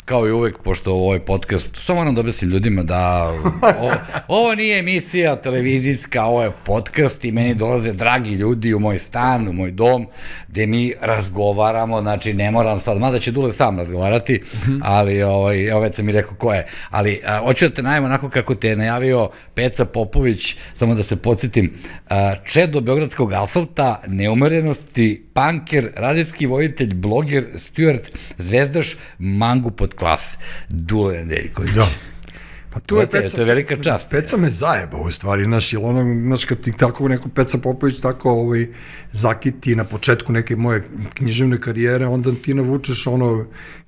kao i uvek, pošto ovaj podcast, samo moram da objasnim ljudima da ovo nije emisija televizijska, ovo je podcast i meni dolaze dragi ljudi u moj stan, u moj dom, gde mi razgovaramo, znači ne moram sad, mada će Dule sam razgovarati, ali evo već sam mi rekao ko je, ali hoću da te najavim onako kako te je najavio Peca Popović, samo da se podsjetim, čedo beogradskog asfalta, neumerenosti, panker, radijski voditelj, bloger, steward, zvezdaš, mangup od klase, Dule Nedeljković. Da. Pa tu je Peca, to je velika čast. Peca me zajebao u stvari, znaš, kad ti tako neko Peca Popović tako zakiti na početku neke moje književne karijere, onda ti navučeš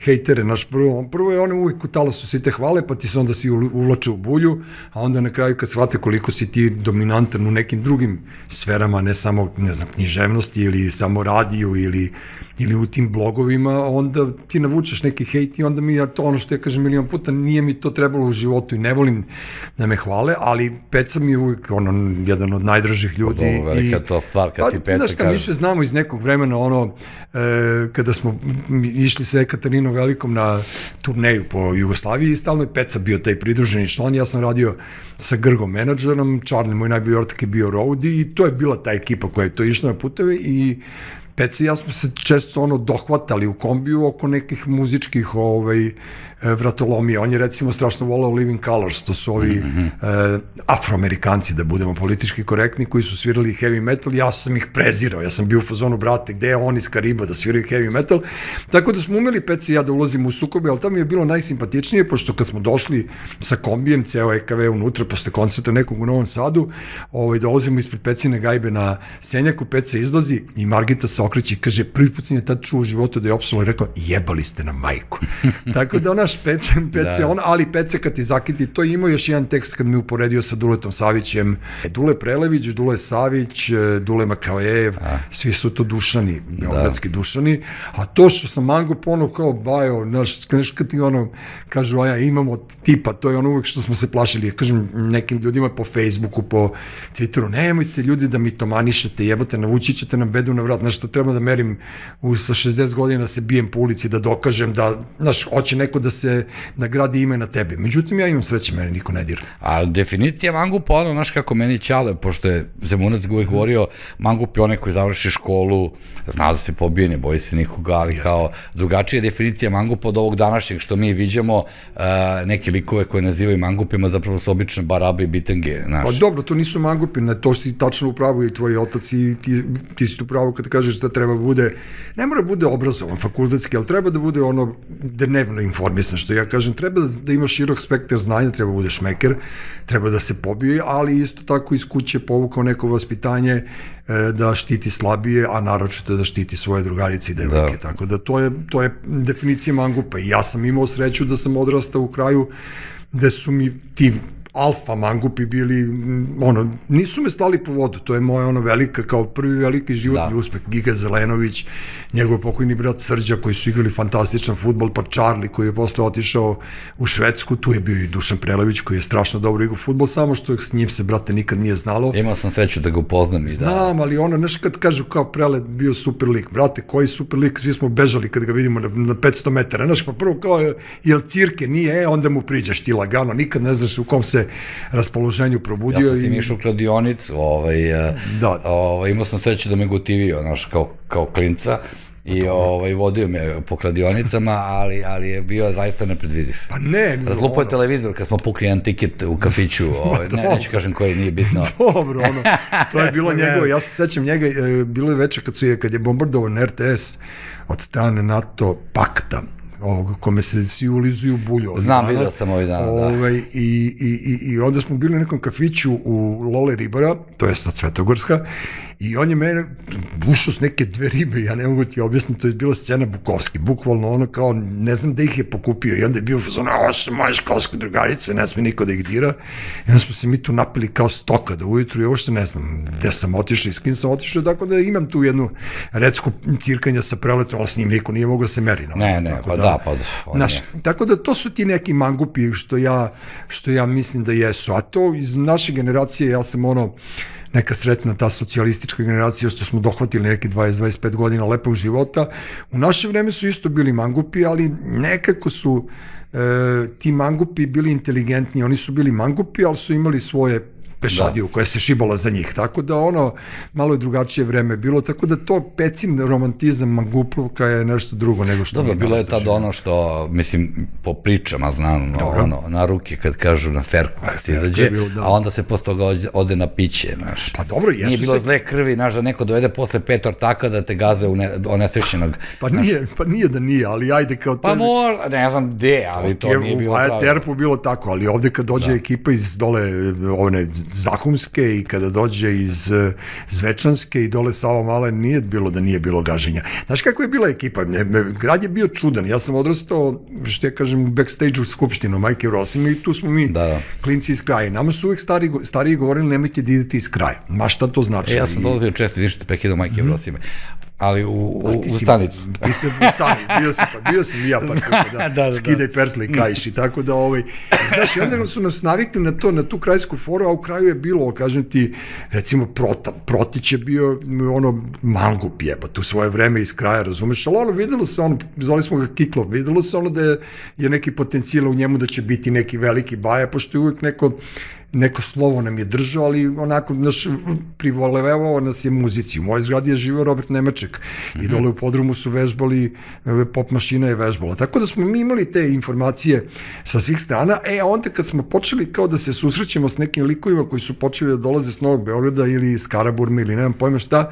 hejtere, znaš, prvo je ono uvijek u talasu svi te hvale, pa ti se onda svi uvlače u bulju, a onda na kraju kad shvate koliko si ti dominantan u nekim drugim sferama, ne samo, ne znam, književnosti ili samo radiju ili u tim blogovima, onda ti navučeš neki hejt i onda mi, ono što ja kažem milion puta, nije mi to trebalo u životu i ne volim da me hvale, ali Peca mi je uvijek jedan od najdražih ljudi. Ovo velika to stvar kad ti Peca kaže. Znaš šta, mi se znamo iz nekog vremena, kada smo išli sa Ekatarinom Velikom na turneju po Jugoslaviji i stalno je Peca bio taj pridruženi član, ja sam radio sa Grgom menadžerom, Charlie, moj najbolji ortak, je bio roadie i to je bila ta ekipa koja je to išla na puteve i Peca i ja smo se često dohvatali u kombiju oko nekih muzičkih vratolomija. On je recimo strašno volao Living Colors, to su ovi afroamerikanci, da budemo politički korektni, koji su svirali heavy metal, ja sam ih prezirao, ja sam bio u fazonu, brate, gde je on iz Kariba da sviraju heavy metal, tako da smo umeli Peca i ja da ulazimo u sukobe, ali tamo je bilo najsimpatičnije, pošto kad smo došli sa kombijem, ceo EKV unutra, posle koncerta nekog u Novom Sadu, dolazimo ispred Pecine gajbe na Senjaku, Peca izlazi i Margita se okreće i kaže, prvi put sam je tad čuo u životu da je opsalo i rekao, jebali ste na majku. Tako da naš Peca, ali Peca kad ti zakiti, to je imao još jedan tekst kad me uporedio sa Duletom Savićem. Dule Prelević, Dule Savić, Dule Makavejev, svi su to Dušani, beogradski Dušani, a to što sam mangup kao bajo, znaš, kad ti kažu, imamo tipa, to je uvek što smo se plašili, ja kažem nekim ljudima po Facebooku, po Twitteru, nemojte ljudi da mi to manišete, jebote, navući ćete nam bedu na vrat, znaš, što treba da merim sa 60 godina se bijem po ulici da dokažem da, znaš, hoće neko da se nagradi ime na tebe. Međutim, ja imam sreće, mene niko ne dira. A definicija mangupa, znaš kako meni Ćale, pošto je Zemunac uvijek govorio, mangup je onaj koji završi školu, zna da se pobije, ne boji se nikoga, ali kao drugačija je definicija mangupa od ovog današnjeg, što mi viđamo neke likove koje nazivaju mangupima, zapravo su obične barabe i bitange, znaš. Pa dobro, to nisu mangupi, to si tačno u pravu i tvoj otac i ti si u pravu kad kažeš da treba bude, ne mora bude obrazovan fakultetski, ali treba da bude dnevno informisan, što ja kažem, treba da ima širok spektar znanja, treba da bude šmeker, treba da se pobije, ali isto tako iz kuće povukao neko vaspitanje da štiti slabije, a naročito da štiti svoje drugarice i devojke, tako da to je definicija mangupa i ja sam imao sreću da sam odrastao u kraju gde su mi ti alfa mangupi bili, nisu me slali po vodu, to je moja velika, kao prvi veliki životni uspeh, Giga Zelenović, njegov pokojni brat Srđa, koji su igrali fantastičan fudbal, pa Charlie, koji je posle otišao u Švedsku, tu je bio i Dušan Prelević, koji je strašno dobro igrao fudbal, samo što s njim se, brate, nikad nije znalo. Imao sam sreću da ga upoznam i da... Znam, ali znaš, kad kažu kao Prele bio super lik, brate, koji super lik, svi smo bežali kad ga vidimo na 500 metara, znaš, pa prvo kao, jel cirke, nije, onda mu priđaš ti lagano, nikad ne znaš u kom se raspoloženju probudio. Ja sam si išao u kladionicu, imao sam sreću da me gotivio, znaš, kao klinca, i vodio me po kladionicama, ali je bio zaista nepredvidiv. Pa ne. Razlupao je televizor kad smo pukli jedan tiket u kafiću, neću kažem koji, nije bitno. Dobro, to je bilo njegovo, ja se sećam njega, bilo je večer kad je bombardovan RTS od strane NATO pakta, kome se svi ulizuju bulju. Znam, vidio sam ovih dana, da. I onda smo bili u nekom kafiću u Lole Ribara, to je sad Svetogorska, i on je mene bušao s neke 2 ribe, ja ne mogu ti objasniti, to je bila scena Bukovski, bukvalno kao, ne znam da ih je pokupio, i onda je bio ovo su moje školske drugarice, ne sme niko da ih dira, i onda smo se mi tu napili kao stoka do ujutru, i ovo što ne znam gde sam otišao i s kim sam otišao, tako da imam tu jednu recku cirkanja sa Preletom, ali s njim niko nije mogao da se meri. Tako da to su ti neki mangupi što ja mislim da jesu, a to iz naše generacije, ja sam neka sretna ta socijalistička generacija što smo dohvatili neki 20-25 godina lepog života. U naše vreme su isto bili mangupi, ali nekako su ti mangupi bili inteligentni, oni su bili mangupi, ali su imali svoje pešadiju koja se šibala za njih, tako da malo je drugačije vreme bilo, tako da to pecin romantizam mangupluka je nešto drugo nego što dobro, bilo je tad ono što, mislim, po pričama znam, na ruke kad kažu na ferku kad se izađe, a onda se posle toga ode na piće, znaš. Pa dobro, jesu se... Nije bilo zle krvi, znaš, da neko dovede posle 5 ortaka da te gaze onesvešćenog. Pa nije da nije, ali ajde kao to... Pa ne znam gde, ali to nije bilo pravo. U Terpu bilo tako, ali ovde kad dođe ekipa iz dole, Zahumske i kada dođe iz Zvečanske i dole Sava Mala, nije bilo da nije bilo gaženja. Znaš kako je bila ekipa? Grad je bio čudan. Ja sam odrastao, što ja kažem, u backstage-u Skupštinu Majke Rosime i tu smo mi klinci iz kraja. Nama su uvek stariji govorili nemojte da idete iz kraja. Ma šta to znači? Ja sam dolazio često, vidiš te prekidao Majke Rosime. Ali u stanicu. Ti ste u stanicu, bio sam i ja, pa skidaj pertle i kajiš i tako da, znaš, i onda su nas navikli na tu krajsku foru, a u kraju je bilo, kažem ti, recimo Protić je bio mangup jebate u svoje vreme iz kraja, razumeš, ali videlo se zvali smo ga Kiklo, videlo se da je neki potencijal u njemu da će biti neki veliki baja, pošto je uvijek neko slovo nam je držao, ali onako privolevao nas je muzici. U mojoj zgradi je živeo Robert Nemaček i dole u podrumu su vežbali, pop mašina je vežbala. Tako da smo mi imali te informacije sa svih strana, a onda kad smo počeli kao da se susrećemo s nekim likovima koji su počeli da dolaze s Novog Beograda ili iz Karaburme ili nemam pojma šta,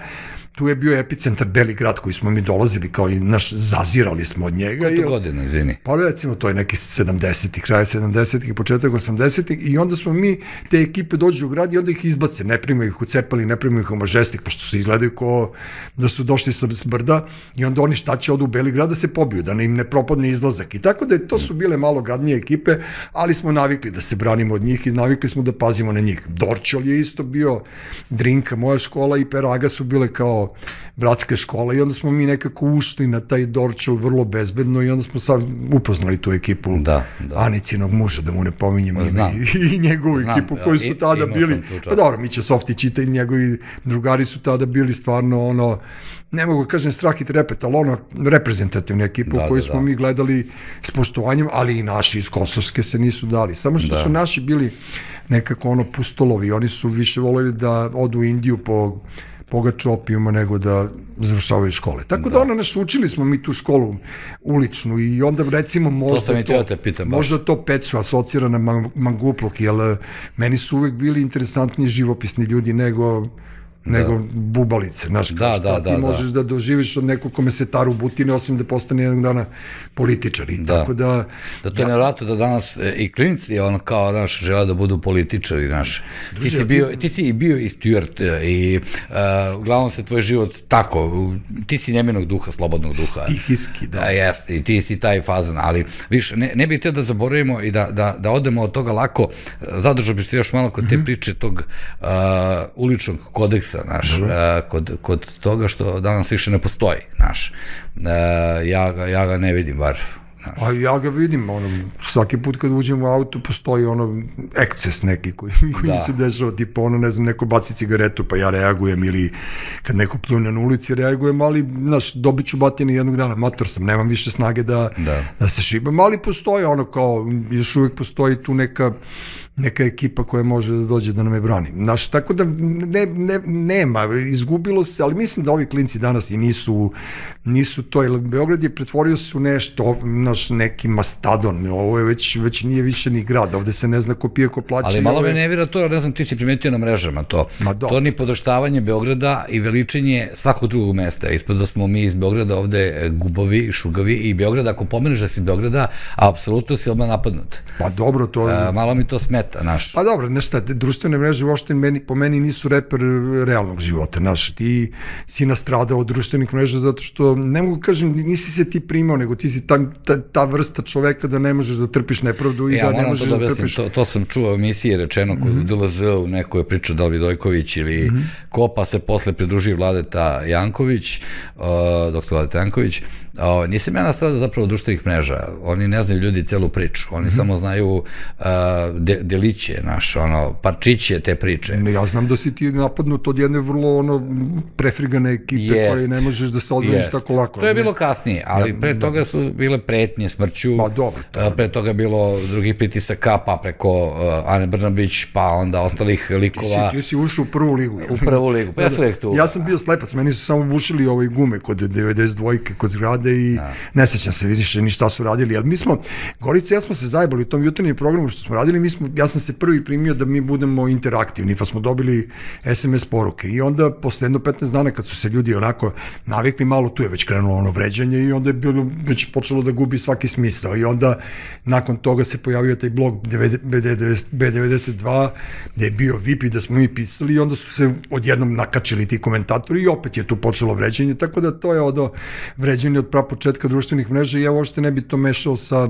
tu je bio epicentar Beli grad koji smo mi dolazili kao i zazirali smo od njega. Koje to godine, izvini? Pa recimo to je neki 70-ih, kraj 70-ih i početak 80-ih i onda smo mi, te ekipe dođu u grad i onda ih izbace, ne primaju ih u Cepali, ne primaju ih u Mažestik, pošto se izgledaju kao da su došli sa brda i onda oni šta će odu u Beli grad da se pobiju, da im ne propadne izlazak i tako da to su bile malo gadnije ekipe, ali smo navikli da se branimo od njih i navikli smo da pazimo na njih. Dorčol je isto bio, Drinka, moja škola i Peraga su bile kao bratske škole i onda smo mi nekako ušli na taj Dorčel vrlo bezbedno i onda smo sad upoznali tu ekipu Anicinog muža, da mu ne pominjem ime i njegovu ekipu koji su tada bili, pa dobro, Mića Softić i njegovi drugari su tada bili stvarno ne mogu kažem strah i trepet, ali reprezentativna ekipa u kojoj smo mi gledali s poštovanjem, ali i naši iz Kosovske se nisu dali. Samo što su naši bili nekako pustolovi, oni su više voleli da odu u Indiju po pogač opijuma nego da završavaju škole. Tako da učili smo mi tu školu uličnu i onda recimo možda to Pecu asocira na mangupluk, jer meni su uvek bili interesantniji živopisni ljudi nego bubalice, znaš, šta ti možeš da doživiš od nekog kome se taru butine, osim da postane jednog dana političar. Tako da... Da to je nevjerojatno da danas i klinci, kao, znaš, žele da budu političari, znaš. Ti si bio i Stuart i uglavnom se tvoj život tako, ti si neminog duha, slobodnog duha. Stihijski, da. Jeste, i ti si taj fazan, ali, viš, ne bih htio da zaboravimo i da odemo od toga lako, zadržao bih se još malo kod te priče tog uličnog kodeksa, znaš, kod toga što danas više ne postoji, znaš, ja ga ne vidim, bar. A ja ga vidim, svaki put kad uđem u auto postoji eksces neki koji se dešava, tipa ne znam, neko baci cigaretu pa ja reagujem ili kad neko pljune na ulici reagujem, ali, znaš, dobit ću batine jednog dana, mator sam, nemam više snage da se šibam, ali postoji kao, još uvijek postoji tu neka ekipa koja može da dođe da nam je brani. Znaš, tako da nema, izgubilo se, ali mislim da ovi klinci danas i nisu to, jer Beograd je pretvorio se u nešto, naš neki mastadon, ovo je već nije više ni grad, ovde se ne zna ko pije, ko plaća. Ali malo me nevira to, ne znam, ti si primetio na mrežama to. To ni podrštavanje Beograda i veličenje svakog drugog mesta. Ispod da smo mi iz Beograda ovde gubovi, šugavi i Beograd, ako pomeneš da si iz Beograda, apsolutno si odmah napadnut. Pa dobro, to... Malo mi to smeta. Pa dobro, nešto, društvene mreže uopšte po meni nisu reper realnog života, znaš, ti si nastradao od društvenih mreža zato što, ne mogu kažem, nisi se ti primao, nego ti si ta vrsta čoveka da ne možeš da trpiš nepravdu i da ne možeš da trpiš... To sam čuo u emisiji rečeno kod DLZ u nekoj priču da li Vidojković ili ko, pa se posle pridruži Vladeta Janković, doktor Vladeta Janković, Nisam ja nastao zapravo društvenih mreža, oni ne znaju ljudi celu priču, oni samo znaju deliće, parčiće te priče. Ja znam da si ti napadnut od jedne vrlo prefrigane ekipe koje ne možeš da se odbraniš tako lako. To je bilo kasnije, ali pre toga su bile pretnje smrću, pre toga je bilo drugih pritisaka, pa preko Ane Brnabić, pa onda ostalih likova. Ti si ušao u prvu ligu. U prvu ligu, pa ja sam uvijek tu. Ja sam bio slepac, meni su samo bušili gume kod 92-ke, kod zgrade i ne sećam se više ni šta su radili, ali mi smo, Gorica i ja smo se zajebali u tom jutarnjem programu što smo radili, ja sam se prvi primio da mi budemo interaktivni, pa smo dobili SMS poruke i onda posle jedno 15 dana kad su se ljudi onako navikli, malo tu je već krenulo vređanje i onda je bilo već počelo da gubi svaki smisao i onda nakon toga se pojavio taj blog B92 gde je bio VIP i da smo mi pisali i onda su se odjednom nakačili ti komentatori i opet je tu počelo vređanje, tako da to je vređanje od prapočetka društvenih mreža i ja uopšte ne bi to mešao sa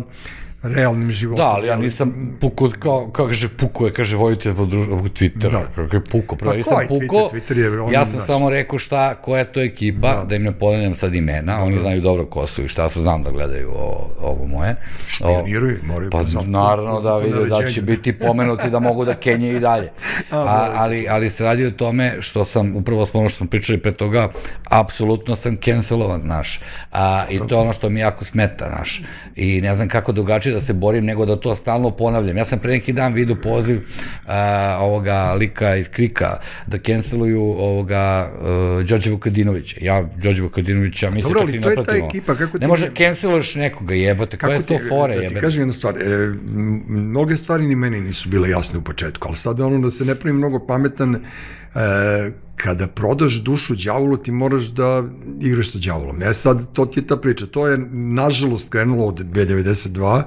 realnim životom. Da, ali ja nisam pukao, kaže vojite po Twitteru, kako je pukao, prvo nisam pukao, ja sam samo rekao koja je to ekipa, da im ne ponavljam sad imena, oni znaju dobro ko su i šta su, znam da gledaju ovo moje. Špioniraju, moraju. Pa naravno da vide da će biti pomenuti da mogu da kenje i dalje. Ali se radi o tome što sam, upravo smo ono što smo pričali pre toga, apsolutno sam cancelovan, naš. I to je ono što mi jako smeta, naš. I ne znam kako drugačije da se borim, nego da to stalno ponavljam. Ja sam pre neki dan vidio poziv ovoga lika iz Krika da canceluju ovoga Đorđe Vukadinovića. Ja Đorđe Vukadinovića mislim čak i ne pratimo. Ne može canceluješ nekoga, jebote, koja je to fore, jebote. Da ti kažem jednu stvar, mnoge stvari ni meni nisu bile jasne u početku, ali sad ono da se ne pravim mnogo pametan, kada prodaš dušu đavolu, ti moraš da igraš sa đavolom. Sad, to ti je ta priča. To je, nažalost, krenulo od B92,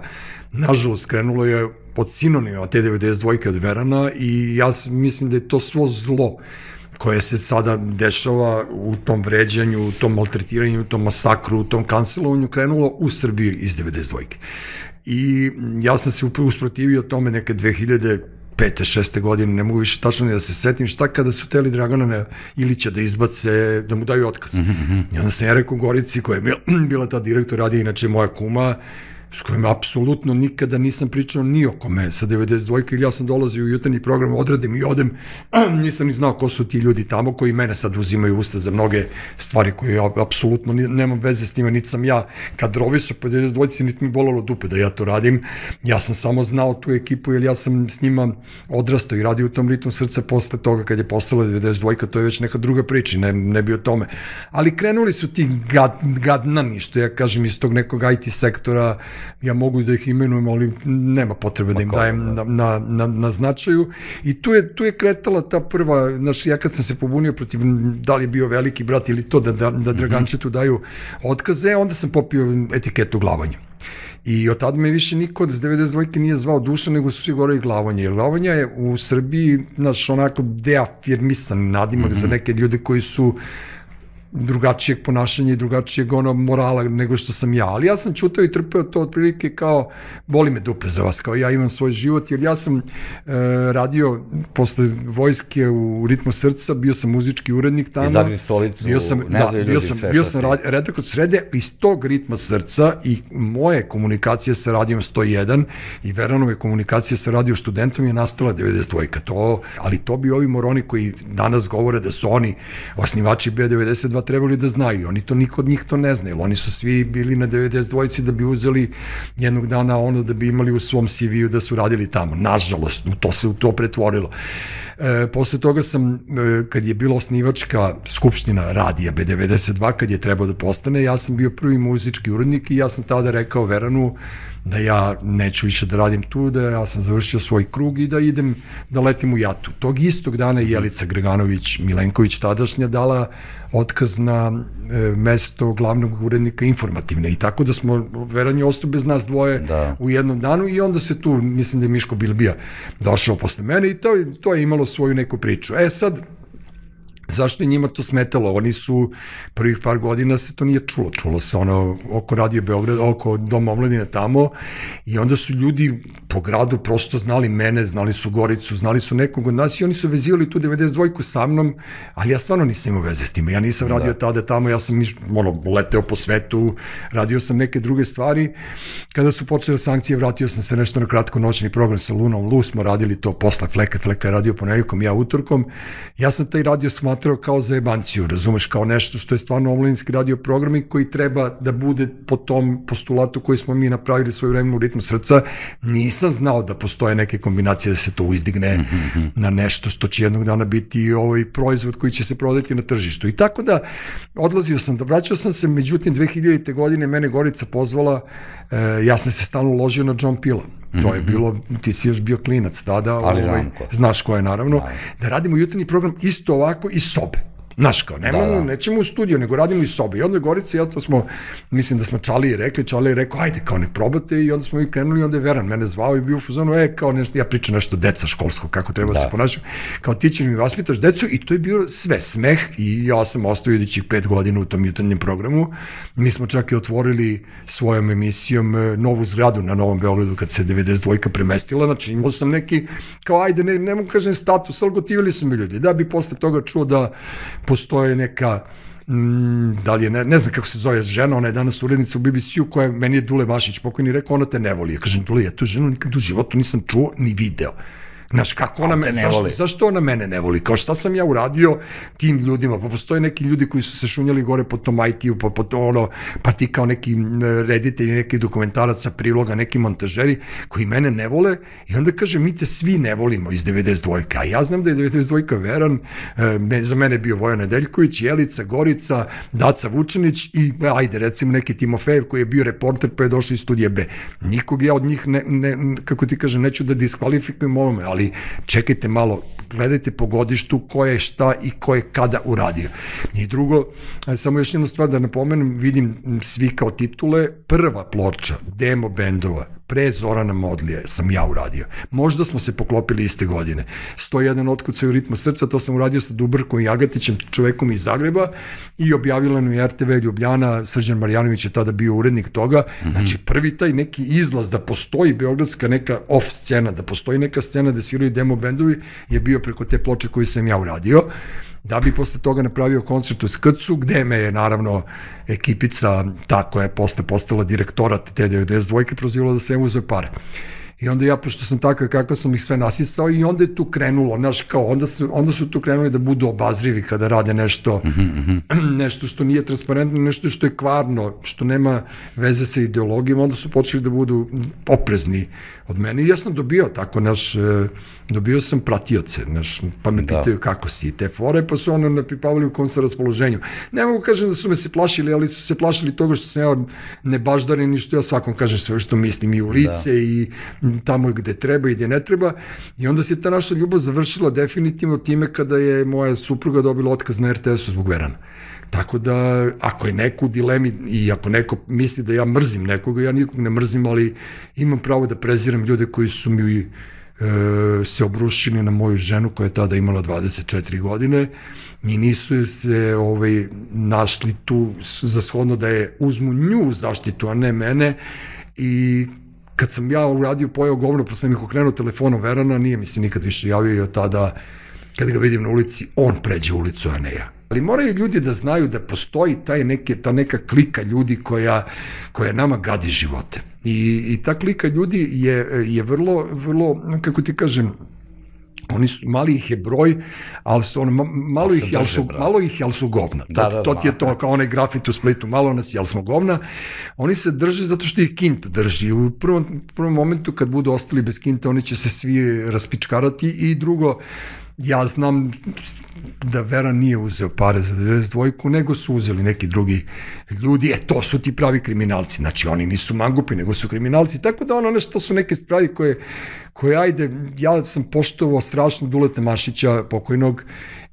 nažalost, krenulo je od sinonima te 92 od Verana i ja mislim da je to svo zlo koje se sada dešava u tom vređanju, u tom maltretiranju, u tom masakru, u tom kancelovanju, krenulo u Srbiji iz 92. I ja sam se usprotivio tome neke 2005. 6. godine, ne mogu više tačno ni da se setim, šta kada su teli Dragana Ilića da izbace, da mu daju otkaz. I onda sam ja rekao Gorici, koja je bila ta direktor, radi inače moja kuma, s kojim apsolutno nikada nisam pričao ni o kome sa 92. ili ja sam dolazio u jutarnji program, odradim i odem, nisam ni znao ko su ti ljudi tamo koji mene sad uzimaju usta za mnoge stvari koje ja apsolutno nemam veze s njima, niti sam ja kadrovisao po 92. niti mi bolalo dupe da ja to radim, ja sam samo znao tu ekipu jer ja sam s njima odrastao i radio u tom ritmu srca posle toga kad je postala 92. To je već neka druga priča, ne bi o tome. Ali krenuli su ti gadnani, što ja kažem, iz tog nekog IT sektora, ja mogu da ih imenujem, ali nema potrebe da im dajem na značaju. I tu je kretala ta prva, znaš, ja kad sam se pobunio protiv, da li je bio veliki brat ili to, da Dragančetu daju otkaze, onda sam popio etiketu glavanja. I od tada me više niko iz 92. nije zvao Duša, nego su svi gore i Glavanja. Jer Glavanja je u Srbiji, znaš, onako deafirmisan nadimak za neke ljude koji su drugačijeg ponašanja i drugačijeg morala nego što sam ja. Ali ja sam čutao i trpeo to otprilike kao, boli me dupe za vas, kao ja imam svoj život, jer ja sam radio posle vojske u Ritmu srca, bio sam muzički urednik tamo. Iz Zagri stolicu, ne znaju ljudi sve. Bio sam redaktor srede iz tog Ritma srca i moje komunikacije sa radijom 101 i Veranove komunikacije sa radio Studentom je nastala 92. Ali to bi ovi moroni koji danas govore da su oni osnivači B92 trebali da znaju. Oni to, niko od njih to ne zna, jer oni su svi bili na 92 da bi uzeli jednog dana ono da bi imali u svom CV-u da su radili tamo. Nažalost, to se u to pretvorilo. Posle toga sam, kad je bila osnivačka skupština radija B92, kad je trebao da postane, ja sam bio prvi muzički urednik i ja sam tada rekao Veranu da ja neću više da radim tu, da ja sam završio svoj krug i da idem da letim u jatu. Tog istog dana Jelica Greganović Milenković tadašnja dala otkaz na mesto glavnog urednika informativne i tako da smo, Veran je ostao bez nas dvoje u jednom danu i onda se tu, mislim da je Miško Bilbija došao posle mene i to je imalo svoju neku priču. Sad, Zašto je njima to smetalo? Oni su, prvih par godina se to nije čulo. Čulo se ono oko Radio Beograd, oko Doma omladine tamo i onda su ljudi po gradu prosto znali mene, znali su Goricu, znali su nekog od nas i oni su vezivali tu 92-ku sa mnom, ali ja stvarno nisam imao veze s tim. Ja nisam radio tada tamo, ja sam leteo po svetu, radio sam neke druge stvari. Kada su počele sankcije, vratio sam se nešto na kratko noćni program sa Lunom Lu, smo radili to posle Fleka je radio ponedjeljkom, ja utorkom. Ja sam taj radio smatrao kao za jebanciju, razumeš, kao nešto što je stvarno omladinski radio program i koji treba da bude po tom postulatu koji smo mi napravili svoje vremenu u Ritmu srca. Nisam znao da postoje neke kombinacije da se to izdigne na nešto što će jednog dana biti proizvod koji će se prodati na tržištu. I tako da vraćao sam se, međutim 2000. godine mene Gorica pozvala, ja sam se stalno uložio na John Pila. To je bilo, ti si još bio klinac tada, znaš ko je naravno, da radimo jutarnji program isto ovako iz sobe. Znaš kao, nećemo u studiju, nego radimo iz sobe. I onda je Gorica, ja to smo, mislim da smo Čaliji rekao, ajde, kao ne probate, i onda smo mi krenuli, i onda je Veran mene zvao i bio u fazonu, kao nešto, ja pričam nešto deca školsko, kako treba da se ponašam, kao ti ćeš mi vaspitaš decu, i to je bilo sve, smeh, i ja sam ostao idućih 5 godina u tom jutarnjem programu. Mi smo čak i otvorili svojom emisijom novu zgradu na Novom Beogradu kad se 92-ka premestila, znači imao sam neki, kao ajde, ne mogu kažem status, ali gotivili su mi ljudi, da bi posle toga čuo da postoje neka, da li je, ne znam kako se zove žena, ona je danas urednica u BBC-u, koja meni je Dule Vašić pokojni rekao, ona te ne voli. Ja kažem, Dule, ja tu ženu nikad u životu nisam čuo ni video. Znaš, kako ona mene, zašto ona mene ne voli? Kao šta sam ja uradio tim ljudima? Pa postoje neki ljudi koji su se šunjali gore po tom IT-u, pa ti kao neki reditelji, neki dokumentaraca, priloga, neki montažeri koji mene ne vole i onda kaže, mi te svi ne volimo iz 92-ka. A ja znam da je 92-ka Veran, za mene je bio Vojan Nedeljković, Jelica, Gorica, Daca Vučanić i ajde, recimo neki Timofejev koji je bio reporter pa je došao iz Studija B. Nikog ja od njih, kako ti kažem, neću da diskvalifikujem ovome, ali čekajte malo, gledajte po godištu ko je šta i ko je kada uradio. I drugo, samo još jednu stvar da napomenem, vidim svi kao titule, prva ploča demo bendova pre Zorana Modlija sam ja uradio. Možda smo se poklopili iste godine. 101 otkucaj u Ritmu srca, to sam uradio sa Dubrkom i Agatićem, čovekom iz Zagreba, i objavila nam je RTV Ljubljana, Srđan Marjanović je tada bio urednik toga. Znači prvi taj neki izlaz da postoji beogradska neka off scena, da postoji neka scena da sviraju demo bendovi, je bio preko te ploče koju sam ja uradio. Da bi posle toga napravio koncert u Skrcu, gde me je naravno ekipica, ta koja je posle postala direktorat te 92-ke, prozivala da se uzeo pare. I onda ja, pošto sam takav kako sam ih sve nasisao, i onda je tu krenulo, znaš, kao, onda su tu krenuli da budu obazrivi kada rade nešto, nešto što nije transparentno, nešto što je kvarno, što nema veze sa ideologijom, onda su počeli da budu oprezni od mene. I ja sam dobio tako, dobio sam pratioce, pa me pitaju kako si, te fore, pa su ono napipavali u kom sa raspoloženju. Ne mogu kažem da su me se plašili, ali su se plašili toga što sam ja nebaždarin i što ja svakom kažem sve što mislim i u lice i tamo gde treba i gde ne treba. I onda se ta naša ljubav završila definitivno time kada je moja supruga dobila otkaz na RTS-u zbog Verana. Tako da, ako je neko u dilemi i ako neko misli da ja mrzim nekoga, ja nikog ne mrzim, ali imam pravo da preziram ljude koji su mi se obrušili na moju ženu koja je tada imala 24 godine i nisu se našli tu za shodno da je uzmu nju zaštitu, a ne mene. I kad sam ja uradio pojao govno, pa sam ih okrenuo telefonom Verana, nije mi se nikad više javio i od tada, kad ga vidim na ulici, on pređe ulicu, a ne ja. Ali moraju ljudi da znaju da postoji ta neka klika ljudi koja nama gadi živote. I ta klika ljudi je vrlo, kako ti kažem, oni su, mali ih je broj, ali su, malo ih je, ali su govna. To ti je to, kao onaj grafit u Splitu, malo nas je, ali smo govna. Oni se drže zato što ih kinta drži. U prvom momentu kad budu ostali bez kinta, oni će se svi raspičkarati. I drugo, ja znam da Vera nije uzeo pare za 92-ku, nego su uzeli neki drugi ljudi, to su ti pravi kriminalci, znači oni nisu mangupi, nego su kriminalci, tako da to su neke stvari koje, ajde, ja sam poštovao strašno Duleta Mašića, pokojnog,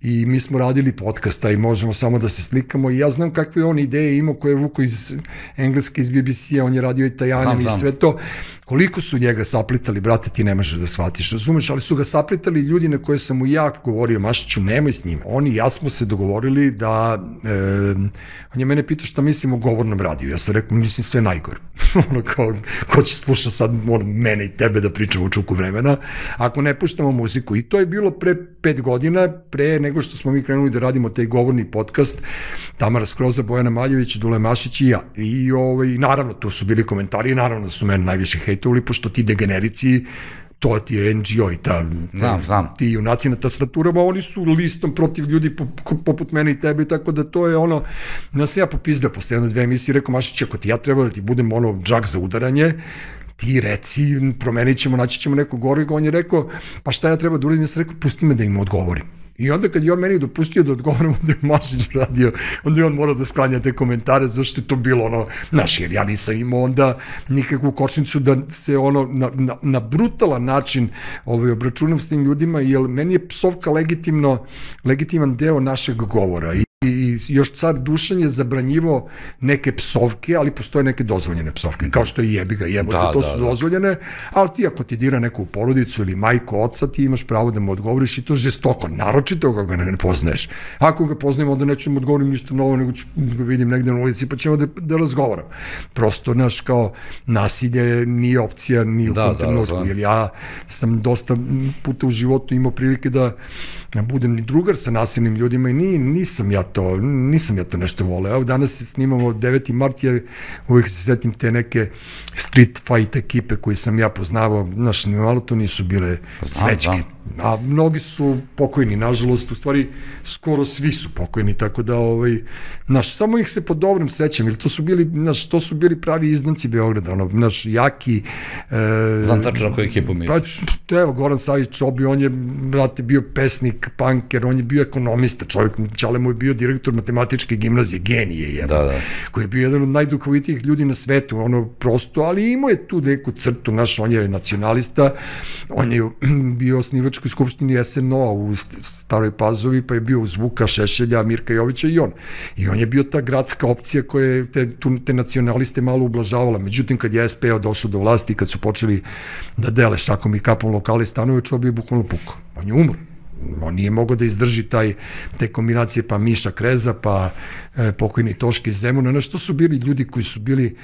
i mi smo radili podcasta i možemo samo da se slikamo i ja znam kakve on ideje imao koje je vuko iz Engleske, iz BBC-a, on je radio i Tajanem i sve to. Koliko su njega saplitali, brate, ti ne možeš da shvatiš, razumeš, ali su ga saplitali ljudi na koje sam mu ja govorio, Mašiću, nemoj s njim. On i ja smo se dogovorili da, on je mene pitao šta mislim o govornom radiju, ja sam rekao, mislim sve najgore. Ono kao, ko će slušati sad mene i tebe da pričamo u čuku vremena, ako ne puštamo muziku. I to je bilo pre 5 godina, pre nego što smo mi krenuli da radimo taj govorni podcast, Tamara Skroza, Bojana Maljević, Dule Mašić i ja. I naravno, tu su bili komentari, naravno da su mene najviše hejtovali, pošto ti degenerici, to ti je NGO i ti junaci na tastaturama, oni su listom protiv ljudi poput mene i tebe, tako da to je ono, da sam ja popizdao posle 1-2 emisije, rekao, Mašić, ako ti ja treba da ti budem ono džak za udaranje, ti reci, promenit ćemo, naći ćemo neko gore, on je rekao, pa šta ja treba da uradim, ja sam rekao, pusti me da im odgovorim. I onda kad je on meni dopustio da odgovorim, onda je Mašić radio, onda je on morao da sklanja te komentare, zašto je to bilo ono, znaš, jer ja nisam imao onda nikakvu kočnicu da se ono, na brutalan način obračunam s tim ljudima, jer meni je psovka legitiman deo našeg govora. I još car Dušan je zabranjivao neke psovke, ali postoje neke dozvoljene psovke, kao što je jebiga, jebote, to su dozvoljene, ali ti ako ti dira neku porodicu ili majku, oca, ti imaš pravo da mu odgovoriš i to žestoko, naročito ako ga ne poznaješ. Ako ga poznajem, onda neću mu odgovorim ništa novo, nego ću ga vidim negde na ulici, pa ćemo da razgovaram. Prosto, znaš, kao nasilje nije opcija ni u tom trenutku, jer ja sam dosta puta u životu imao prilike da budem ni drugar sa nasilnim ljudima i nisam ja to nešto voleo. Evo danas snimamo 9. mart, ja uvijek se setim te neke street fight ekipe koje sam ja poznavao, znaš, malo to nisu bile cvećke. A mnogi su pokojni, nažalost, u stvari skoro svi su pokojni, tako da, znaš, samo ih se po dobrom sećam, jer to su bili pravi izdanci Beograda, ono, znaš, jaki. Znam tačno na koju ekipu misliš. Pa, evo, Goran Savić Čobi, on je, brate, bio pesnik, punker, on je bio ekonomista, čovjek, Čale mu je bio direktor matematičke gimnazije, genije, koji je bio jedan od najduhovitijih ljudi na svetu, ono, prosto, ali imao je tu neku crtu, znaš, on je nacionalista, on je bio osnivač u skupštini SNO u Staroj Pazovi, pa je bio uz Vuka Šešelja, Mirka Jovića i on. I on je bio ta gradska opcija koja je te nacionaliste malo ublažavala. Međutim, kad je SPO došao do vlasti, kad su počeli da dele šakom i kapom lokale i stanove, Čobi je bukvalno pukao. On je umro. On nije mogao da izdrži te kombinacije, pa Miša Kreza, pa pokojni Toške iz Zemuna, znaš, to su bili ljudi koji su bili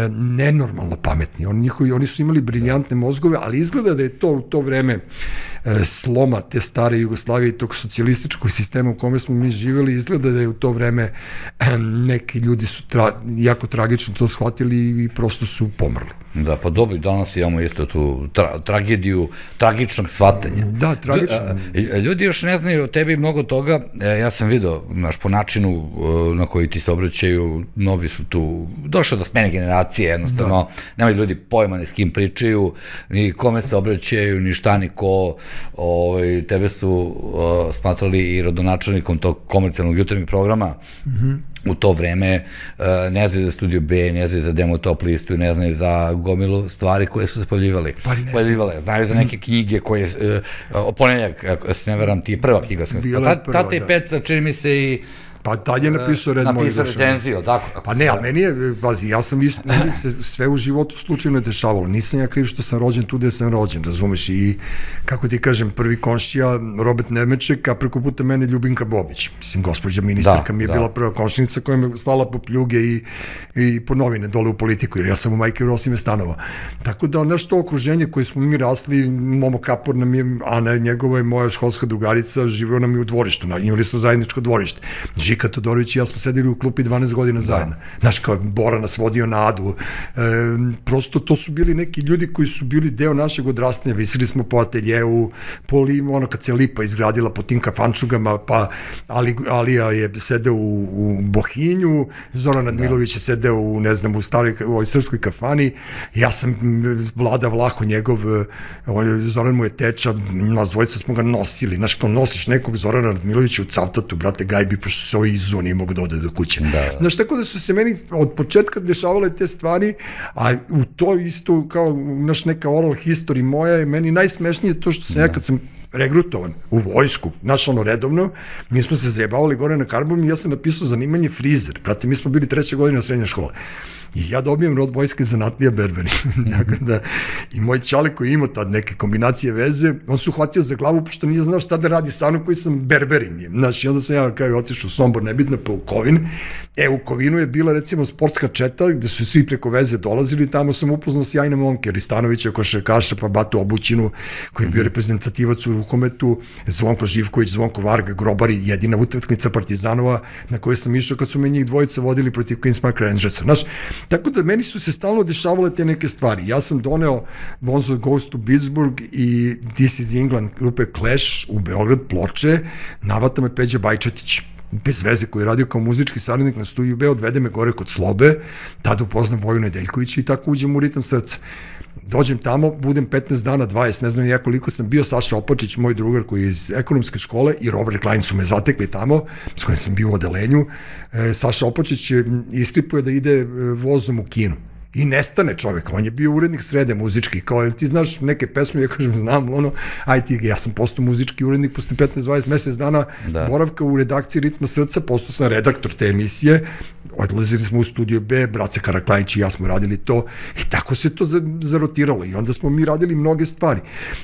nenormalno pametni. Oni su imali briljantne mozgove, ali izgleda da je to u to vreme sloma te stare Jugoslavije i tog socijalističkog sistema u kome smo mi živjeli, izgleda da je u to vreme neki ljudi su jako tragično to shvatili i prosto su pomrli. Da, pa dobro, danas imamo isto tu tragediju tragičnog shvatanja. Da, tragično. Ljudi još ne znaju o tebi mnogo toga, ja sam vidio, znaš, po načinu na koji ti se obraćaju, novi su tu, došlo do smene generacije, jednostavno, nemaju ljudi pojma ni s kim pričaju, ni kome se obraćaju, ni šta, ni ko, tebe su smatrali i rodonačelnikom tog komercijalnog jutarnjeg programa, u to vreme, ne znaju za Studio B, ne znaju za Demo Top listu, ne znaju za gomilu stvari koje su se pojavljivale. Znaju za neke knjige koje, Ponedeljak, ako se ne veram, ti je prva knjiga. Tata i Peca, čini mi se i... Pa tad je napisao red moj zašao. Napisao recenziju, tako? Pa ne, ali meni je, pazi, ja sam isto, meni se sve u životu slučajno dešavalo. Nisam ja kriv što sam rođen tu gde sam rođen, razumeš? I, kako ti kažem, prvi komšija, Robert Nemeček, a preko puta mene Ljubinka Bobić. Mislim, gospođa ministarka mi je bila prva komšinica koja me slala po pljuge i po novine dole u politiku, jer ja sam u majke Rosime stanova. Tako da, nešto okruženje koje smo mi rasli, Momo Kapor nam je, Ana njegova je moja školska drugarica, živeo nam je u dvorištu, imali smo zajedničko dvorište. Žika Todorović i ja smo sedeli u klupi 12 godina zajedno. Znaš, kao Bora nas vodio na Adu. Prosto to su bili neki ljudi koji su bili deo našeg odrastanja. Visili smo po ateljeu, ono kad se Lipa izgradila po tim kafančugama, pa Alija je sedeo u Bohinju, Zoran Admilović je sedeo u, ne znam, u ovoj srpskoj kafani. Ja sam Vlada Vlaho njegov, Zoran mu je teča, nas dvojica smo ga nosili. Znaš, kao nosiš nekog Zorana Admilovića u Cavtatu, brate, gajbi, pošto se ovaj Izo nije mogu da ode do kuće. Znaš, tako da su se meni od početka dešavale te stvari, a u to isto kao naš neka oral history moja je meni najsmešnije to što sam ja kad sam regrutovan u vojsku, znaš ono redovno, mi smo se zajebavali gore na Karbonu i ja sam napisao zanimanje frizer, brate, mi smo bili 3. godina srednje škole. I ja dobijem rod vojske zanatlija berberi. I moj čale koji ima tad neke kombinacije veze, on se uhvatio za glavu pošto nije znao šta da radi sa mnom koji sam berberin. Znaš, i onda sam ja kao otišao u Sombor, nebitno, pa u Kovin. U Kovinu je bila recimo sportska četa gde su svi preko veze dolazili, tamo sam upoznao sjajne momke, Ristanovića, Košarkaša, pa Batu Obućinu, koji je bio reprezentativac u rukometu, Zvonko Živković, Zvonko Varga, Grobari, jedina utakmica Partizanova na kojoj sam išao kad su me njih dvojica vodili protiv Queen's Park Rangersa. Znaš, tako da meni su se stalno dešavale te neke stvari. Ja sam doneo Bonzo Goes to Pittsburgh i This is England grupe Clash u Beograd, Ploče, navata me Peđa Bajčetić, bez veze, koji je radio kao muzički saradnik na studiju B, odvede me gore kod Slobe, tada upoznam Voju Nedeljkovića i tako uđem u ritam srca. Dođem tamo, budem 15 dana, 20, ne znam ja koliko sam bio, Saša Opačić, moj drugar koji je iz ekonomske škole, i Robert Klein su me zatekli tamo, s kojim sam bio u odelenju. Saša Opačić istripuje da ide vozom u kinu. I nestane čovek, on je bio urednik Srede muzički, kao, ti znaš neke pesme, ja kažem, znam, ono, ja sam postao muzički urednik posle 15-20 mesec dana boravka u redakciji Ritma srca, postao sam redaktor te emisije, odlazili smo u studio B, Brace Karaklajić i ja smo radili to, i tako se to zarotiralo, i onda smo mi radili mnoge stvari.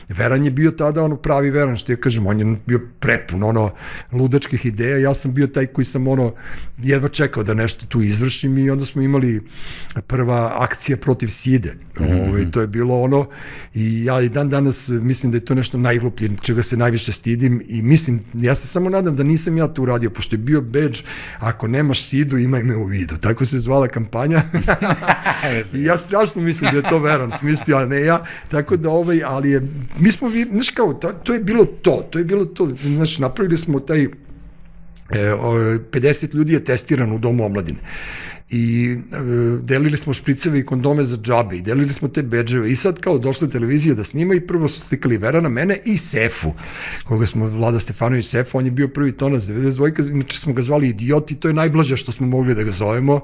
Veran je bio tada ono pravi Veran, što ja kažem, on je bio prepun, ono, ludačkih ideja, ja sam bio taj koji sam, ono, jedva čekao da nešto tu izvršim, i onda smo imali prva akcija protiv side. To je bilo ono, i ja i dan danas mislim da je to nešto najgluplje, čega se najviše stidim, i mislim, ja se samo nadam da nisam ja to uradio, pošto je bio bedž, ako nemaš sidu, imaj me u vidu. Tako se zvala kampanja. I ja strašno mislim da je to Veran smislio, a ne ja. Tako da, ali je, mi smo, znaš kao, to je bilo to, znaš, napravili smo taj, 50 ljudi je testirano u Domu omladine. I delili smo špriceve i kondome za džabe i delili smo te bedževe, i sad kao došla televizija da snima, i prvo su slikali Verana, mene i Sefu, koga smo, Vlada Stefanović Sefu, on je bio prvi tonac 92, inače smo ga zvali Idiot, i to je najblaže što smo mogli da ga zovemo,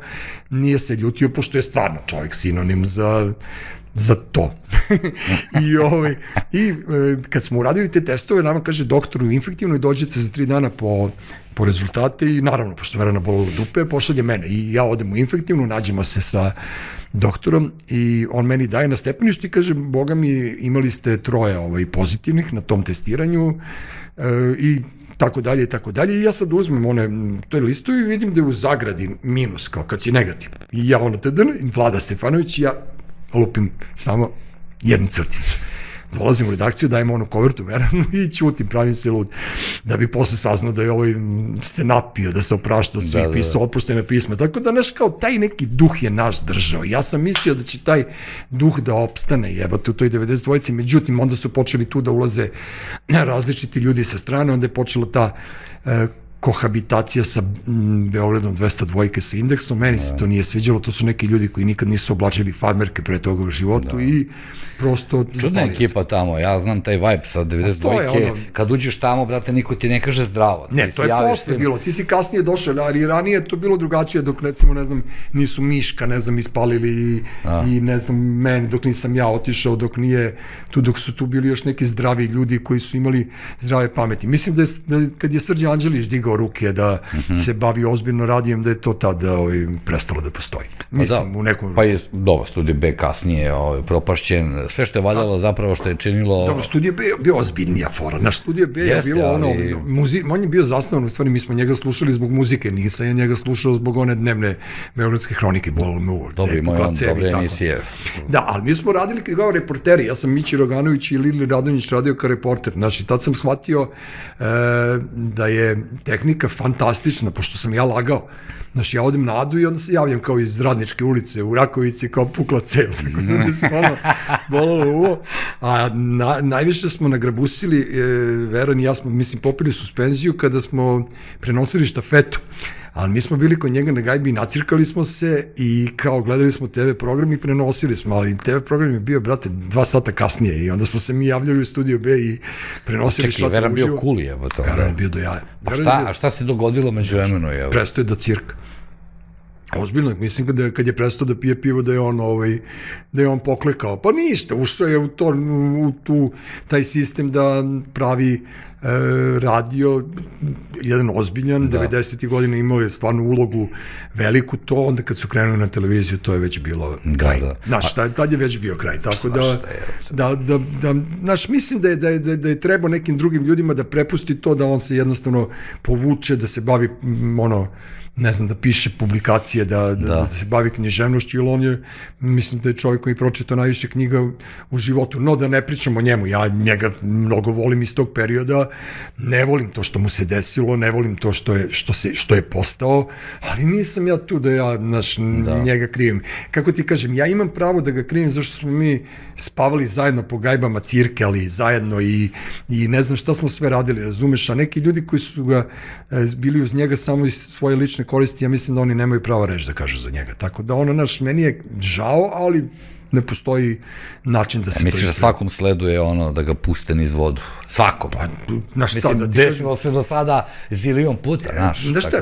nije se ljutio, pošto je stvarno čovjek sinonim za to. I kad smo uradili te testove, nama kaže doktor u infektivnoj, dođete za 3 dana po rezultate, i naravno, pošto Verana bolelo dupe, pošalje mene, i ja odem u infektivnu, nađemo se sa doktorom, i on meni daje na stepeništu i kaže, boga mi, imali ste 3 pozitivnih na tom testiranju, i tako dalje, i tako dalje, i ja sad uzmem to je listu i vidim da je u zagradi minus, kao kad si negativ. I ja Vlada Stefanović, i ja lupim samo jednu crticu. Dolazim u redakciju, dajem onu kovertu Veranu i ćutim, pravim se lud, da bi posle saznao da je se napio, da se oprašta od svih, pisao oproštajna pisma. Tako da, znaš, kao taj neki duh je naš držao. Ja sam mislio da će taj duh da opstane, jebate, u toj 92-ci, međutim, onda su počeli tu da ulaze različiti ljudi sa strane, onda je počela ta kohabitacija sa Beogradom 202 sa Indeksom, meni se to nije sviđalo, to su neki ljudi koji nikad nisu oblačili farmerke pre toga u životu, i prosto čudna ekipa tamo, ja znam taj vibe sa 92-ke, kad uđeš tamo, brate, niko ti ne kaže zdravo. Ne, to je posle bilo, ti si kasnije došao, ali ranije je to bilo drugačije, dok recimo, ne znam, nisu Miška, ne znam, ispalili, i ne znam, meni, dok nisam ja otišao, dok su tu bili još neki zdravi ljudi koji su imali zdrave pameti. Mislim da kad je Srđan Anđelić digao ruke da se bavi ozbiljno radijem, da je to tada prestalo da postoji. Mislim, u nekom... Pa je, dobro, Studio B kasnije propašćen, sve što je valjalo zapravo što je činilo... Dobro, Studio B je bio ozbiljnija fora. Naš Studio B je bilo on je bio zasnovan, u stvari mi smo njega slušali zbog muzike, nisam ja njega slušao zbog one dnevne beogradske hronike, Bolo Moore. Dobro, imao je on dobre emisije. Da, ali mi smo radili kao reporteri, ja sam Mići Roganović i Lili Radonjić radio kao reporter, znači tad sam shvatio da je tehnika fantastična, pošto sam ja lagao. Znači, ja odem na Adu i onda se javljam kao iz Radničke ulice u Rakovici, kao pukla cev, tako da mi se bolalo uvo. A najviše smo nagrabusili, Veran i ja smo, mislim, popili suspenziju kada smo prenosili štafetu. ali mi smo bili kod njega na gajbi, nacirkali smo se i kao gledali smo TV program i prenosili smo, ali TV program je bio, brate, 2 sata kasnije i onda smo se mi javljali u Studio B i prenosili Čekaj, Veran bio cool, evo to. Veran bio do jaja. A šta se dogodilo među vremenu? Presto je da cirka. Ozbiljno, mislim kad je prestao da pije pivo da je on poklekao. Pa ništa, ušao je u taj sistem da pravi radio, jedan ozbiljan, 90. godina imao je stvarno ulogu veliku, to onda kad su krenuli na televiziju, to je već bilo kraj. Znaš, tad je već bio kraj, tako znaš, mislim da je trebao nekim drugim ljudima da prepusti to, da on se jednostavno povuče, da se bavi, ne znam, da piše publikacije, da se bavi književnošću, ili on je, mislim da je čovjek koji pročitao najviše knjiga u životu, no da ne pričam o njemu, ja njega mnogo volim iz tog perioda, ne volim to što mu se desilo, ne volim to što je postao, ali nisam ja tu da ja njega krivim. Kako ti kažem, ja imam pravo da ga krivim zašto smo mi spavali zajedno po gajbama, cirkali zajedno i ne znam šta smo sve radili, razumeš, a neki ljudi koji su ga bili uz njega samo iz svoje lične koristi, ja mislim da oni nemaju prava reći da kažu za njega. Tako da meni je žao, ali ne postoji način da se to ispravi. Misliš da svakom sleduje da ga puste niz vodu? Svakom. Mislim, desilo se do sada zilion puta, znaš. Znaš šta,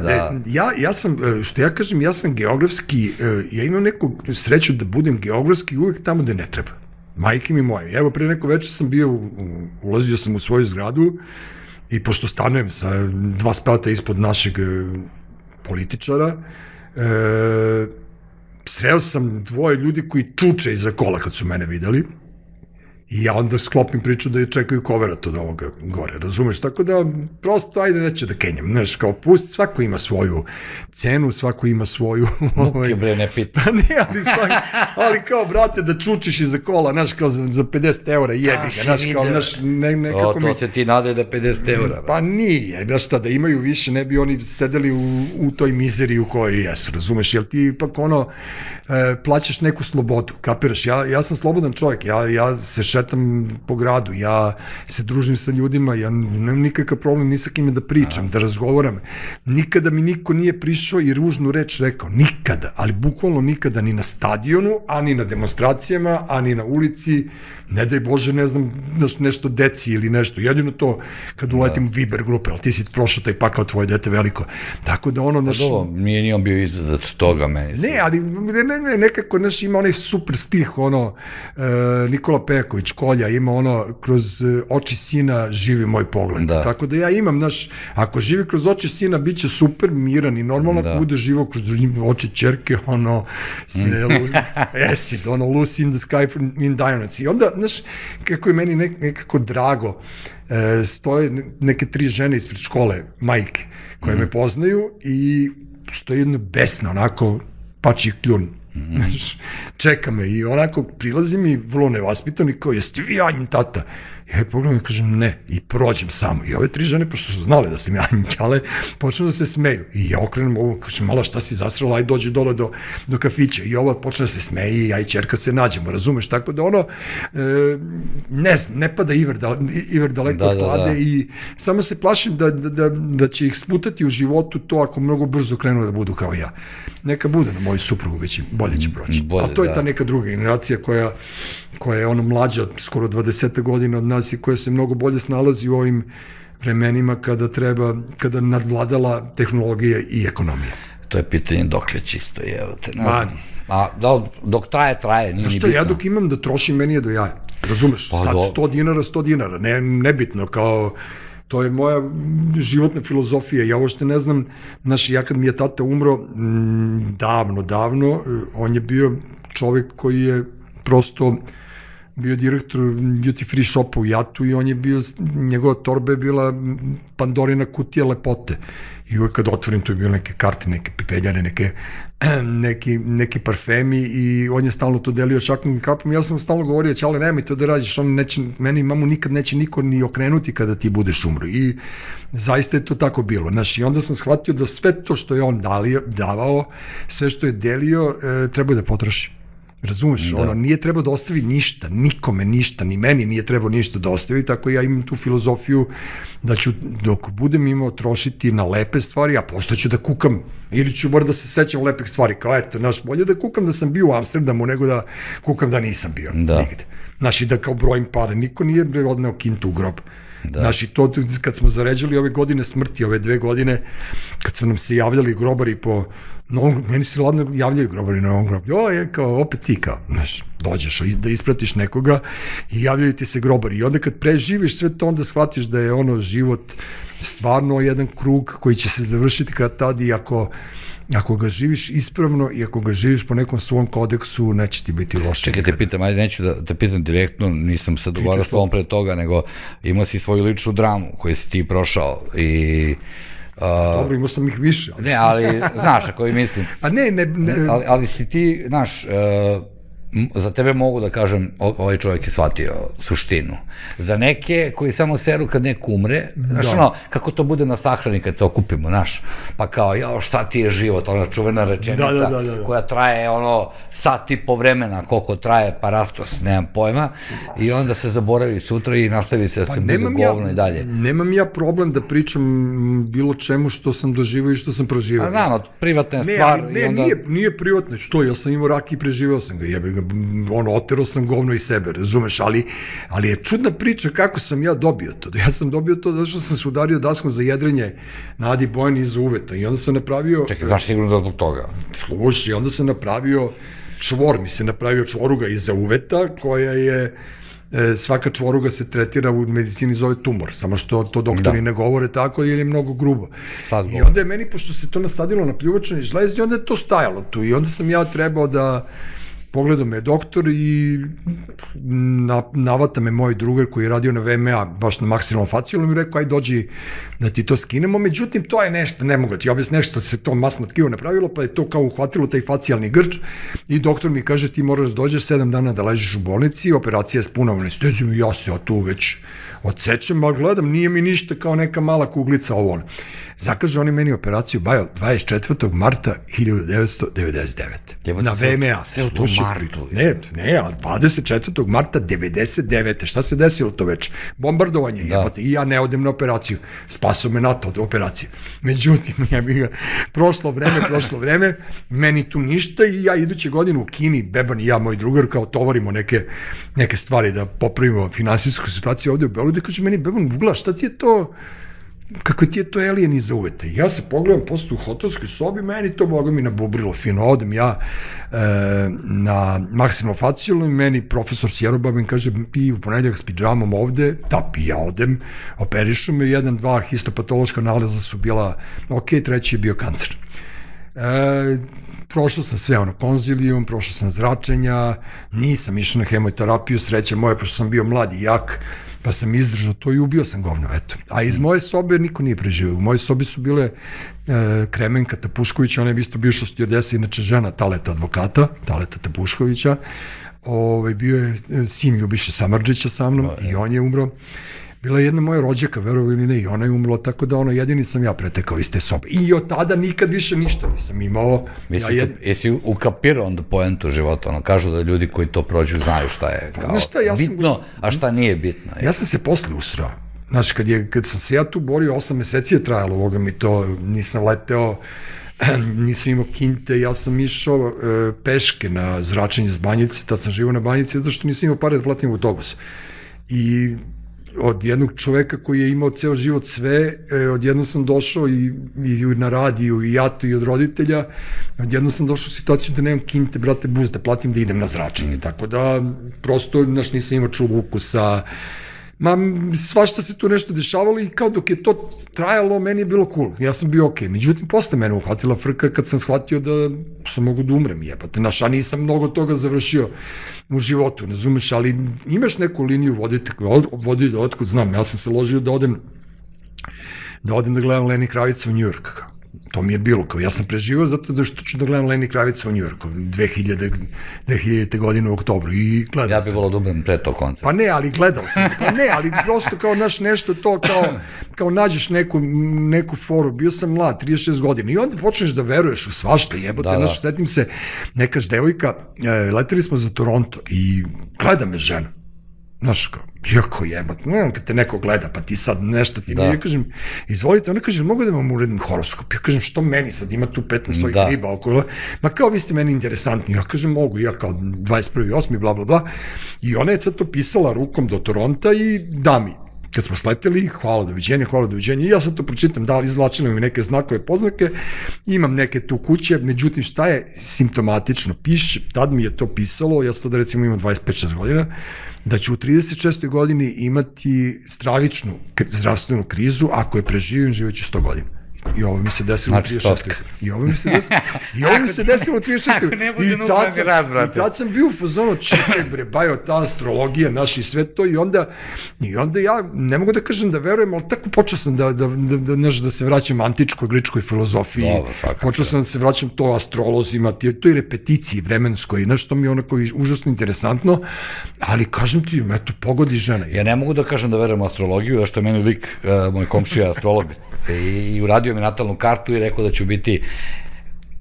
ja sam, što ja kažem, ja sam geografski, ja imam neku sreću da budem geografski uvek tamo gde ne treba. Majke mi moje. Evo, pre neko večer sam bio, ulazio sam u svoju zgradu i pošto stanujem sa 2 sprata ispod našeg političara, sreo sam 2 ljudi koji čuče iza kola kad su mene videli i ja onda sklopim priču da je čekaju koverat od ovoga gore, razumeš? Tako da, prosto, ajde, neću da kenjam, znaš, kao pusti, svako ima svoju cenu, svako ima svoju... Muke, bre, ne pita. Pa ne, ali kao, brate, da čučiš iza kola, znaš, kao za 50 eura jebi ga, znaš, kao, znaš, nekako mi... To se ti nade da 50 eura. Pa nije, znaš šta, da imaju više, ne bi oni sedeli u toj mizeriji u kojoj jesu, razumeš, jer ti ipak plaćaš neku slobodu, kapiraš, ja sam slobodan čovjek, ja se šetam po gradu, ja se družim sa ljudima, ja nemam nikakav problem ni sa kime da pričam, da razgovaram. Nikada mi niko nije prišao i ružnu reč rekao, nikada, ali bukvalno nikada, ni na stadionu, ani na demonstracijama, ani na ulici, ne daj Bože, ne znam, nešto deci ili nešto, jedino to kad uletim u Viber grupe, ali ti si prošao taj pakao, tvoje dete veliko. Tako da nije ni on bio izazad toga meni. Ne, ali nekako ima onaj super stih, Nikola Pejaković, Kolja, ima kroz oči sina živi moj pogled. Tako da ja imam, ako živi kroz oči sina, bit će super, miran i normalno, ako bude živo kroz oči ćerke, sine, acid, Lucy in the sky in diamonds. I onda, kako je meni nekako drago, stoje neke 3 žene ispred škole, majke, koje me poznaju i stoje jedna besna, onako, pači kljun. Čeka me i onako prilazi mi vrlo nevaspitan i kao, jeste vi Anjin tata? Ja pogledam i kažem ne, i prođem samo. I ove 3 žene, pošto su znale da sam ja Anjin ćale, počnu da se smeju. I ja okrenem ovo, kažem, mala, šta si zasrala, aj dođi dole do kafića. I ova počne da se smeji i ja i ćerka se nađemo, razumeš? Tako da ne pada iver daleko od klade i samo se plašim da će ih sputati u životu to ako mnogo brzo krenu da budu kao ja. Neka bude na moju suprugu, već bolje će proći. A to je ta neka druga generacija koja je mlađa, skoro 20 godina od nas i koja se mnogo bolje snalazi u ovim vremenima kada nadvladala tehnologija i ekonomija. To je pitanje dokle čisto, evo te. Dok traje, nije ni bitno. Ja dok imam da trošim, meni je do jaja. Razumeš, sad 100 dinara, nebitno, kao... To je moja životna filozofija. Ja uopšte ne znam, ja kad mi je tata umro, davno, on je bio čovjek koji je prosto bio direktor duty free shopa u Jatu i on je bio, njegova torba je bila Pandorina kutija lepote. I uvek kad otvorim, tu je bilo neke karte, neke pipeljane, neki parfemi i on je stalno to delio šakom i kapom. Ja sam stalno govorio, Ćale, nemoj to da radiš, meni mamu nikad neće niko ni okrenuti kada ti budeš umro. I zaista je to tako bilo. I onda sam shvatio da sve to što je on davao, sve što je delio, treba da potroši. Razumeš, ono, nije trebao da ostavi ništa, nikome ništa, ni meni nije trebao ništa da ostavi, tako ja imam tu filozofiju da ću, dok budem imao trošiti na lepe stvari, a posle ću da kukam, ili ću bar da se sećam lepih stvari, kao eto, znaš, bolje da kukam da sam bio u Amsterdamu, nego da kukam da nisam bio nigde. Znaš, i da kao brojim pare, niko nije odneo kintu u grob. Znaš, i to kad smo zaređali ove godine smrti, ove 2 godine, kad su nam se javljali grobari po novom, meni se ladno javljaju grobari na ovom grobu, kao, opet ti kao, znaš, dođeš da ispratiš nekoga i javljaju ti se grobari i onda kad preživiš sve to, onda shvatiš da je ono život stvarno jedan krug koji će se završiti kad tad i ako ga živiš ispravno i ako ga živiš po nekom svom kodeksu, neće ti biti loše. Čekaj, te pitam, ajde, neću da te pitam direktno, nisam se dogovarao s tobom pre toga, nego imao si svoju ličnu dramu koju si ti prošao i... Dobro, imao sam ih više. Ne, ali, znaš, ako i mislim... A ne. Ali si ti, znaš, za tebe mogu da kažem, ovaj čovjek je shvatio suštinu. Za neke koji samo seru kad neko umre, znaš ono, kako to bude na sahrani kad se okupimo, znaš, pa kao, jao, šta ti je život, ona čuvena rečenica koja traje, ono, sat i po vremena, koliko traje parastos, nemam pojma, i onda se zaboravi sutra i nastavi se da se bude govno i dalje. Nemam ja problem da pričam bilo čemu što sam doživao i što sam proživao. A privatna je stvar. Ne, nije privatno, što, ja sam imao rak i preživao sam ga, jebe ga, otero sam govno iz sebe, razumeš, ali je čudna priča kako sam ja dobio to. Ja sam dobio to zato što sam se udario daskom za jedrenje na Adi Bojani iza uveta i onda sam napravio... Čekaj, znaš sigurno da zbog toga? Slušaj, i onda sam napravio čvoruga iza uveta koja je... Svaka čvoruga se tretira u medicini zove tumor, samo što to doktori ne govore tako ili je mnogo grubo. I onda je meni, pošto se to nasadilo na pljuvačani žlez, i onda je to stajalo tu i onda sam ja trebao da pogledao me doktor i navata me moj drugar koji je radio na VMA, baš na maksimalnom facijalnom i rekao, aj dođi da ti to skinemo, međutim to je nešto, ne mogu ti objasniti, nešto se to masno tkivo napravilo, pa je to kao uhvatilo taj facijalni grč i doktor mi kaže ti moraš da dođeš 7 dana da ležiš u bolnici, operacija je s punom anestezijom i ja se tu već odsečem, ali gledam, nije mi ništa kao neka mala kuglica ovo. Zakaže oni meni operaciju, Bajo, 24. marta 1999. Na VMA. Sve u tom martu. Ne, ali 24. marta 99. Šta se desilo to već? Bombardovanje, jebate, i ja ne odem na operaciju. Spasao me NATO od operacije. Međutim, prošlo vreme, meni tu ništa i ja iduće godine u Kini, Beban i ja, moj drugar, kao tovarimo neke stvari da popravimo finansijsku situaciju ovde u Beogradu i kaže meni, Beban, Vugla, šta ti je to? Kako ti je to alien iza uveta? Ja se pogledam posle u hotelskoj sobi, meni to boga mi nabubrilo fino, odem ja na maksimalno-facijalno i meni profesor Sjerobabin kaže, pi u ponedljak s pidžamom ovde, ja odem, operišu me, 1-2 histopatološka nalaza su bila ok, 3. je bio kancer. Prošao sam sve konzilijum, prošao sam zračenja, nisam išao na hemoterapiju, sreća moja, pošto sam bio mlad i jak, pa sam izdržao to i ubio sam govno, eto. A iz moje sobe niko nije preživio. U moje sobi su bile Kremenka Tapušković, ona je isto bivša stjordesa, inače žena Taleta advokata, Taleta Tapuškovića, bio je sin Ljubiše Samardžića sa mnom i on je umro. Bila je jedna moja rođaka, verovo ili ne, i ona je umrla, tako da jedini sam ja pretekao iz te sobe. I od tada nikad više ništa nisam imao. Jesi ukapirao onda poentu života? Kažu da ljudi koji to prođu znaju šta je bitno, a šta nije bitno. Ja sam se posle usrao. Znaš, kad sam se ja tu borio, 8 meseci je trajalo ovoga mi to, nisam leteo, nisam imao kinte, ja sam išao peške na zračenje s Banjice, tad sam živao na Banjici, zato što nisam imao pare da platim autobus. I od jednog čoveka koji je imao ceo život sve, odjednom sam došao i na radiju i jato i od roditelja, odjednom sam došao u situaciju da nemam kinte, brate, bus, da platim da idem na zračenje, tako da prosto, nisam imao čuvu ukusa, svašta se tu nešto dešavalo i kao dok je to trajalo, meni je bilo cool, ja sam bio okej. Međutim, posle mene uhvatila frka kad sam shvatio da sam mogu da umrem, jebate, a nisam mnogo toga završio u životu, ne razumeš, ali imaš neku liniju voditi otkud znam, ja sam se ložio da odem da gledam Leni Kravica u New York, To mi je bilo, kao ja sam preživao zato što ću da gledam Lenny Kravica u Njujorku 2000. godine u oktobru i gledao sam. Ja bih volao da umrem pre tog koncerta. Pa ne, ali gledao sam. Pa ne, ali prosto kao nešto to, kao nađeš neku foru. Bio sam mlad, 36 godina i onda počneš da veruješ u svašta, jebote. Znaš, setim se, nekaš devojka, leteli smo za Toronto i gleda me žena. Znaš, kao, jako jebat, ne znam kad te neko gleda, pa ti sad nešto ti ja kažem, izvolite, ona kaže, mogu da vam uredim horoskop? Ja kažem, što meni sad, ima tu 15 svojih riba okolo, ma kao vi ste meni interesantni, ja kažem, mogu, ja kao 21.8. bla bla bla, i ona je sad to pisala rukom do Toronta i da mi, kad smo sleteli, hvala doviđenja, i ja sad to pročitam, da li izvlačila mi neke znakove, poznake, imam neke tu kuće, međutim šta je simptomatično, piše, tad mi je to pisalo, ja sad recimo imam 25-6 godina, da ću u 36. godini imati stravičnu zdravstvenu krizu, ako je preživim, živeću 100 godina. I ovo mi se desilo u 36. I ovo mi se desilo u 36. I tad sam bio u fazonu, čekaj bre, bajo, ta astrologija, naši sve to, i onda ja, ne mogu da kažem da verujem, ali tako počeo sam da se vraćam antičkoj, gričkoj filozofiji, počeo sam da se vraćam to astrolozima, toj repeticiji vremenskoj, nešto mi je onako užasno interesantno, ali kažem ti, eto, pogodi žena. Ja ne mogu da kažem da verujem u astrologiju, da što je meni lik, moj komšija astrolog, i uradio mi natalnu kartu i rekao da ću biti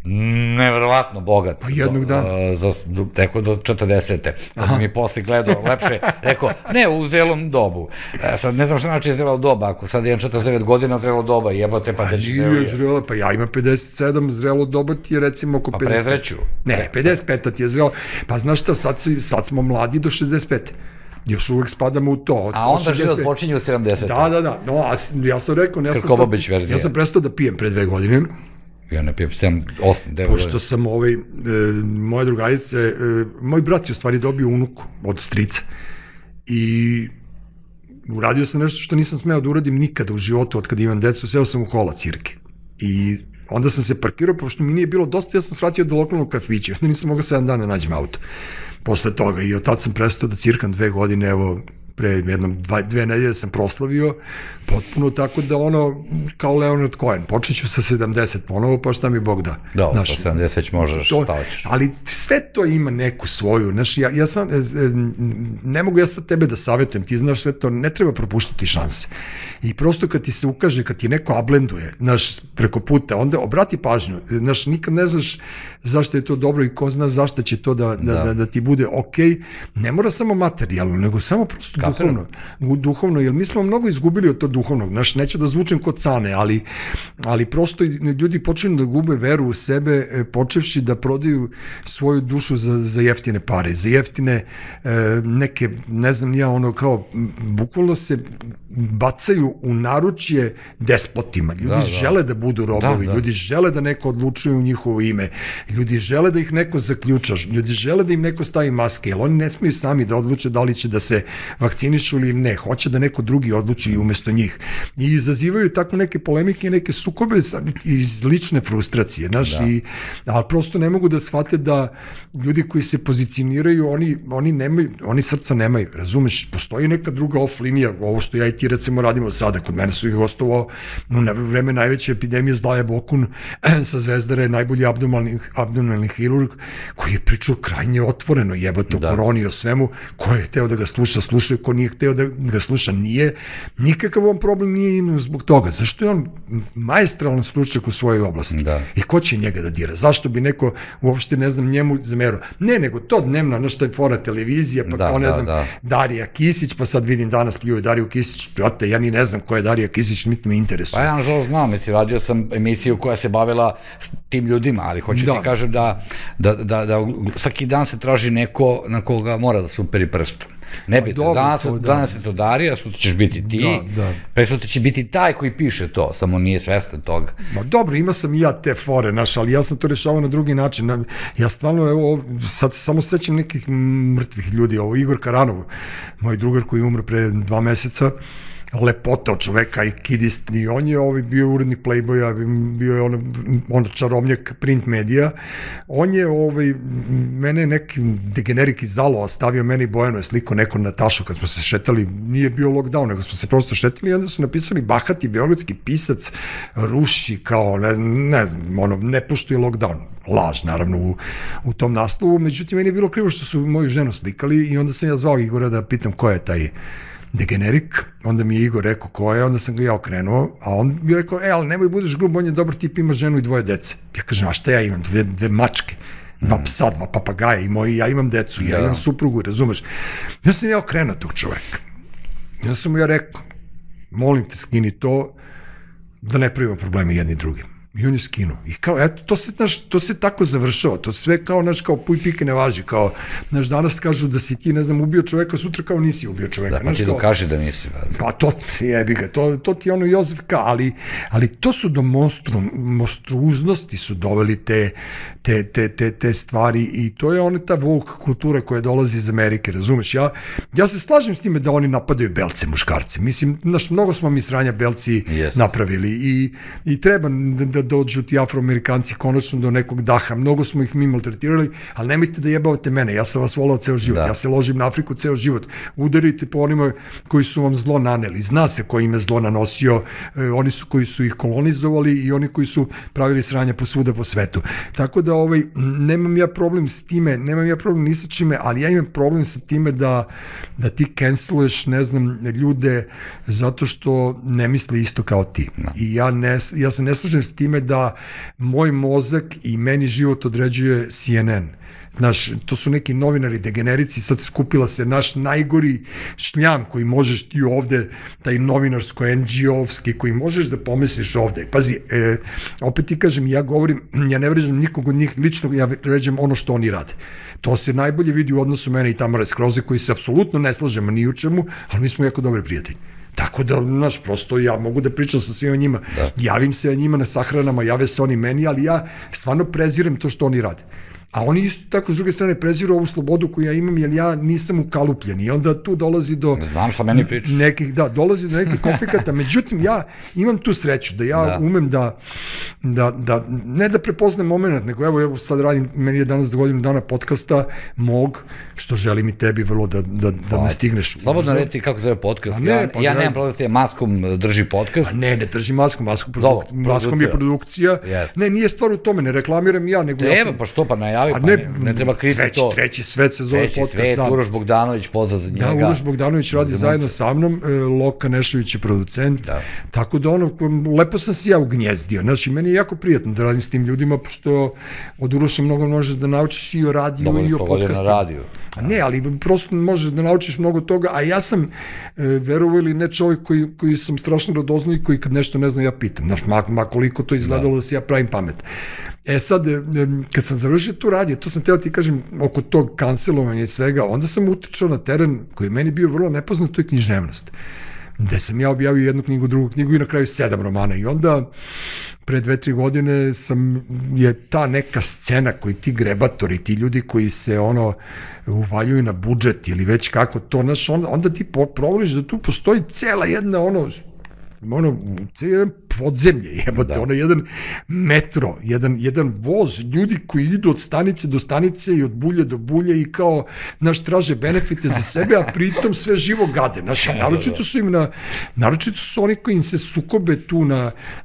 neverovatno bogat. Pa jednog dana. Rekao do 40. Da mi posle gledao lepše, rekao, ne, u zelom dobu. Sad ne znam šta znači zelo doba, ako sad imam 49 godina zrelo doba, jebote, pa da će zrelo. Pa ja imam 57, zrelo doba ti je recimo oko 50. Pa prezreću. Ne, 55 ti je zrelo. Pa znaš šta, sad smo mladi do 65. Još uvek spadamo u to. A onda život počinje u 70. Da. No, a ja sam rekao, ja sam prestao da pijem pre 2 godine. Ja ne pijem 7, 8, 9 godina. Pošto sam moje drugarice, moj brat je u stvari dobio unuku od strica. I uradio sam nešto što nisam smeo da uradim nikada u životu od kada imam decu, seo sam u kola cirke. I onda sam se parkirao, pošto mi nije bilo dosta, ja sam svratio do lokalnog kafića. Onda nisam mogao 7 dana nađem auto. Posle toga, i od tad sam prestao da cirkam 2 godine, evo, pre jednom 2 nedelje sam proslavio, potpuno tako da ono, kao Leonard Cohen, počet ću sa 70 ponovo, pa šta mi Bog da. Da, sa 70 možeš, šta hoćeš. Ali sve to ima neku svoju, znaš, ja sam, ne mogu ja sad tebe da savjetujem, ti znaš sve to, ne treba propuštati šanse. I prosto kad ti se ukaže, kad ti neko ablenduje, znaš, preko puta, onda obrati pažnju, znaš, nikad ne znaš zašto je to dobro i ko zna zašto će to da ti bude okej, ne mora samo materijalno, nego samo prosto duhovno, jer mi smo mnogo izgubili od tog duhovnog, znaš, neću da zvučem kod Cane, ali prosto ljudi počinju da gube veru u sebe, počevši da prodaju svoju dušu za jeftine pare, za jeftine neke, ne znam ja, ono kao, bukvalno se bacaju u naručje despotima, ljudi žele da budu robovi, ljudi žele da neko odlučuje u njihovo ime, ljudi žele da ih neko zaključa, ljudi žele da im neko stavi maske, jer oni ne smiju sami da odluče da li će da se vakcinišu ili ne, hoće da neko drugi odluči umesto njih. I izazivaju tako neke polemike, neke sukobe iz lične frustracije, znaš, ali prosto ne mogu da shvate da ljudi koji se pozicioniraju, oni srca nemaju, razumeš, postoji neka druga off linija, ovo što ja i ti recimo radimo sada, kod mene su ih gostovao na vreme najveće epidemije Zlaja Bokun sa Zvezdare, najbolji abdominalni hirurg, koji je pričao krajnje otvoreno, jebate o koroni, o svemu, ko je hteo da ga slušaju, ko nije hteo da ga sluša, nije, nikakav on problem nije imao zbog toga, zašto je on maestralan stručnjak u svojoj oblasti i ko će njega da dira, zašto bi neko uopšte, ne znam, njemu zamerao, ne, nego to dnevna, nešto je fora televizija, pa kao, ne znam, Darija Kisić, pa sad vidim danas pljuju Dariju Kisić, brate, ja ni ne znam ko je Darija Kisić, niti me interesuje. Pa ja nažalost znam, mislim, radio sam emisiju koja se bavila tim ljudima, ali hoću ti kažem da svaki dan se traži neko na koga mora da se uperi prstom. Nebitno, danas je to Darija, sutra ćeš biti ti, presutra će biti taj koji piše to, samo nije svestan toga. Ma dobro, imao sam i ja te fore, znaš, ali ja sam to rešavao na drugi način. Ja stvarno, evo, sad samo sećam nekih mrtvih ljudi, ovo Igor Karanov, moj drugar koji je umro pre 2 meseca, lepota od čoveka i kidist. I on je bio urednik Playboya, bio je on čarobnjak print medija. On je mene neki degenerik iz Zalo stavio meni Bojano je sliko neko Natašu kad smo se šetali, nije bio lockdown, nego smo se prosto šetali i onda su napisali bahati beogradski pisac ruši kao, ne znam, ne poštuje lockdown. Laž, naravno, u tom naslovu. Međutim, meni je bilo krivo što su moju ženu slikali i onda sam ja zvao Igora da pitam ko je taj degenerik, onda mi je Igor rekao ko je, onda sam ga ja okrenuo, a on mi je rekao, ali nemoj budeš grub, on je dobar tip, ima ženu i 2 dece. Ja kažem, a šta ja imam? Dve mačke, 2 psa, 2 papagaja i ja imam decu, ja imam suprugu, razumeš? Ja sam ja okrenuo tog čoveka. Ja sam mu ja rekao, molim te, skini to, da ne pravimo probleme jedni drugim. I on je skinuo. I kao, eto, to se tako završava. To sve kao, kao puj pike ne važi. Kao, danas kažu da si ti, ne znam, ubio čoveka, sutra kao nisi ubio čoveka. Da, pa ti dokaži da nisi. Pa to, jebi ga, to ti je ono Jozef K. Ali to su do monstruoznosti su doveli te stvari i to je ona ta woke kultura koja dolazi iz Amerike, razumeš? Ja se slažem s time da oni napadaju belce, muškarce. Mislim, mnogo smo mi sranja belci napravili i treba da dođu ti afroamerikanci konačno do nekog daha. Mnogo smo ih mi maltretirali, ali nemojte da jebavate mene. Ja sam vas volao ceo život. Ja se ložim na Afriku ceo život. Udarite po onima koji su vam zlo naneli. Zna se ko im je zlo nanosio. Oni su koji su ih kolonizovali i oni koji su pravili sranja posvuda po svetu. Tako da nemam ja problem s time, nemam ja problem ni sa čime, ali ja imam problem sa time da ti canceluješ, ne znam, ljude zato što ne misle isto kao ti. I ja se ne slažem s time da moj mozak i meni život određuje CNN. Znaš, to su neki novinari, degenerici, sad skupila se naš najgori šljam koji možeš ti ovde, taj novinarsko, NGO-ovski, koji možeš da pomisliš ovde. Pazi, opet ti kažem, ja govorim, ja ne vređam nikog od njih lično, ja vređam ono što oni rade. To se najbolje vidi u odnosu mene i Tamare Skroze, koji se apsolutno ne slažemo ni u čemu, ali mi smo jako dobri prijatelji. Tako da, znaš, prosto ja mogu da pričam sa svima njima, javim se njima na sahranama, jave se oni meni, ali ja stvarno prezirem to što oni rade. A oni isto tako, s druge strane, preziru ovu slobodu koju ja imam, jer ja nisam ukalupljen i onda tu dolazi do... Znam šta meni pričaš. Dolazi do nekih konflikata, međutim, ja imam tu sreću da ja umem da ne da prepoznam moment, nego evo sad radim, meni je danas za godinu dana podcasta mog, što želim i tebi vrlo da ne stigneš. Slobodno reci kako se zove podcast. Ja nemam problem s tim, Maskom drži podcast. Ne drži Maskom je produkcija. Ne, nije stvar u tome, ne reklamiram ja, nego ja sam... Pa što, pa najavi, ne treba kriti to. Treći svet se zove podcast. Treći svet, Uroš Bogdanović, pozdrav za njega. Da, Uroš Bogdanović radi zajedno sa mnom, Loka Nešović je producent, tako da lepo sam se ja ugnjezdio, znaš, i meni je jako prijatno da radim s tim ljudima, pošto od Uroša mnogo možeš da naučiš i o radiju i o podcastima. Ne, ali prosto možeš da naučiš mnogo toga, a ja sam, verovo ili ne, čovjek koji sam strašno radoznao i koji kad nešto ne znam ja pitam, znaš, ma koliko to izgledalo da se ja pravim pamet. Sad, kad sam završio tu radio, to sam teo ti kažem oko tog kancelovanja i svega, onda sam utrčao na teren koji je meni bio vrlo nepoznat, to je književnost. Gde sam ja objavio jednu knjigu, drugu knjigu i na kraju 7 romana. I onda, pre 2-3 godine, je ta neka scena koji ti grebatori, ti ljudi koji se uvaljuju na budžet ili već kako to, znaš, onda ti provoliš da tu postoji cela jedna jedan podzemlje, jedan metro, jedan voz, ljudi koji idu od stanice do stanice i od bulje do bulje i kao, znaš, traže benefite za sebe, a pritom sve živo gade. Znaš, naročito su oni koji im se sukobe tu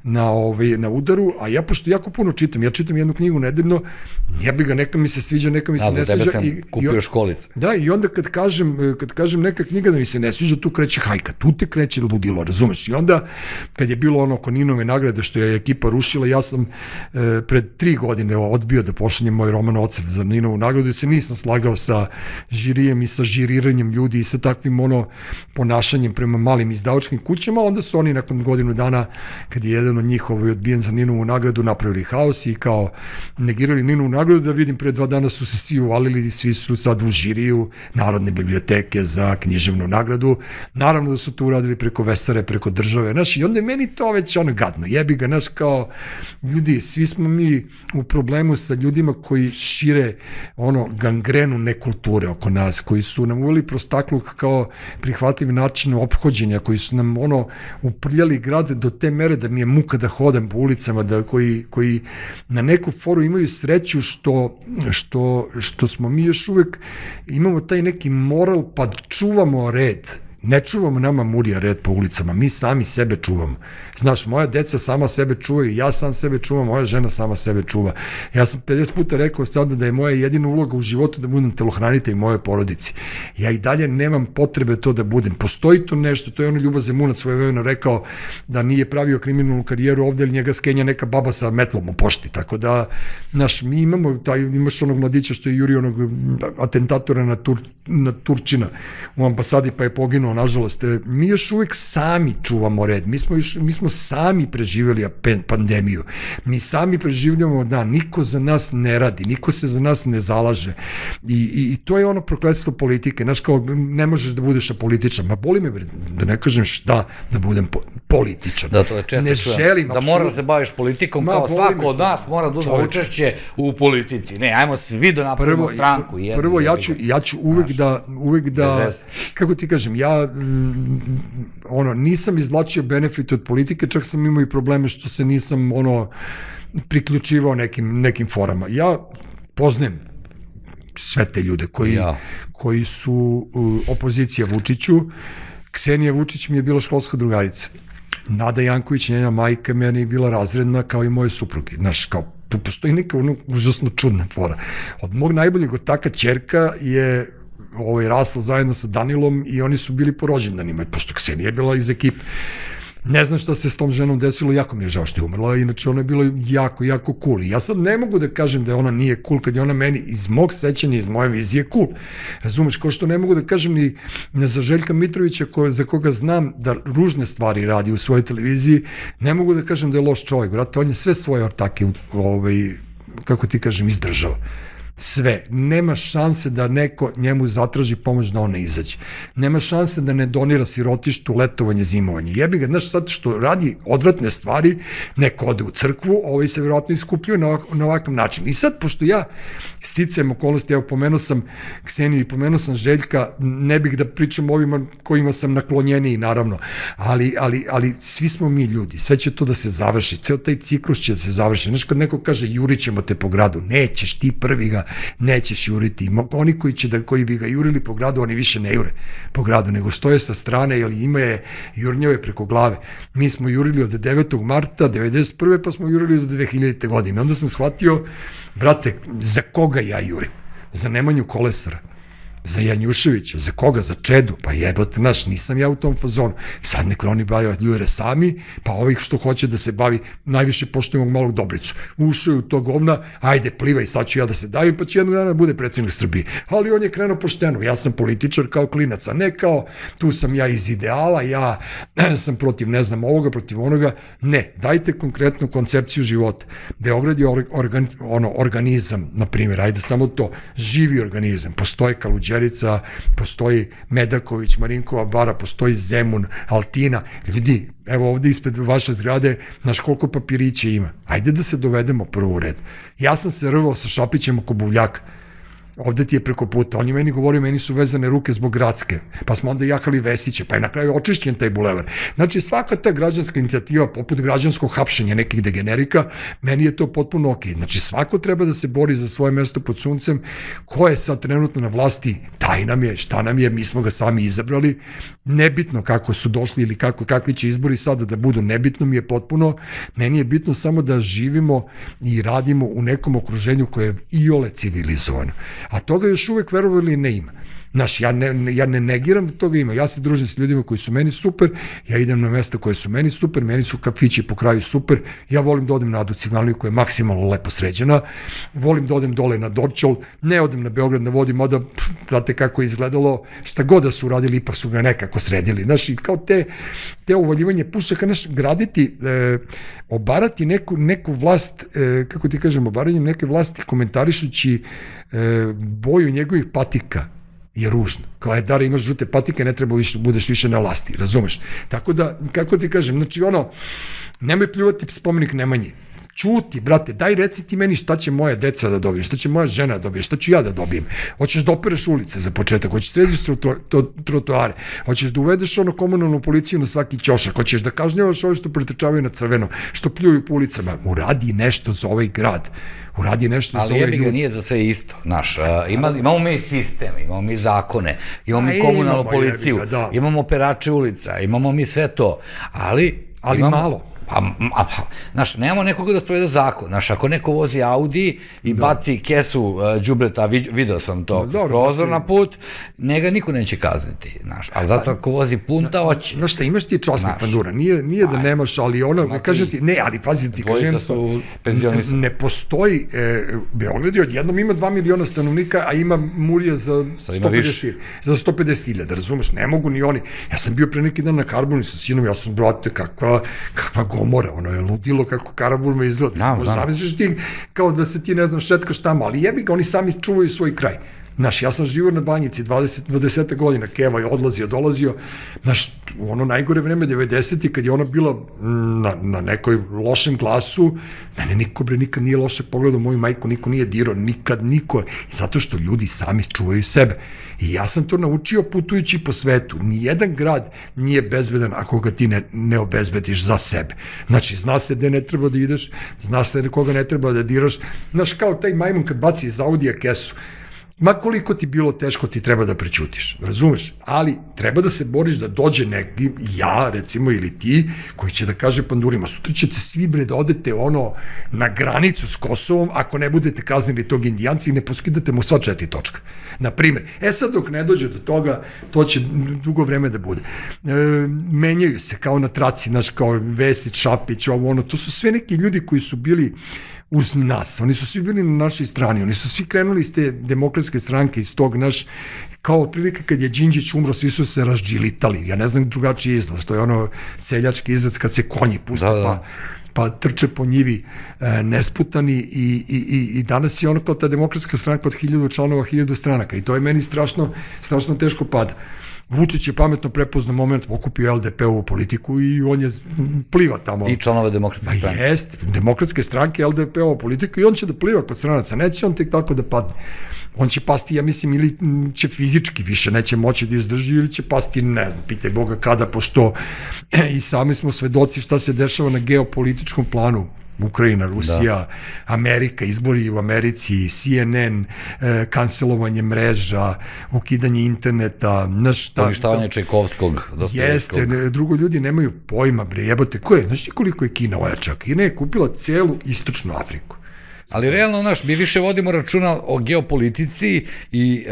na udaru, a ja, pošto jako puno čitam, ja čitam jednu knjigu nedeljno, ja bi ga, neka mi se sviđa, neka mi se ne sviđa. Tebe sam kupio školicu. Da, i onda kad kažem neka knjiga da mi se ne sviđa, tu kreće hajka, tu te kreće ludilo, razumeš? I onda, kad je bilo ono Koninove nagrade što je ekipa rušila, ja sam pred 3 godine odbio da pošaljem moj roman Ocev za Ninovu nagradu, jer se nisam slagao sa žirijem i sa žiriranjem ljudi i sa takvim ponašanjem prema malim izdavačkim kućama. Onda su oni nakon godinu dana, kad je jedan od njih odbijen za Ninovu nagradu, napravili haos i kao negirali Ninovu nagradu, da vidim pre 2 dana su se svi uvalili i svi su sad u žiriju Narodne biblioteke za književnu nagradu. Naravno da su to uradili preko Vesare, preko države. Znaš, i onda je meni to već ono gadno, jebi ga, naš kao ljudi, svi smo mi u problemu sa ljudima koji šire ono gangrenu nekulture oko nas, koji su nam uveli prostakluk kao prihvatljiv način ophođenja, koji su nam ono uprljali grade do te mere da mi je muka da hodam po ulicama, da koji na neku foru imaju sreću što smo mi još uvek imamo taj neki moral pa čuvamo red. Ne čuvamo nama Murija red po ulicama, mi sami sebe čuvamo. Znaš, moja deca sama sebe čuvaju, ja sam sebe čuvam, moja žena sama sebe čuva. Ja sam 50 puta rekao sada da je moja jedina uloga u životu da budem telohranitelj moje porodici. Ja i dalje nemam potrebe to da budem. Postoji to nešto, to je ono Ljubo Zemunac svojevremeno rekao da nije pravio kriminalnu karijeru ovde, ali njega skenja neka baba sa metlom u pošti. Tako da, znaš, mi imamo, imaš onog mladića što je jurio onog atentatora na Turčina u ambasadi pa je poginuo, nažalost. Mi još uvek sami čuvamo red. Mi smo sami preživjeli pandemiju. Mi sami preživljamo, da, niko za nas ne radi, niko se za nas ne zalaže. I to je ono prokletstvo politike. Znaš, kao, ne možeš da budeš apolitičan. Ma boli me, da ne kažem šta, da budem političan. Da, to je često čujem. Da moraš da se baviš politikom, kao svako od nas mora da uzme učešće u politici. Ne, ajmo svi da napravimo stranku. Prvo, ja ću uvek da, kako ti kažem, ja nisam izvlačio benefit od politike, čak sam imao i probleme što se nisam priključivao nekim forama. Ja poznajem sve te ljude koji su opozicija Vučiću. Ksenija Vučić mi je bila školska drugarica. Nada Janković, njena majka, meni je bila razredna kao i moje supruge. Znaš, kao postoji neka užasno čudna fora. Od mog najboljeg otaka ćerka je rasla zajedno sa Danilom i oni su bili po rođendanima, pošto Ksenija je bila iz ekipe. Ne znam šta se s tom ženom desilo, jako mi je žao što je umrla, inače ona je bila jako, jako cool. I ja sad ne mogu da kažem da ona nije cool, kad je ona meni iz mog sećanja, iz moje vizije cool. Razumeš, kao što ne mogu da kažem ni za Željka Mitrovića, za koga znam da ružne stvari radi u svojoj televiziji, ne mogu da kažem da je loš čovjek, brate, on je sve svoje ortake, kako ti kažem, izdržao. Sve. Nema šanse da neko njemu zatraži pomoć da on ne izađe. Nema šanse da ne donira sirotištu, letovanje, zimovanje. Jebi ga, znaš, sad što radi odvratne stvari, neko ode u crkvu, se vjerojatno iskupljuje na ovakav način. I sad, pošto ja sticajem okolnosti, evo, pomenuo sam Kseniju i pomenuo sam Željka, ne bih da pričam o ovima kojima sam naklonjeniji, naravno, ali svi smo mi ljudi, sve će to da se završi, ceo taj ciklus će da se završi. Znaš, kad neko kaže, jurit ćemo te po gradu, nećeš, ti prvi ga nećeš juriti. Oni koji bi ga jurili po gradu, oni više ne jure po gradu, nego stoje sa strane, jer ima je jurnjave preko glave. Mi smo jurili od 9. marta 1991. pa smo jurili do 2000. godine. Onda sam shvatio, brate, za koga ja jurim? Za Nemanju Kolesara, za Janjuševića, za koga? Za Čedu, pa jebate, naš, nisam ja u tom fazonu. Sad neko oni bavaju ljure sami, pa ovih što hoće da se bavi, najviše poštujemo malog Dobricu. Ušao je u to govna, ajde, plivaj, sad ću ja da se davim, pa će jednog dana bude predsjednik Srbije. Ali on je krenuo pošteno, ja sam političar kao klinac, a ne kao, tu sam ja iz ideala, ja sam protiv, ne znam, ovoga, protiv onoga. Ne, dajte konkretnu koncepciju života. Beograd je organizam, na primjer, ajde samo to, živi organizam, postoje Kaluđerica, postoji Medaković, Marinkova bara, postoji Zemun, Altina. Ljudi, evo ovde ispred vaše zgrade, znaš koliko papirića ima. Ajde da se dovedemo prvo u red. Ja sam se rvao sa Šapićem oko Buvljaka. Ovde ti je preko puta. On je meni govorio, meni su vezane ruke zbog Gradske. Pa smo onda jahali Vesiće, pa je na kraju očišćen taj bulevar. Znači, svaka ta građanska inicijativa, poput građanskog hapšenja nekih degenerika, meni je to potpuno okej. Znači, svako treba da se bori za svoje mesto pod suncem. Ko je sad trenutno na vlasti, taj nam je, šta nam je, mi smo ga sami izabrali. Nebitno kako su došli ili kakvi će izbori sada da budu, nebitno mi je potpuno. Meni je bitno samo da živimo i radimo u nekom okruženju koje je iole civilizovano. A toga još uvek, verovali, ne ima. Znaš, ja ne negiram da toga ima. Ja se družim s ljudima koji su meni super, ja idem na mesta koje su meni super, meni su kafići po kraju super, ja volim da odem na Adu Ciganliju koja je maksimalno lepo sređena, volim da odem dole na Dorčol, ne odem na Beograd na vodi, mada, prate kako je izgledalo, šta god da su uradili, ipak su ga nekako sredili. Znaš, i kao te uvaljivanje pušaka, znaš, graditi, obarati neku vlast, kako ti kažem, obaranje neke vlasti komentarišući boju njegovih patika je ružno. Kao je, Dara, imaš žute patike, ne treba budeš više na vlasti, razumeš? Tako da, kako ti kažem, znači nemoj pljuvati spomenik Nemanji. Ćuti, brate, daj reci ti meni šta će moja deca da dobije, šta će moja žena da dobije, šta ću ja da dobijem. Hoćeš da opereš ulice za početak, hoćeš da središ trotoare, hoćeš da uvedeš komunalnu policiju na svaki ćošak, hoćeš da kažnjavaš ove što pretrčavaju na crveno, što pljuju po ulicama. Uradi nešto za ovaj grad. Uradi nešto za ovaj ljudi. Ali jebi ga, nije za sve isto, znaš. Imamo mi sistem, imamo mi zakone, imamo mi komunalnu policiju, imamo operače ulica, imamo mi sve to, ali malo. Znaš, nemamo nekoga da sprovede zakon. Znaš, ako neko vozi Audi i baci kesu đubreta, video sam to, prozor na put, njega niko neće kazniti, znaš. Ali zato ako vozi punta, hoće. Znaš šta, imaš ti časnik, Pandura, nije da nemaš, ali kažem ti, ne, ali pazi ti, kažem, ne postoji, Beograd je odjednom ima 2 miliona stanovnika, a ima Murija za 150.000, razumeš, ne mogu ni oni. Ja sam bio pre neki dan na Karbonu sa sinom, ja sam, brate, kakva gomora, ono je ludilo kako Karaburma me izgleda. Zamisliš ti kao da se ti, ne znam, šetkaš tamo, ali jebi ga, oni sami čuvaju svoj kraj. Znaš, ja sam živio na Banjici 20 godina, Keva je odlazio, dolazio, znaš, u ono najgore vreme 90. kad je ona bila na nekoj lošem glasu, mene niko nikad nije loše pogledao, moju majku niko nije dirao, nikad niko, zato što ljudi sami čuvaju sebe. I ja sam to naučio putujući po svetu. Nijedan grad nije bezbedan ako ga ti ne obezbediš za sebe. Znači, zna se gde ne treba da ideš, zna se koga ne treba da diraš. Znaš, kao taj majmun kad baci iz Audija kesu, ma koliko ti bilo teško, ti treba da prećutiš, razumeš? Ali treba da se boriš da dođe neki, ja recimo ili ti, koji će da kaže Pandurima, sutra ćete svi bre da odete na granicu s Kosovom ako ne budete kaznili tog Indijanca i ne poskidate mu sva 4 točka. Naprimer, sad dok ne dođe do toga, to će dugo vreme da bude. Menjaju se kao na traci, znaš, kao Vesić, Šapić, to su sve neki ljudi koji su bili uz nas, oni su svi bili na našoj strani, oni su svi krenuli iz te demokratske stranke, iz tog kao otprilike kad je Đinđić umro, svi su se razđilitali, ja ne znam drugačiji izlaz, to je seljački izlaz kad se konji puste, pa trče po njivi nesputani i danas je kao ta demokratska stranka od 1000 članova, 1000 stranaka i to je meni strašno teško pada. Vučić je pametno prepoznao moment, okupio LDP-ovu politiku i on je pliva tamo. I članove demokratske stranke. Jest, demokratske stranke, LDP-ova politika i on će da pliva kod stranaca, neće on tek tako da padne. On će pasti, ja mislim, ili će fizički više, neće moći da izdrži ili će pasti, ne znam, pitaj Boga kada, pošto i sami smo svedoci šta se dešava na geopolitičkom planu. Ukrajina, Rusija, Amerika, izbori u Americi, CNN, kancelovanje mreža, ukidanje interneta, poništavanje Čajkovskog, Dostojevskog. Jeste, drugo, ljudi nemaju pojma, bre, jebote, znaš ti koliko je Kina ojača? Kina je kupila celu istočnu Afriku. Ali realno, znaš, mi više vodimo računa o geopolitici i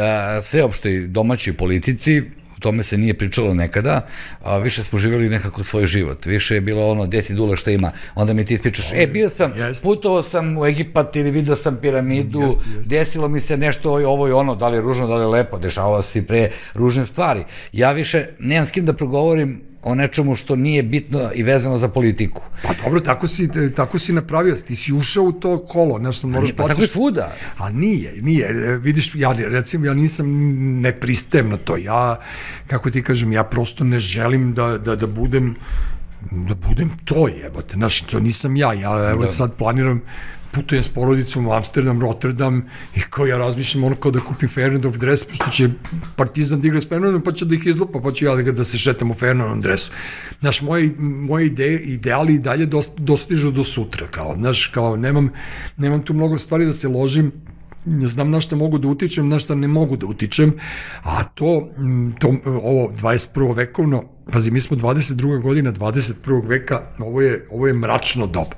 sveopštoj domaćoj politici, o tome se nije pričalo nekada, a više smo živjeli nekako svoj život. Više je bilo gde si Dule, šta ima, onda mi ti ispričaš, bio sam, putovao sam u Egipat ili vidio sam piramidu, desilo mi se nešto ovo i ono, da li je ružno, da li je lepo, dešavalo se pre ružne stvari. Ja više nemam s kim da progovorim o nečemu što nije bitno i vezano za politiku. Pa dobro, tako si napravio, ti si ušao u to kolo, nešto moraš platiš. Pa tako je svuda. A nije, vidiš, recimo, ja nisam, ne pristajem na to, ja, kako ti kažem, ja prosto ne želim da budem to, jebote, znaš, to nisam ja evo sad planiram, putujem s porodicom u Amsterdam, Rotterdam i kao ja razmišljam kao da kupim Feyenoordov dres, pošto će Partizan da igra s Feyenoordom, pa će da ih izlupa, pa ću ja da se šetam u Feyenoordovom dresu. Znaš, moje ideali i dalje dostižu do sutra, znaš, nemam tu mnogo stvari da se ložim, znam na šta mogu da utičem, na šta ne mogu da utičem, a ovo 21. vekovno, pazi, mi smo 22. godina 21. veka, ovo je mračno doba.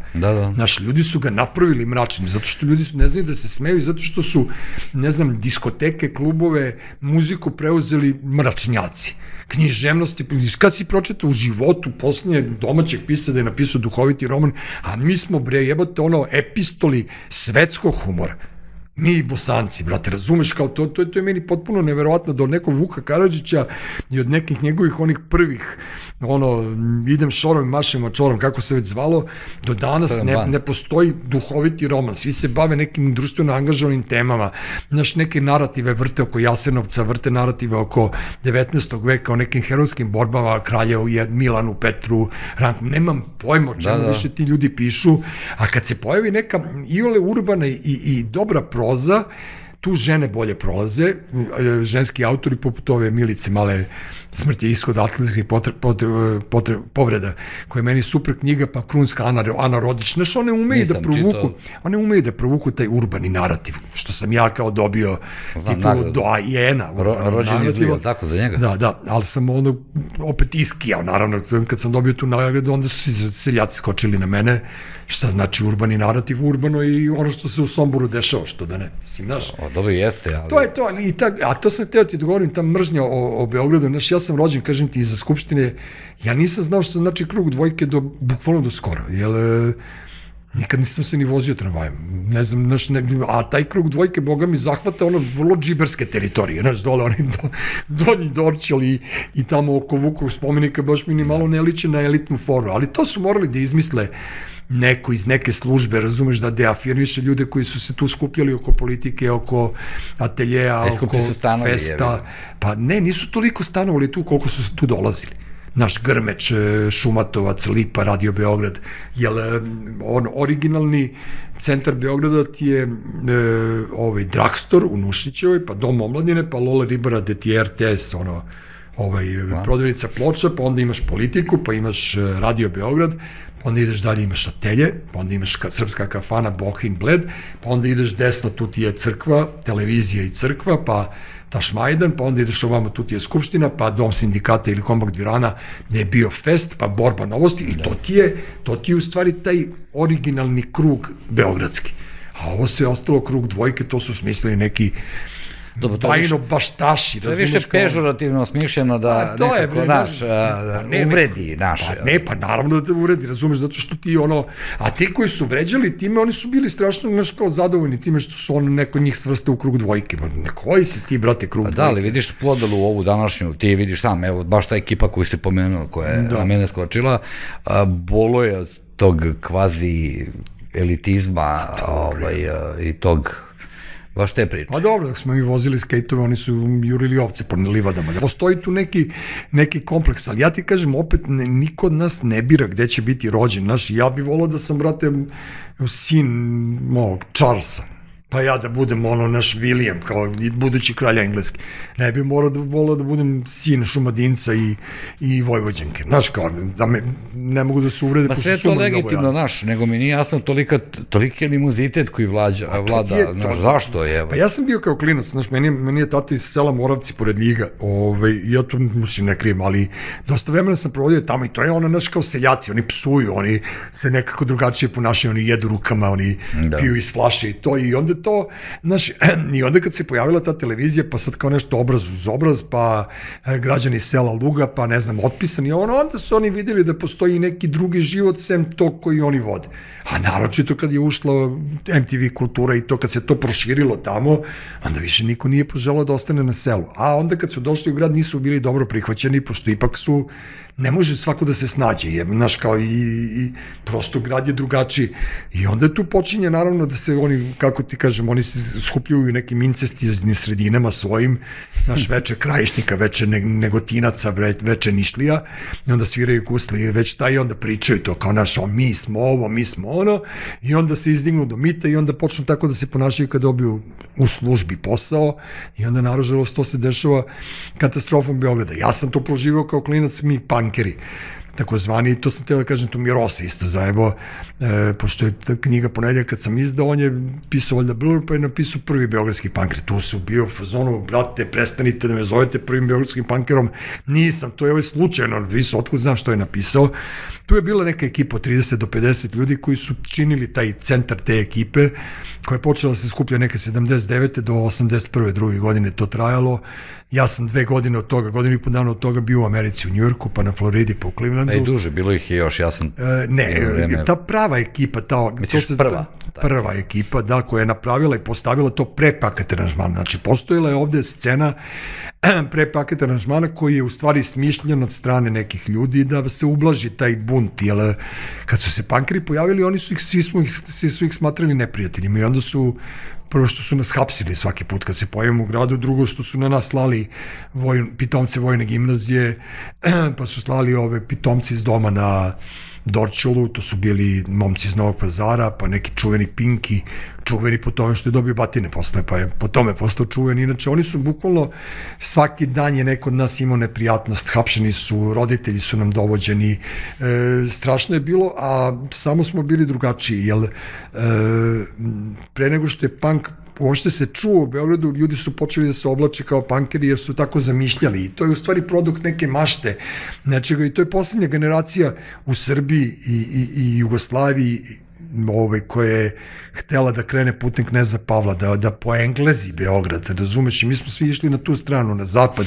Znaš, ljudi su ga napravili mračnim, zato što ljudi ne znaju da se smeju, zato što su, ne znam, diskoteke, klubove, muziku preuzeli mračnjaci. Književnosti, kad si pročitao u životu poslednje domaćeg pisa da je napisao duhoviti roman, a mi smo, bre, jebote, epistoli svetskog humora. Mi Bosanci, brate, razumeš, kao to je meni potpuno neverovatno da od nekog Vuka Karadžića i od nekih njegovih onih prvih, idem šorom i mašem mačorom, kako se već zvalo, do danas ne postoji duhoviti roman, svi se bave nekim društveno angažovanim temama, znaš, neke narative vrte oko Jasenovca, vrte narative oko 19. veka, o nekim herojskim borbama, Kraljevu, Milanu, Petru, Ranku, nemam pojma o čemu više ti ljudi pišu, a kad se pojavi neka iole urbana i dobra proza, tu žene bolje prolaze, ženski autori poput ove Milice Male, Smrt je ishod atletskih povreda, koja je meni super knjiga, pa Krunska Ana Rodić, znaš, one umeju da provuku taj urbani narativ, što sam ja kao dobio titul do Ajena. Rođen izlio, tako za njega? Da, ali sam opet iskijao, naravno, kad sam dobio tu nagradu, onda su si seljaci skočili na mene, šta znači urbani narativ, urbano i ono što se u Somboru dešava, što da ne, mislim, znaš. Dobro jeste, ali... To je to, a to sam hteo ti da govorim, ta mržnja o Beogradu, znaš, ja sam rođen, kažem ti, iza Skupštine, ja nisam znao što znači krug dvojke bukvalno do skoro, jer nikad nisam se ni vozio tramvajem, ne znam, znaš, a taj krug dvojke, boga mi, zahvata ono vrlo džiberske teritorije, znaš, dole, oni Donji Dorćol i tamo oko Vukovog spomenika, baš mi ni malo ne liče na elitnu foru, ali to su morali da izmisle neko iz neke službe, razumeš, da deafirmiše ljude koji su se tu skupljali oko politike, oko ateljeja, oko festa. Pa ne, nisu toliko stanovali tu koliko su tu dolazili. Naš Grmeč, Šumatovac, Lipa, Radio Beograd, jer originalni centar Beograda ti je Dragstor u Nušićevoj, pa Dom omladine, pa Lola Ribara, gde ti je RTS, prodavnica ploča, pa onda imaš politiku, pa imaš Radio Beograd, pa onda ideš dalje, imaš atelje, pa onda imaš srpska kafana Bohin Bled, pa onda ideš desno, tu ti je crkva, televizija i crkva, pa Tašmajdan, pa onda ideš ovamo, tu ti je Skupština, pa Dom sindikata ili Kombak Dvirana, gde je bio fest, pa Borba novosti, i to ti je u stvari taj originalni krug beogradski. A ovo se je ostalo krug dvojke, to su smislili neki bajno baštaši. To je više pežorativno smišljeno da nekako naš uvredi naše. Pa naravno da te uvredi, razumeš, zato što ti a ti koji su vređali time, oni su bili strašno naš kao zadovoljni time što su neko njih svrste u krug dvojke. Koji si ti, brate, krug dvojke? Da, ali vidiš podelu ovu današnju, ti vidiš sam, evo, baš ta ekipa koju si pomenuo, koja je na mene skočila, bolo je od tog kvazi elitizma i tog baš te priče. Pa dobro, dok smo mi vozili skejtove, oni su jurili ovce po livadama. Postoji tu neki kompleks, ali ja ti kažem, opet niko od nas ne bira gde će biti rođen. Znaš, ja bih volao da sam, brate, sin Charlesa. Pa ja da budem naš William, kao budući kralja engleski. Ne bih volao da budem sin Šumadinca i Vojvođanke. Znaš, kao, ne mogu da se uvrede. Ma sve je to legitimno, znaš, nego mi nije jasno toliki animozitet koji vlada, znaš, zašto je? Pa ja sam bio kao klinac, znaš, meni je tata iz sela Moravci pored Ljiga, ja to mislim ne krijem, ali dosta vremena sam provodio tamo i to je znaš, kao seljaci, oni psuju, oni se nekako drugačije ponašaju, oni jedu rukama, oni piju iz flaše i to, i onda to, znaš, i onda kad se pojavila ta televizija, pa sad kao nešto obraz uz obraz, pa građani sela Luga, pa ne znam, otpisani, onda su oni vidjeli da postoji neki drugi život sem tog koji oni vode. A naročito kad je ušla MTV kultura i to kad se to proširilo tamo, onda više niko nije poželao da ostane na selu. A onda kad su došli u grad nisu bili dobro prihvaćeni, pošto ipak su, ne može svako da se snađe, znaš, kao i prosto grad je drugačiji. I onda tu počinje naravno da se oni, kako ti kažem, oni se skupljuju nekim incestioznim sredinama svojim, naš veče Krajišnika, veče Negotinaca, veče Nišlija, i onda sviraju gusli, već taj, i onda pričaju to kao naš, mi smo ovo, mi smo ono, i onda se izdignu do mita i onda počnu tako da se ponašaju kad dobiju u službi posao, i onda nažalost to se dešava katastrofom Beograda. Ja sam to proživao kao klinac, mi punkeri, takozvani, to sam teo da kažem, tu mi Rosa isto zajebo, pošto je ta knjiga Ponedjeljak kad sam izdao, on je pisao valjda Blur, pa je napisao prvi beogradski punkeri. Tu su bio u fazonu, brate, prestanite da me zovete prvim beogradskim punkerom, nisam, to je slučajno napisao, otkud znam što je napisao. Tu je bila neka ekipa od 30 do 50 ljudi koji su činili taj centar te ekipe, koja je počela da se skuplja neke 79. do 81. druge godine to trajalo. Ja sam 2 godine od toga, godinu i po dana od toga bio u Americi, u Njujorku, pa na Floridi, pa u Clevelandu. Rock'n'Roll. duže, bilo ih je još, ja sam... Ne, ta prava ekipa, misliš prva? Prva ekipa, da, koja je napravila i postavila to pre paket aranžmana. Znači, postojala je ovde scena pre paket aranžmana koji je u stvari smišljen od strane nekih ljudi da se ublaži taj bunt, jer kad su se punkeri pojavili, oni su ih, svi su ih smatrali neprijateljima i onda su prvo što su nas hapsili svaki put kad se pojavimo u gradu, drugo što su na nas slali pitomce vojne gimnazije, pa su slali ove pitomce iz doma na Dorčolu, to su bili momci iz Novog Pazara, pa neki čuveni Pinki, čuveni po tome što je dobio batine posle, pa je po tome postao čuven. Inače, oni su bukvalno, svaki dan je neko od nas imao neprijatnost, hapšeni su, roditelji su nam dovođeni, strašno je bilo, a samo smo bili drugačiji, jer pre nego što je punk uopšte se čuo u Beogradu, ljudi su počeli da se oblače kao punkeri jer su tako zamišljali i to je u stvari produkt neke mašte nečega i to je poslednja generacija u Srbiji i Jugoslaviji koja je htela da krene putem kneza Pavla, da poenglezi Beograd, razumeš, i mi smo svi išli na tu stranu, na zapad,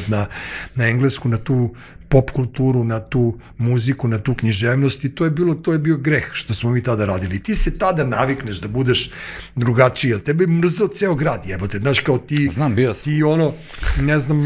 na englesku, na tu pop kulturu, na tu muziku, na tu književnost i to je bio greh što smo mi tada radili. Ti se tada navikneš da budeš drugačiji, jer tebe je mrzao ceo grad, jebote, znaš, kao ti, ti ono, ne znam,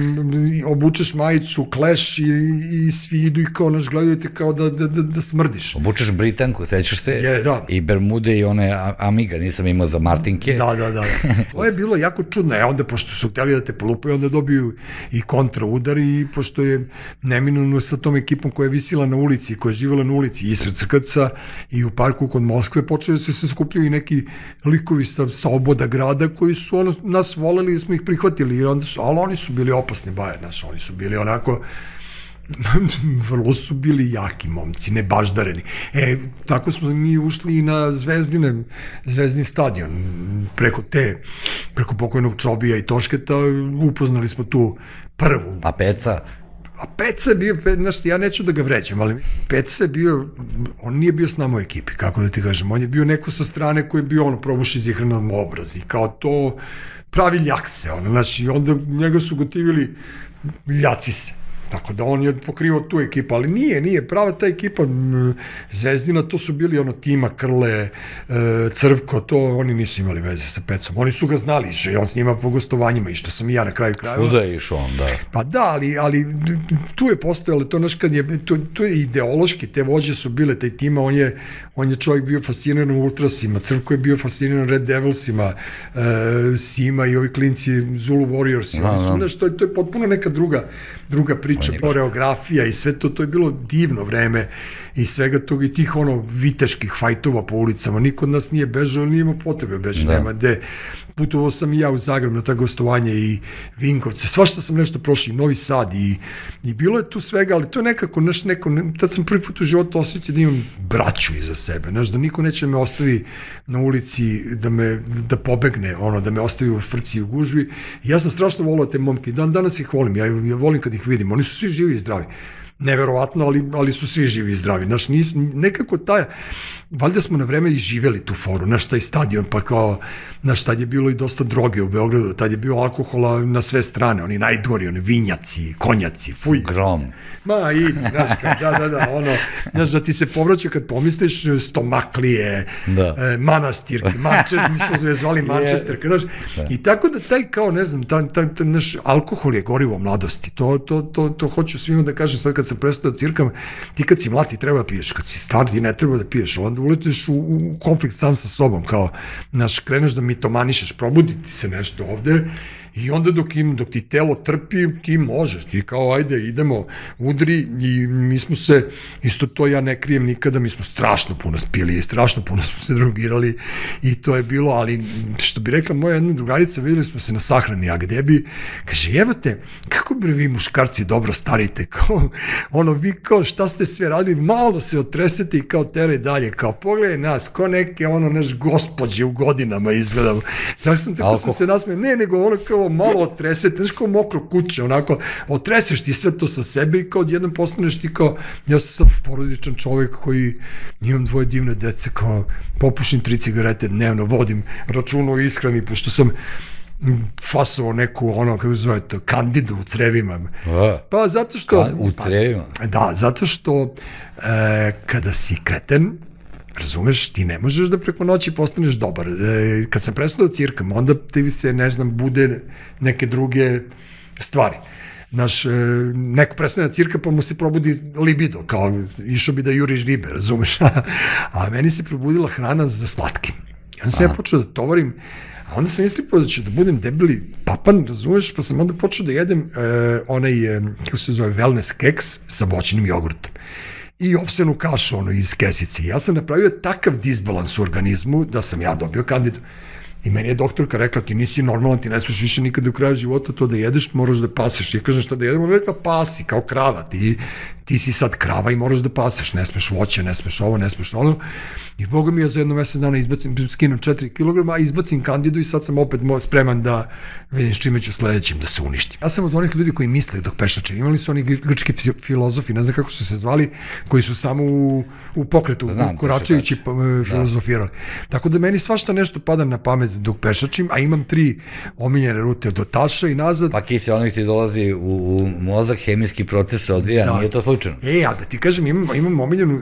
obučeš majicu, Clash i svi idu i kao, naš, gledaju te kao da smrdiš. Obučeš Britanku, sećaš se, i Bermude i one Amiga, nisam imao za Martinke. Da. To je bilo jako čudno, onda pošto su hteli da te polupaju, onda dobiju i kontra udar i pošto je neminovno sa tom ekipom koja je visila na ulici, koja je živjela na ulici ispred Crkavca i u parku kod Moskve, počeli se skupljaju i neki likovi sa oboda grada koji su nas voleli i smo ih prihvatili, ali oni su bili opasni baje, oni su bili onako, vrlo su bili jaki momci, nebaždareni. Tako smo mi ušli i na Zvezdin stadion, preko pokojnog Čobija i Tošketa, upoznali smo tu prvu. A Peca? A Peca je bio, znaš, ja neću da ga vređam, ali Peca je bio, on nije bio s nama u ekipi, kako da ti kažem, on je bio neko sa strane koji je bio, probuši zihranom obraz i kao to pravi ljak se, znaš, i onda njega su gotivili ljaci se. Tako da on je pokrivao tu ekipu, ali nije, prava ta ekipa Zvezdina, to su bili Tima, Krle, Crvko, to oni nisu imali veze sa Pecom, oni su ga znali, že on s njima po gostovanjima i što sam i ja na kraju krajeva. Svuda je išao on, da. Pa da, ali tu je postojalo to, znaš, kad je, to je ideološki, te vođe su bile, taj Tima, on je čovjek bio fasciniran Ultrasima, Crvko je bio fasciniran Red Devilsima, Sima i ovi klinci Zulu Warriors, to je potpuno neka druga priča, koreografija i sve to je bilo divno vreme i svega toga i tih viteških fajtova po ulicama, niko od nas nije bežao, nije imao potrebe bežati, nema gde. Putovao sam i ja u Zagreb na ta gostovanje i Vinkovce, svašta sam nešto prošao, i Novi Sad i bilo je tu svega, ali to je nekako, tad sam prvi put u životu osjetio da imam braću iza sebe, da niko neće me ostavi na ulici, da pobegne, da me ostavi u frci i u gužvi. Ja sam strašno volao te momke, danas ih volim, ja volim kad ih vidim, oni su svi živi i zdravi. Neverovatno, ali su svi živi i zdravi. Nekako valjda smo na vreme i živeli tu foru, taj stadion, pa kao, tad je bilo i dosta droge u Beogradu, tad je bio alkohola na sve strane, oni najdgori, oni vinjaci, konjaci, fuj. Grom. Ma, idi, da ti se povraća kad pomisliš Stomaklije, Manastirke, mi smo se zvali Manchester, i tako da taj kao, ne znam, naš alkohol je gorivo mladosti, to hoću svima da kažem sad kad sam prestao da cirkam, ti kad si mlad ti treba da piješ, kad si star ti ne treba da piješ, onda uletiš u konflikt sam sa sobom, kao, kreneš da mitomanišeš, probuditi se nešto ovde i onda dok ti telo trpi, ti možeš, ti kao, ajde, idemo, udri i mi smo se, isto to ja ne krijem nikada, mi smo strašno puno spili i strašno puno smo se drogirali i to je bilo, ali što bi rekla moja jedna drugarica, videli smo se na sahrani, a gde bi, kaže, jebate, kako bi vi muškarci dobro starite, kao, vi kao, šta ste sve radili, malo se otresete i kao teraj dalje, kao, pogledaj nas, ko neke, naš gospođe u godinama izgledamo, tako sam se nasmeo, ne, nego kao malo otresete, znaš kao mokro kuće, otreseš ti sve to sa sebe i kao odjednom postaneš ti kao, ja sam sad porodičan čovjek koji imam 2 divne dece, kao popušim 3 cigarete dnevno, vodim računa o ishrani, pošto sam fasovo neku, ono, kako zove to, kandidu u crevima. Pa zato što... U crevima? Da, zato što kada si kreten, razumeš, ti ne možeš da preko noći postaneš dobar. Kad sam prestao da cirkam, onda ti se, ne znam, bude neke druge stvari. Neko prestane da cirka pa mu se probudi libido, kao išao bi da juriš ribe, razumeš? A meni se probudila hrana za slatkim. Onda sam ja počeo da tovarim, a onda sam istripao da ću da budem debeli papan, razumeš, pa sam onda počeo da jedem onaj, kako se zove, wellness keks sa voćnim jogurtom i ovsenu kašu ono, iz kesice. Ja sam napravio takav disbalans u organizmu da sam ja dobio kandidu. I meni je doktorka rekla, ti nisi normalan, ti ne smiješ više nikada u kraju života to da jedeš, moraš da paseš. Ja kažem šta da jedem, ona rekla pasi, kao krava, ti si sad krava i moraš da paseš, ne smeš voće, ne smeš ovo, ne smeš ono. I Boga mi ja za jedno mesec dana skinem 4 kg, a izbacim kandidu i sad sam opet spreman da vidim s čime ću sledećim da se uništim. Ja sam od onih ljudi koji misle dok pešače. Imali su oni grčki filozofi, ne znam kako su se zvali, koji su samo u pokretu, koračajući filozofirali. Tako da meni svašta nešto pada na pamet dok pešačim, a imam 3 omiljene rute do Taša i nazad. Pa kiseonik ti dolazi u mozak, hemijski proces se odvija, nije to slučajno. A da ti kažem, imam omiljenu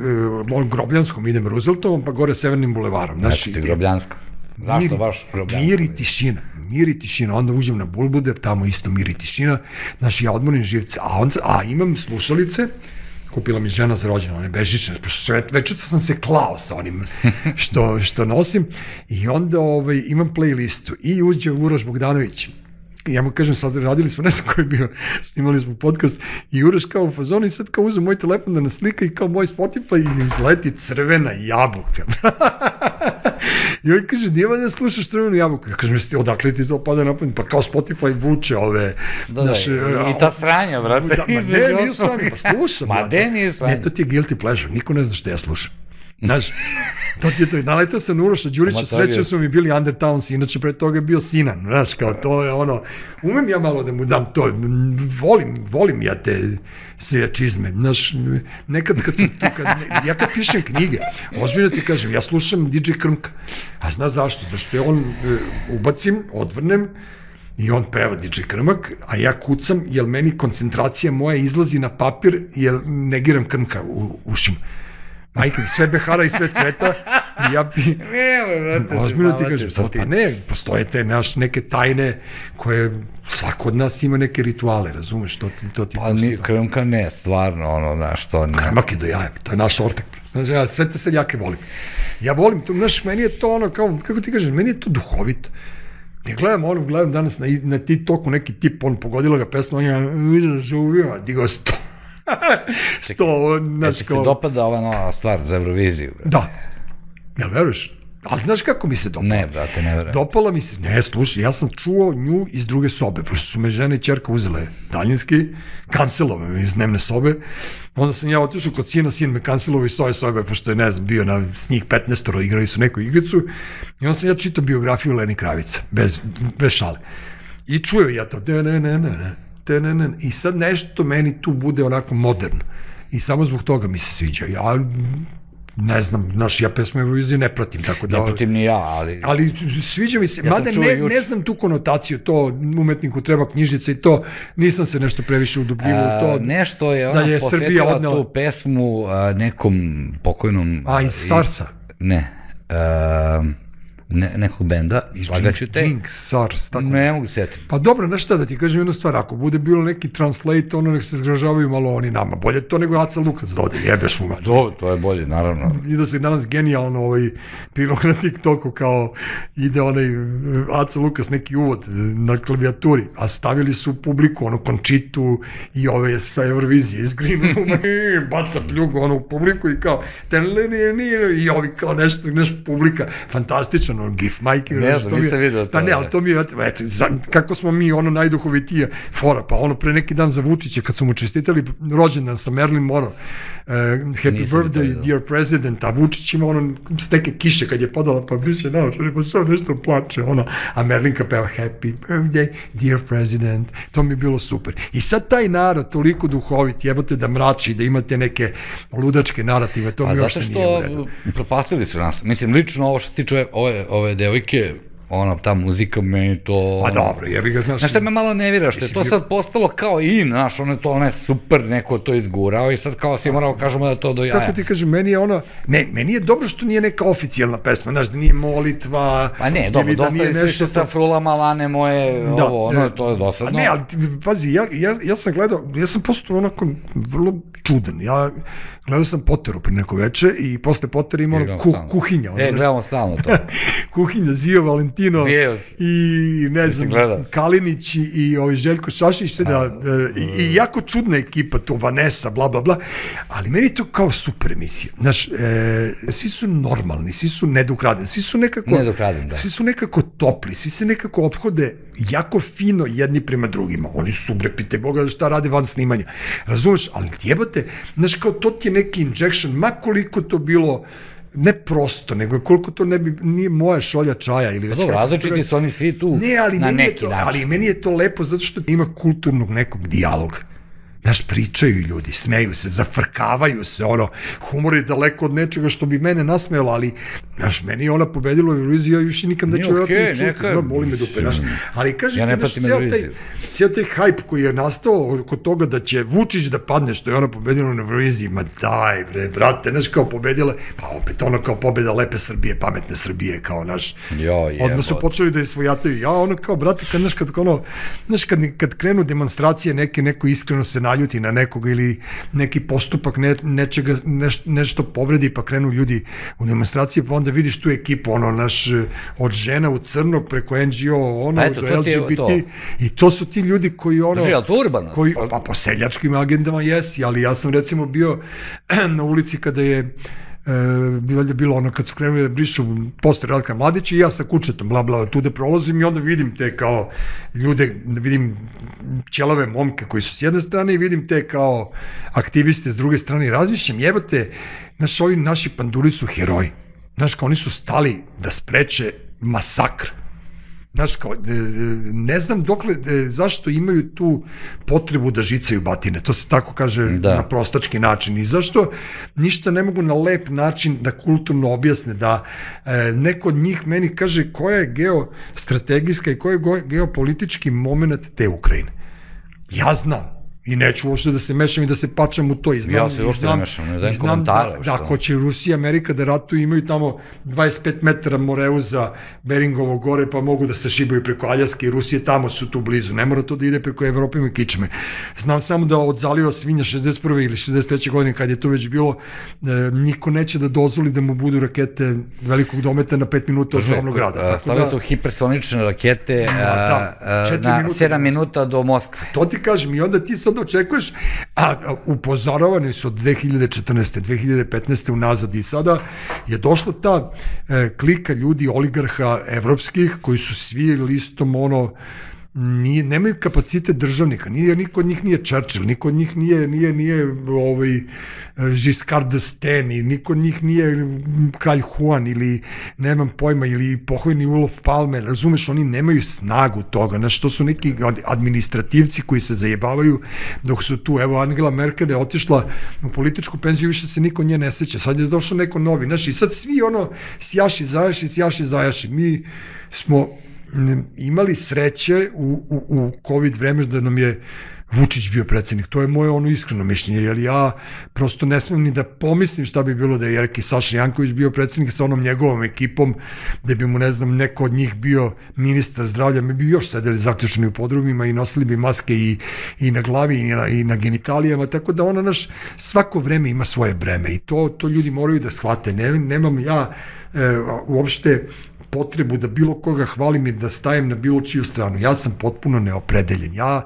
Grobljanskom, idem Rooseveltovom, pa gore Severnim bulevarom. Znači ti Grobljanska. Zašto baš Grobljanska? Mir i tišina, onda uđem na Bulbuder, tamo isto mir i tišina, znači ja odmorim živce, a imam slušalice, kupila mi žena za rođendan, one bežične, pošto večito sam se klao sa onim što nosim, i onda imam playlistu i uđe Uroš Bogdanović. Ja mu kažem, sad radili smo, ne znam ko je bio, snimali smo podcast i Uroš kao u fazonu i sad kao uzem moj telefon da nas slika i kao moj Spotify i izleti crvena jabuka. I on kaže, nije da slušaš crvenu jabuku. Ja kažem, odakle ti to pada na pamet? Pa kao Spotify vuče ove... I ta sranja, brate. Ma ne, nije sranja, pa slušam. Ma ne, nije sranja. Ne, to ti je guilty pleasure, niko ne zna što ja slušam. Znaš, to ti je to. Naletao sam na Uroša Đurića, srećao smo mi bili Undertowns, inače pre toga je bio Sinan, znaš, kao to je ono, umem ja malo da mu dam to, volim ja te seljačizme, znaš, nekad kad sam tu, ja kad pišem knjige, ozbiljno ti kažem, ja slušam DJ Krmka, a znaš zašto? Zašto je on, ubacim, odvrnem, i on peva DJ Krmak, a ja kucam, jer meni koncentracija moja izlazi na papir, jer negiram Krmka u ušima. Majka, sve behara i sve cveta i ja bi... Ozbiljno ti kažem, pa ne, postoje te neke tajne koje svako od nas ima neke rituale, razumeš, to ti... Pa Krmka ne, stvarno, ono, znaš, to ne... Krmak je do jaja, to je naš ortak. Znaš, ja sve te seljake volim. Ja volim to, znaš, meni je to ono, kao, kako ti kažem, meni je to duhovito. Ja gledam danas na TikToku neki tip, on pogodila ga pesma, on je digao 100. Jel ti se dopada ova nova stvar za Euroviziju? Da. Jel veruješ? Ali znaš kako mi se dopala? Ne, brate, ne verujem. Dopala mi se, ne, slušaj, ja sam čuo nju iz druge sobe, pošto su me žena i ćerka uzele daljinski, kancelove me iz dnevne sobe, onda sam ja otišao kod sina, sin me kancelovo iz svoje sobe, pošto je, ne znam, bio s njih 15-oro, igrali su neku igricu, i onda sam ja čitao biografiju Leni Kravica, bez šale. I čuo ja to, i sad nešto meni tu bude onako moderno. I samo zbog toga mi se sviđa. Ja ne znam, znaš, ja pesmu Eurovizije ne pratim, tako da... Ne pratim ni ja, ali... Ali sviđa mi se, mada ne znam tu konotaciju, to umetniku treba knjižica i to, nisam se nešto previše udubljivo u to. Nešto je ona posvetila tu pesmu nekom pokojnom... A, iz Sarsa? Ne, nekog benda, slagaću te. Jinx, SARS, tako ne mogu setiti. Pa dobro, znaš šta, da ti kažem jednu stvar, ako bude bilo neki translate, ono nek se zgražavaju malo oni nama, bolje to nego Aca Lukac da ode, jebeš mu. To je bolje, naravno. I da se danas genijalno prilog na TikToku kao ide onaj Aca Lukac neki uvod na klavijaturi, a stavili su publiku, ono Končitu i ove sa Eurovizije iz Green Rooma, baca pljugu ono u publiku i kao i ovi kao nešto publika, fantastično gif, majke. Ne znam, nisam vidio to. Pa ne, ali to mi je, eto, kako smo mi ono najduhovitije fora, pa ono pre neki dan za Vučića, kad su mu čestitali rođendan sa Marilyn Monroe, Happy Birthday, Dear President, a Vučić ima ono s neke kiše kad je padala, pa biše naočari, pa sve nešto plače, ono, a Merlinka peva Happy Birthday, Dear President, to mi je bilo super. I sad taj narod toliko duhovit, jebate da mrači, da imate neke ludačke narative, to mi uopšte nije u redu. A zato što propastili su nas, mislim, lično ovo što se tiče ove devojke, ta muzika, meni to... Pa dobro, jebi ga, znaš... Znaš šta me malo nevira, što je to sad postalo kao znaš, ono je super, neko to izgurao i sad kao svi moramo kažemo da to do jaja. Kako ti kažem, meni je meni je dobro što nije neka oficijalna pesma, znaš, da nije molitva... Pa ne, dobro, dosta je više sa frulama, lane moje, to je dosadno. Ne, ali pazi, ja sam gledao, ja sam postao onako vrlo čudan, gledao sam Potteru pre neko veče i posle Pottera ima kuhinja. Gledamo stalno to. Kuhinja, Zio Valentino i ne znam, Kalinić i Željko Šašić, i jako čudna ekipa, to Vanessa, bla, bla, bla, ali meni je to kao super emisija. Znaš, svi su normalni, svi su nedokradeni, svi su nekako topli, svi se nekako ophode jako fino jedni prema drugima. Oni su, pite Boga, šta rade van snimanja. Razumeš, ali jebate, znaš, kao to ti je neki injection, ma koliko to bilo ne prosto, nego koliko to nije moja šolja čaja ili već... Dobro, različiti su oni svi tu na neki način. Ali meni je to lepo zato što ima kulturnog nekog dijaloga. Znaš, pričaju ljudi, smeju se, zafrkavaju se, humor je daleko od nečega što bi mene nasmejalo, ali, znaš, meni je ona pobedila u Euroviziji, ja više nikad neću čuti, boli me dupe, znaš. Ali kažem ti, znaš, cijel taj hajp koji je nastao kod toga da će Vučić da padne, što je ona pobedila na Euroviziji, ma daj, bre, brate, znaš, kao pobedila, pa opet ono kao pobeda lepe Srbije, pametne Srbije, kao, znaš, odmah su počeli da je svojataju, kao, brate, znaš, kad krenu demonstracije, neko iskreno se naljuti na nekoga ili neki postupak nečega, nešto povredi, pa krenu ljudi u demonstracije, pa onda vidiš tu ekipu, od žena u crno preko NGO, do LGBT, i to su ti ljudi koji pa po seljačkim agendama jesi, ali ja sam recimo bio na ulici kada je bilo kad su krenuli da brišu poster Ratka Mladića i ja sa kučetom, bla bla, tu da prolazim i onda vidim te kao ljude, vidim ćelave momke koji su s jedne strane i vidim te kao aktiviste s druge strane i razmišljam, jebate, znaš, ovi naši panduri su heroji, znaš, kao oni su stali da spreče masakr. Znaš, kao, ne znam dokle, zašto imaju tu potrebu da žicaju batine, to se tako kaže na prostački način, i zašto ništa ne mogu na lep način da kulturno objasne, da neko od njih meni kaže koja je geostrategijska i koja je geopolitički moment te Ukrajine. Ja znam. I neću uopšte da se mešam i da se pačam u to. Ja se uopšte ne mešam, ne dajem komentare. Da, ako će Rusija i Amerika da ratuju, imaju tamo 25 metara Moreuza, Beringovo gore, pa mogu da se šibaju preko Aljaske i Rusije, tamo su tu blizu. Ne mora to da ide preko Evrope i Kičme. Znam samo da od zaliva Svinja 61. ili 63. godine, kad je to već bilo, niko neće da dozvoli da mu budu rakete velikog dometa na 5 minuta od glavnog grada. Stavili su hipersonične rakete na 7 minuta do Moskve. To ti kažem, i onda ti sad očekuješ, a upozoravani su od 2014. 2015. unazad i sada je došla ta klika ljudi, oligarha evropskih, koji su svi listom nemaju kapacitet državnika, niko od njih nije Churchill, niko od njih nije Giscard d'Estaing, niko od njih nije kralj Juan ili nemam pojma, ili pokojni Olof Palme, razumeš, oni nemaju snagu toga, znaš, to su neki administrativci koji se zajebavaju dok su tu, evo Angela Merkel je otišla u političku penziju, više se niko nje ne seća, sad je došao neko novi, znaš, i sad svi sjaši, zajaši, mi smo imali sreće u COVID vreme da nam je Vučić bio predsednik. To je moje iskreno mišljenje, jer ja prosto ne smem ni da pomislim šta bi bilo da je Jerki Saša Janković bio predsednik sa onom njegovom ekipom, da bi mu, ne znam, neko od njih bio ministar zdravlja, mi bi još sedeli zaključeni u podrumima i nosili bi maske i na glavi i na genitalijama, tako da svako vreme ima svoje breme i to ljudi moraju da shvate. Nemam ja uopšte potrebu da bilo koga hvalim i da stajem na bilo čiju stranu. Ja sam potpuno neopredeljen. Ja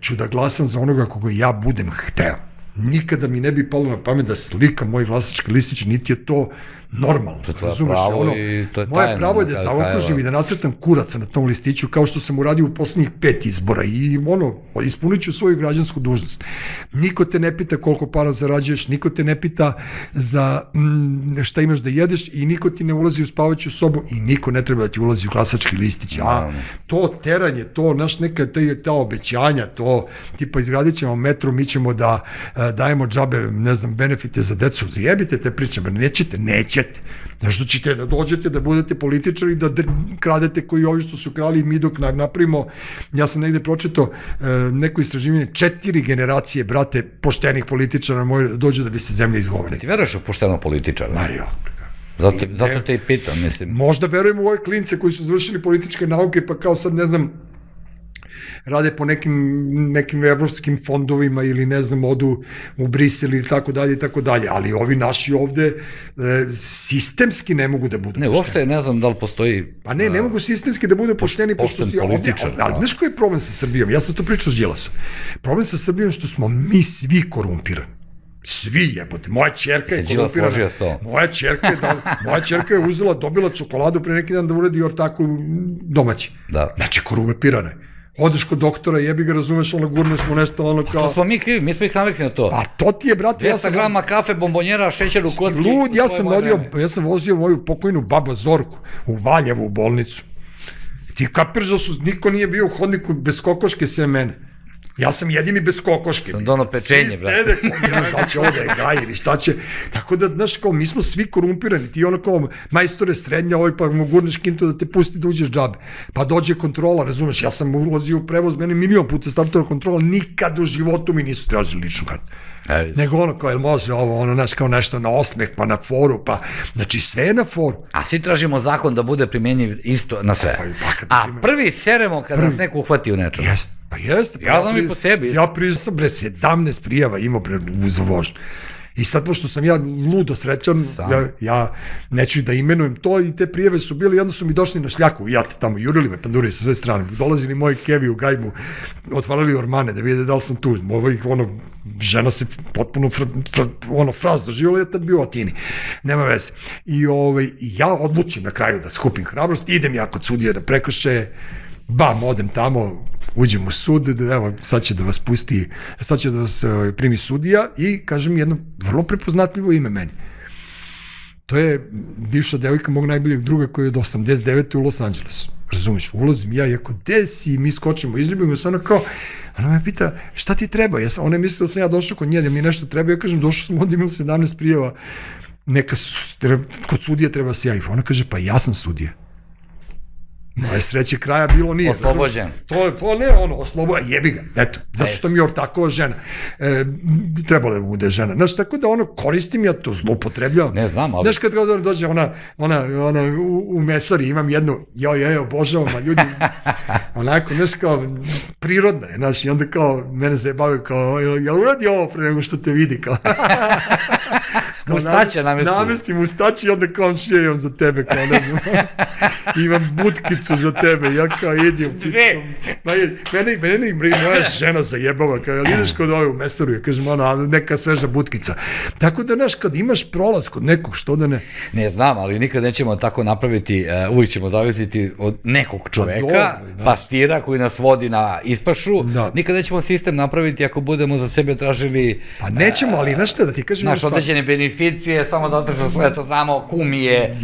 ću da glasam za onoga koga ja budem hteo. Nikada mi ne bi palo na pamet da slikam moj glasački listić, niti je to normalno. To je pravo i to je tajno. Moje pravo je da zaokružim i da nacrtam kuraca na tom listiću, kao što sam uradio u poslednjih 5 izbora i ispunit ću svoju građansku dužnost. Niko te ne pita koliko para zarađuješ, niko te ne pita za šta imaš da jedeš i niko ti ne ulazi u spavaću sobu i niko ne treba da ti ulazi u glasački listić. To teranje, to neka ta obećanja, to tipa izgradit ćemo metro, mi ćemo da dajemo džabe, ne znam, benefite za decu, zajebite te pričama, nećete ćete. Zašto ćete da dođete, da budete političari, da kradete koji ovi što su krali i mi dok napravimo, ja sam negde pročitao neko istraživanje, 4 generacije, brate, poštenih političara dođu da bi se zemlja izgovorila. Ti veruješ u pošteno političara? Mario. Zato te i pitam, mislim. Možda verujem u ove klince koji su završili političke nauke, pa kao sad, ne znam, rade po nekim evropskim fondovima ili ne znam, odu u Brisel ili tako dalje, ali ovi naši ovde sistemski ne mogu da budu pošteni. Ne, uopšte ne znam da li postoji... Pa ne mogu sistemski da budu pošteni, pošto su ovde... Ali znaš koji je problem sa Srbijom? Ja sam to pričao s Đilasom. Problem sa Srbijom što smo mi svi korumpirani. Svi jebote, moja ćerka je korumpirana. Moja ćerka je uzela, dobila čokoladu pre neki dan da uradi ortaku domaći. Znači, korumpirana je. Odeš kod doktora, jebi ga, razumeš, gurneš mu nešto, ono kao... To smo mi krivi, mi smo ih navikli na to. Pa to ti je, brate, 200 grama kafe, bombonjera, šećer u kocki... Lud, ja sam vozio moju pokojnu babu Zorku u Valjevu u bolnicu. Ti kapiraš da niko nije bio u hodniku bez kokoške sve mene. Ja sam jedini bez kokoške. Sam dono pečenje, brate. Svi sede, šta će ovde, gajiri, šta će... Tako da, znaš, kao, mi smo svi korumpirani. Ti ono kao, majstore srednja, pa mu gurneš kintu da te pusti da uđeš džabe. Pa dođe kontrola, razumeš, ja sam ulazio u prevoz, mene milion puta startova kontrola, nikad u životu mi nisu tražili ličnu kartu. Nego ono kao, jel može ovo, znaš, kao nešto na osmeh, pa na foru, pa, znači sve je na foru. A svi tražimo zakon da bude primenjiv isto na sve. A prvi seremo kad nas neko uhvati u nečemu. Pa jeste. Ja znam i po sebi. Ja sam 17 prijava imao za vožnju. I sad, pošto sam ja ludo srećan, ja neću da imenujem to i te prijave su bile i onda su mi došli na šljaku, jate tamo, jurili me panduri sa sve strane, dolazili moji kevi u gajbu, otvarali ormane da vide da li sam tu, žena se potpuno fraz doživjela, ja tad bio u Atini, nema veze. I ja odlučim na kraju da skupim hrabrost, idem ja kod sudije da prekrše, odem tamo, uđem u sud, evo, sad će da vas pusti, sad će da vas primi sudija i kažem jedno vrlo prepoznatljivo ime meni. To je bivša devojka mog najboljeg druga koji je od 89. u Los Angelesu. Razumiješ, ulazim ja i ako gde si, mi skočimo, izljubimo se, ona kao, ona me pita, šta ti treba? Ona je mislila da sam ja došao kod nje, da mi nešto treba, ja kažem, došao sam ovdje, imam 17 prijeva, kod sudije treba se javiti. Ona kaže, pa ja sam sudija. Moje sreće kraja bilo nije. Oslobođen. To je, oslobođen, jebi ga, eto, zato što mi je ortakova žena. Trebalo da bude žena. Znaš, tako da koristim ja to, zloupotrebljavam. Ne znam, ali... Znaš, kad dođe ona u mesari, imam jednu, obožavam, a ljudi, onako, znaš, kao, prirodna je, znaš, i onda kao, mene zajebavaju kao, jel uradi ovo pre nego što te vidi, kao... Mustače namesti. Namesti mustače i onda kao šijom za tebe, kao ne znam. Imam butkicu za tebe, ja kao idem. Mene moja žena zajebava, kao jel ideš kod ove u mesaru, ja kažem, neka sveža butkica. Tako da, znaš, kad imaš prolaz kod nekog, što da ne... Ne znam, ali nikad nećemo tako napraviti, uvijek ćemo zavisiti od nekog čoveka, pastira koji nas vodi na ispašu, nikad nećemo sistem napraviti ako budemo za sebe tražili... Pa nećemo, ali znaš šta da ti kažem... Naš određene beneficije, samo zato što sve to znamo, kum je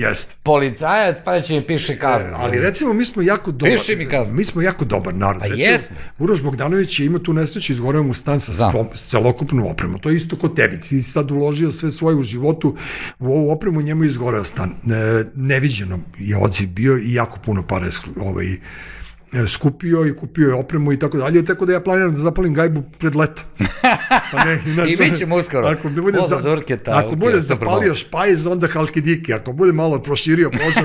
policajac, pa će mi piše kaznu. Ali recimo, mi smo jako dobar... Piši mi kaznu. Mi smo jako dobar narod. Pa jesmo. Uroš Bogdanović je imao tu nesreću, izgoreo mu stan sa celokupnom opremom. To je isto kod tebi. Ti si sad uložio sve svoje u životu u ovu opremu, njemu je izgoreo stan. Neviđeno je odziv bio i jako puno para skupio i kupio je opremu i tako dalje, tako da ja planiram da zapalim gajbu pred leto. I mi ćemo uskoro. Ako bude zapalio špajz, onda halkidiki. Ako bude malo proširio požar,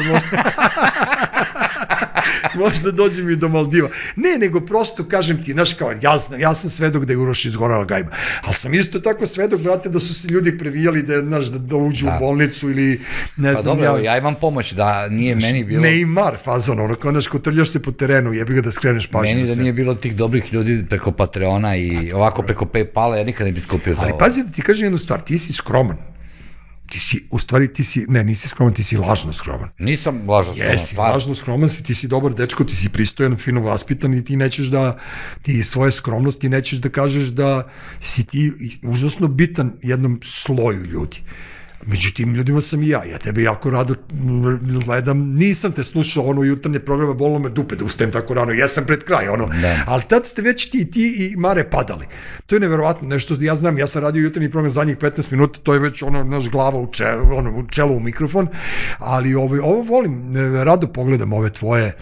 možda dođem i do Maldiva. Ne, nego prosto kažem ti, znaš kao, ja sam svedok da je Uroš izgorala gajba, ali sam isto tako svedok, brate, da su se ljudi previjali da uđu u bolnicu ili ne znam. Pa dobro, ja imam pomoć, da nije meni bilo... Neymar fazon, ono kao, znaš, kotrljaš se po terenu, jebi ga da skreneš pažnju. Meni da nije bilo tih dobrih ljudi preko Patreona i ovako preko Paypala, ja nikad ne bi skupio za ovo. Ali pazi da ti kažem jednu stvar, ti si skroman. U stvari nisi skroman, ti si lažno skroman. Nisam lažno skroman. Jesi, lažno skroman si, ti si dobar dečko, ti si pristojan, fino vaspitan i ti nećeš da, ti svoje skromnosti nećeš da kažeš da si ti užasno bitan jednom sloju ljudi. Među tim ljudima sam i ja tebe jako rado gledam, nisam te slušao ono jutarnje programa, bolilo me dupe da ustajem tako rano, ja sam pred kraj, ali tad ste već ti i Mare padali. To je neverovatno, nešto ja znam, ja sam radio jutarnji program zadnjih 15 minuta, to je već naš glava u čelu u mikrofon, ali ovo volim, rado pogledam ove tvoje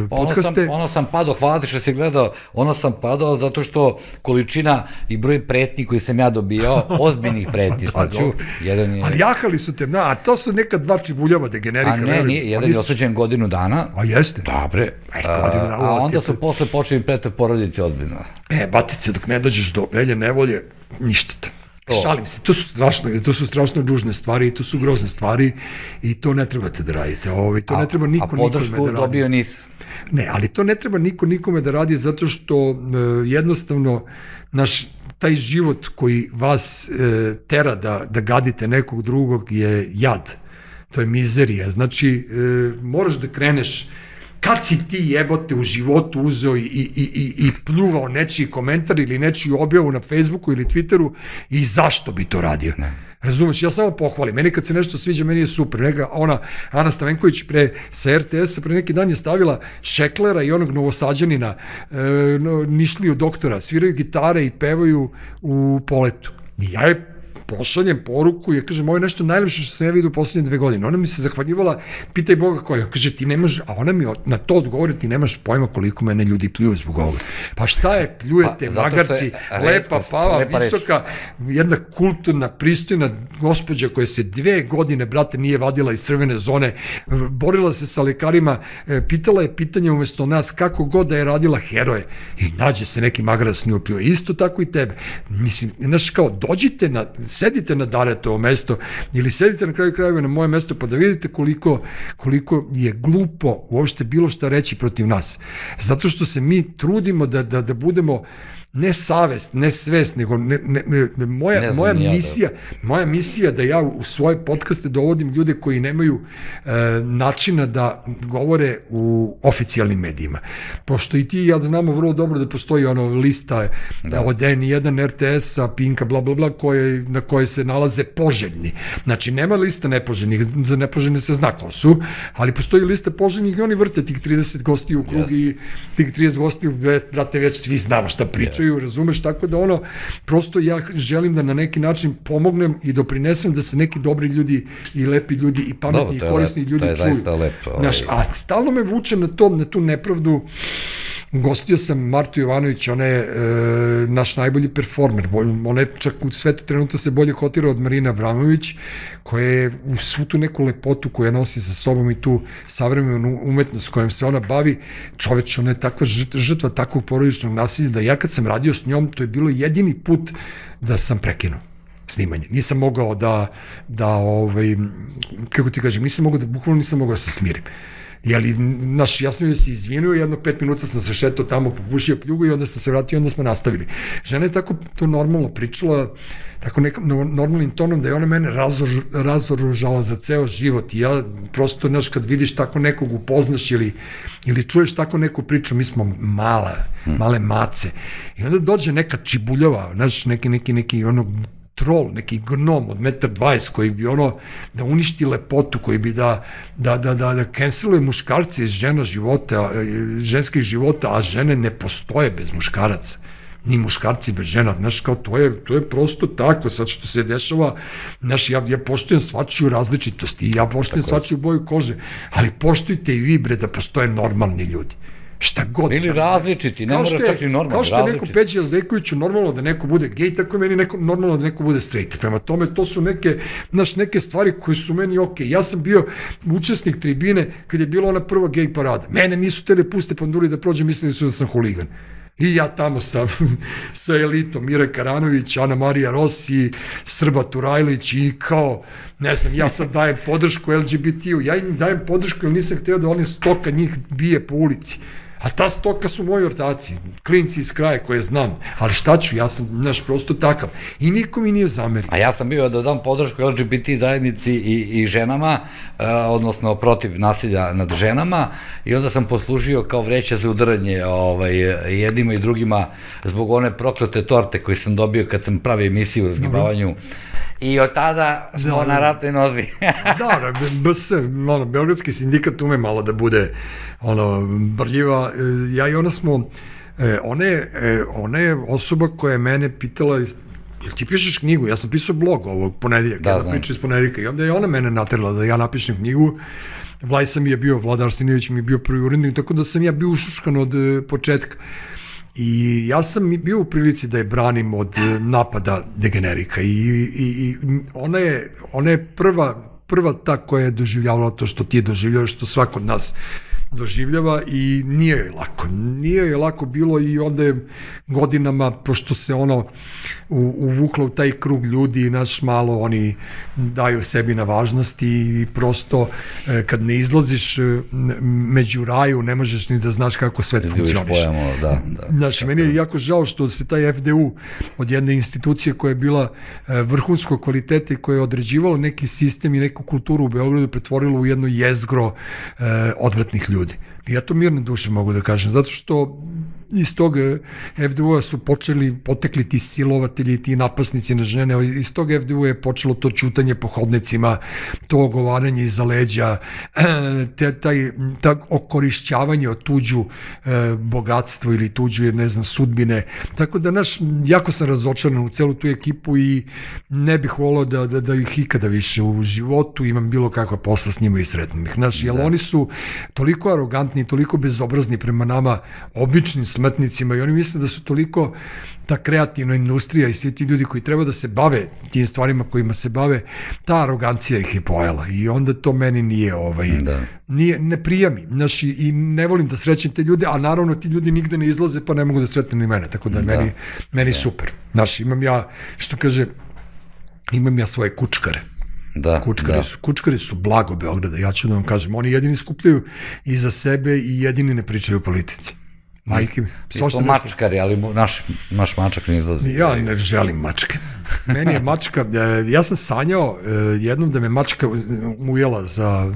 podcaste. Ono sam padao, hvala ti što si gledao, ono sam padao zato što količina i broj pretnji koji sam ja dobijao, ozbiljnih pretnji, ali jahali su te, a to su neka dva čibuljava degenerika. A ne, nije, jedan je osuđen godinu dana. A jeste? Dobre. A onda su posle počeli prete porodice ozbiljno. Batice, dok ne dođeš do velje nevolje, ništa to. Šalim se, to su strašno dužne stvari i to su grozne stvari i to ne trebate da radite. To ne treba niko nikome da radi. A podršku dobio nis? Ne, ali to ne treba niko nikome da radi zato što jednostavno taj život koji vas tera da gadite nekog drugog je jad. To je mizerija. Znači, moraš da kreneš. Kad si ti jebote u životu uzeo i pljuvao nečiji komentar ili nečiju objavu na Facebooku ili Twitteru i zašto bi to radio? Razumeš, ja samo pohvalim. Meni kad se nešto sviđa, meni je super. Ana Stavenković sa RTS-a pre neki dan je stavila Šeklera i onog Novosađanina, Nišliju doktora, sviraju gitare i pevaju u Poletu. I ja je pošaljem poruku i ja kažem, ovo je nešto najlepše što sam ja vidio u poslednje 2 godine. Ona mi se zahvaljivala, pitaj Boga koja. Kaže, ti nemaš, a ona mi na to odgovori, ti nemaš pojma koliko mene ljudi pljuju zbog ovoga. Pa šta je, pljujete, magarci, lepa, pava, visoka, jedna kulturna, pristojna gospođa koja se 2 godine, brate, nije vadila iz crvene zone, borila se sa lekarima, pitala je pitanje umesto nas, kako god da je radila, heroje. I nađe se neki magarac s nju pljuje. Isto tako i tebe. Mislim, znaš, kao, dođite sedite na Daretovo mesto ili sedite na kraju krajeva na moje mesto pa da vidite koliko je glupo uopšte bilo šta reći protiv nas. Zato što se mi trudimo da budemo ne savest, ne svest, nego moja misija da ja u svoje podcaste dovodim ljude koji nemaju načina da govore u oficijalnim medijima. Pošto i ti i ja znamo vrlo dobro da postoji lista od N1, RTS-a, Pinka, bla bla bla, na koje se nalaze poželjni. Znači, nema lista nepoželjnih, za nepoželjne se zna ko su, ali postoji lista poželjnih i oni vrte tih 30 gostiju u krug i tih 30 gostiju, brate, već svi znamo šta pričaju, razumeš, tako da prosto ja želim da na neki način pomognem i doprinesem da se neki dobri ljudi i lepi ljudi i pametni i korisni ljudi čuju. To je zaista lepo. A stalno me vuče na tu nepravdu. Gostio sam Martu Jovanović, ona je naš najbolji performer, ona je čak u svetu trenutno se bolje kotira od Marina Abramović, koja je u svu tu neku lepotu koja nosi sa sobom i tu savremenu umetnost kojom se ona bavi, čoveč, ona je takva žrtva takvog porodičnog nasilja da ja kad sam radio s njom, to je bilo jedini put da sam prekinuo snimanje. Nisam mogao kako ti kažem, bukvalno nisam mogao da se smirim. Ja sam joj se izvinio, 5 minuta sam se šetao tamo, popušio pljugu i onda sam se vratio i onda smo nastavili. Žena je tako to normalno pričala, tako nekim normalnim tonom da je ona mene razoružala za ceo život i ja prosto, kad vidiš tako nekog upoznaš ili čuješ tako neku priču, mi smo male mace i onda dođe neka čibuljava, neki trol, neki gnom od 1,20 m koji bi da uništi lepotu, koji bi da canceluje muškarce iz ženskih života, a žene ne postoje bez muškaraca. Ni muškarci bez žena, znaš, kao to je prosto tako, sad što se dešava, znaš, ja poštujem svačiju različitost i ja poštujem svačiju boju kože, ali poštujte i vi, bre, da postoje normalni ljudi. Šta god. Ili različiti, ne mora čak i normalno. Kao što je neko Peđi Jazdejkoviću normalno da neko bude gej, tako je meni normalno da neko bude straight. Prema tome, to su neke stvari koje su meni okej. Ja sam bio učesnik tribine kad je bila ona prva gej parada. Mene nisu tele puste panduri da prođe, mislili su da sam huligan. I ja tamo sa elitom, Mira Karanović, Ana Marija Rossi, Srba Turajlić i kao, ne znam, ja sad dajem podršku LGBT-u, ja im dajem podršku jer nisam hteo da oni stoka njih bije po ulici. A ta stoka su moji ortaci, klinci iz kraja koje znam, ali šta ću, ja sam, prosto takav. I niko mi nije zamerio. A ja sam bio da dam podršku LGBT zajednici i ženama, odnosno protiv nasilja nad ženama, i onda sam poslužio kao vreća za udaranje jednima i drugima zbog one proklete torte koje sam dobio kad sam pravio emisiju o razgibavanju I od tada smo na ratnoj nozi. Da, Beogradski sindikat ume malo da bude brljiva. Ja i ona smo, ona je osoba koja je mene pitala, jel ti pišeš knjigu? Ja sam pisao blog ovog ponedjeljaka, jedna priča iz ponedjeljka, i onda je ona mene naterala da ja napišem knjigu. Vlada Arsenijević mi je bio prvi urednik, tako da sam ja bio ušuškan od početka. I ja sam bio u prilici da je branim od napada degenerika i ona je prva ta koja je doživljavala to što ti je doživljava, što svako od nas doživljava, i nije je lako bilo, i onda je godinama, pošto se uvuklo u taj krug ljudi, malo oni daju sebi na važnosti, i prosto kad ne izlaziš među raju, ne možeš ni da znaš kako svet funkcioniše. Znači, meni je jako žao što se taj FDU od jedne institucije koja je bila vrhunskog kvaliteta i koja je određivala neki sistem i neku kulturu u Beogradu pretvorila u jedno jezgro odvratnih ljudi. I ja to mirno duše mogu da kažem, zato što iz tog FDU-a su potekli ti silovatelji, ti napasnici na žene, iz tog FDU-a je počelo to ćutanje po hodnicima, to ogovaranje iza leđa, okorišćavanje o tuđu bogatstvo ili tuđu, ne znam, sudbine. Tako da, jako sam razočaran u celu tu ekipu i ne bih volao da ih ikada više u životu imam bilo kakva posla s njima i sretnim ih. Jer oni su toliko arogantni, toliko bezobrazni prema nama, običnim smrtnicima, i oni misle da su toliko ta kreativna industrija i svi ti ljudi koji treba da se bave tim stvarima kojima se bave, ta arogancija ih je pojela, i onda to meni ne prija mi. I ne volim da srećem te ljude, a naravno ti ljudi nigde ne izlaze, pa ne mogu da sretnem ni mene, tako da meni super. Imam ja, što kaže, imam ja svoje kučkare. Kučkari su blago Beograda, ja ću da vam kažem, oni jedini skupljaju i za sebe i jedini ne pričaju o politici. Majke mi. Mi smo mačkari, ali naš mačak ne izlazi. Ja ne želim mačke. Meni je mačka, ja sam sanjao jednom da me mačka ujela za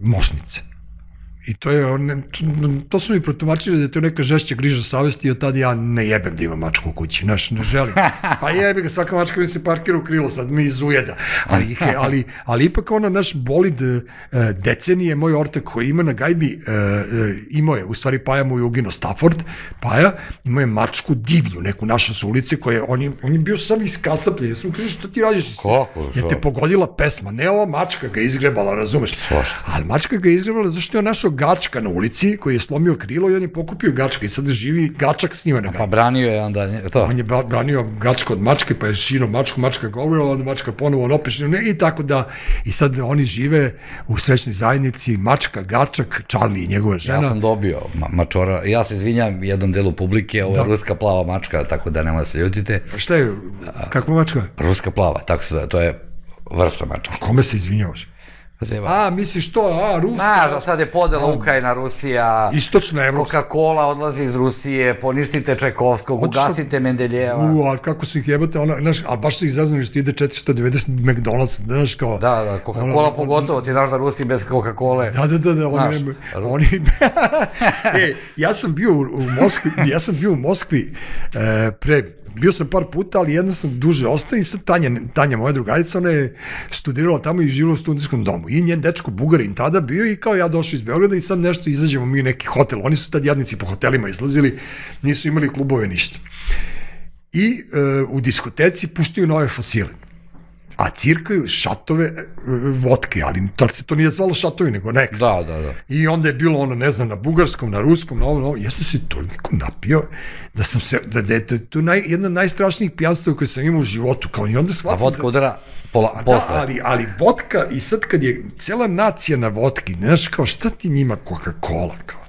mošnice. I to su mi protumačili da je to neka žešća griža savesti, i od tada ja ne jebem da imam mačku u kući, ne želim. Pa jebi ga, svaka mačka mi se parkira u krilo, sad mi izujeda. Ali ipak naš bolid decenije, moj ortak koji ima na gajbi, imao je, u stvari Paja mu je uginuo Stafford, Paja, imao je mačku divlju, neku našu sa ulici, on je bio sam iz kasaplje, ja sam kažem, što ti radiš? Je te pogodila pesma, ne ova mačka ga izgrebala, razumeš? Ali mačka ga izgrebala zašto je našao Gačka na ulici koji je slomio krilo i on je pokupio Gačka i sad živi Gačak s njima na gajbi. Pa branio je onda to. On je branio Gačka od mačke, pa je šino mačku, mačka govorila, onda mačka ponovo opešila, i tako da, i sad oni žive u srećnoj zajednici, mačka, Gačak, Charlie i njegova žena. Ja sam dobio mačora, ja se izvinjam jednom delu publike, ovo je ruska plava mačka, tako da nema se ljutite. Šta je, kakva mačka? Ruska plava, tako se zove, to je vrsta mačka. A kome se izvinjavaš? Misliš to, Ruska? Znaš, a sad je podela Ukrajina, Rusija, istočna Evropska. Coca-Cola odlazi iz Rusije, poništite Čajkovskog, ugasite Mendeljeva. Ali kako su ih jebate, ali baš su ih zaznali što ide 490 McDonald's, znaš kao... Da, Coca-Cola pogotovo, ti znaš da Rusi bez Coca-Cola. Da, oni... Ja sam bio u Moskvi bio sam par puta, ali jednom sam duže ostao, i sad Tanja, moja drugarica, ona je studirala tamo i živjela u studentskom domu. I njen dečko Bugarin tada bio, i kao ja došao iz Beograda i sad nešto izađemo mi u neki hotel. Oni su tad jadnici po hotelima izlazili, nisu imali klubove, ništa. I u diskoteci puštaju nove fosile. A cirkaju šatove vodke, ali tad se to nije zvalo šatovi, nego neks. Da. I onda je bilo ne znam, na bugarskom, na ruskom, na ovo, ja sam se toliko napio, da sam se, da je to jedna od najstrašnijih pijanstava koje sam imao u životu, kao i onda shvatim. A vodka udara posle. Ali vodka, i sad kad je cela nacija na vodki, znaš, kao šta ti njima Coca-Cola, kao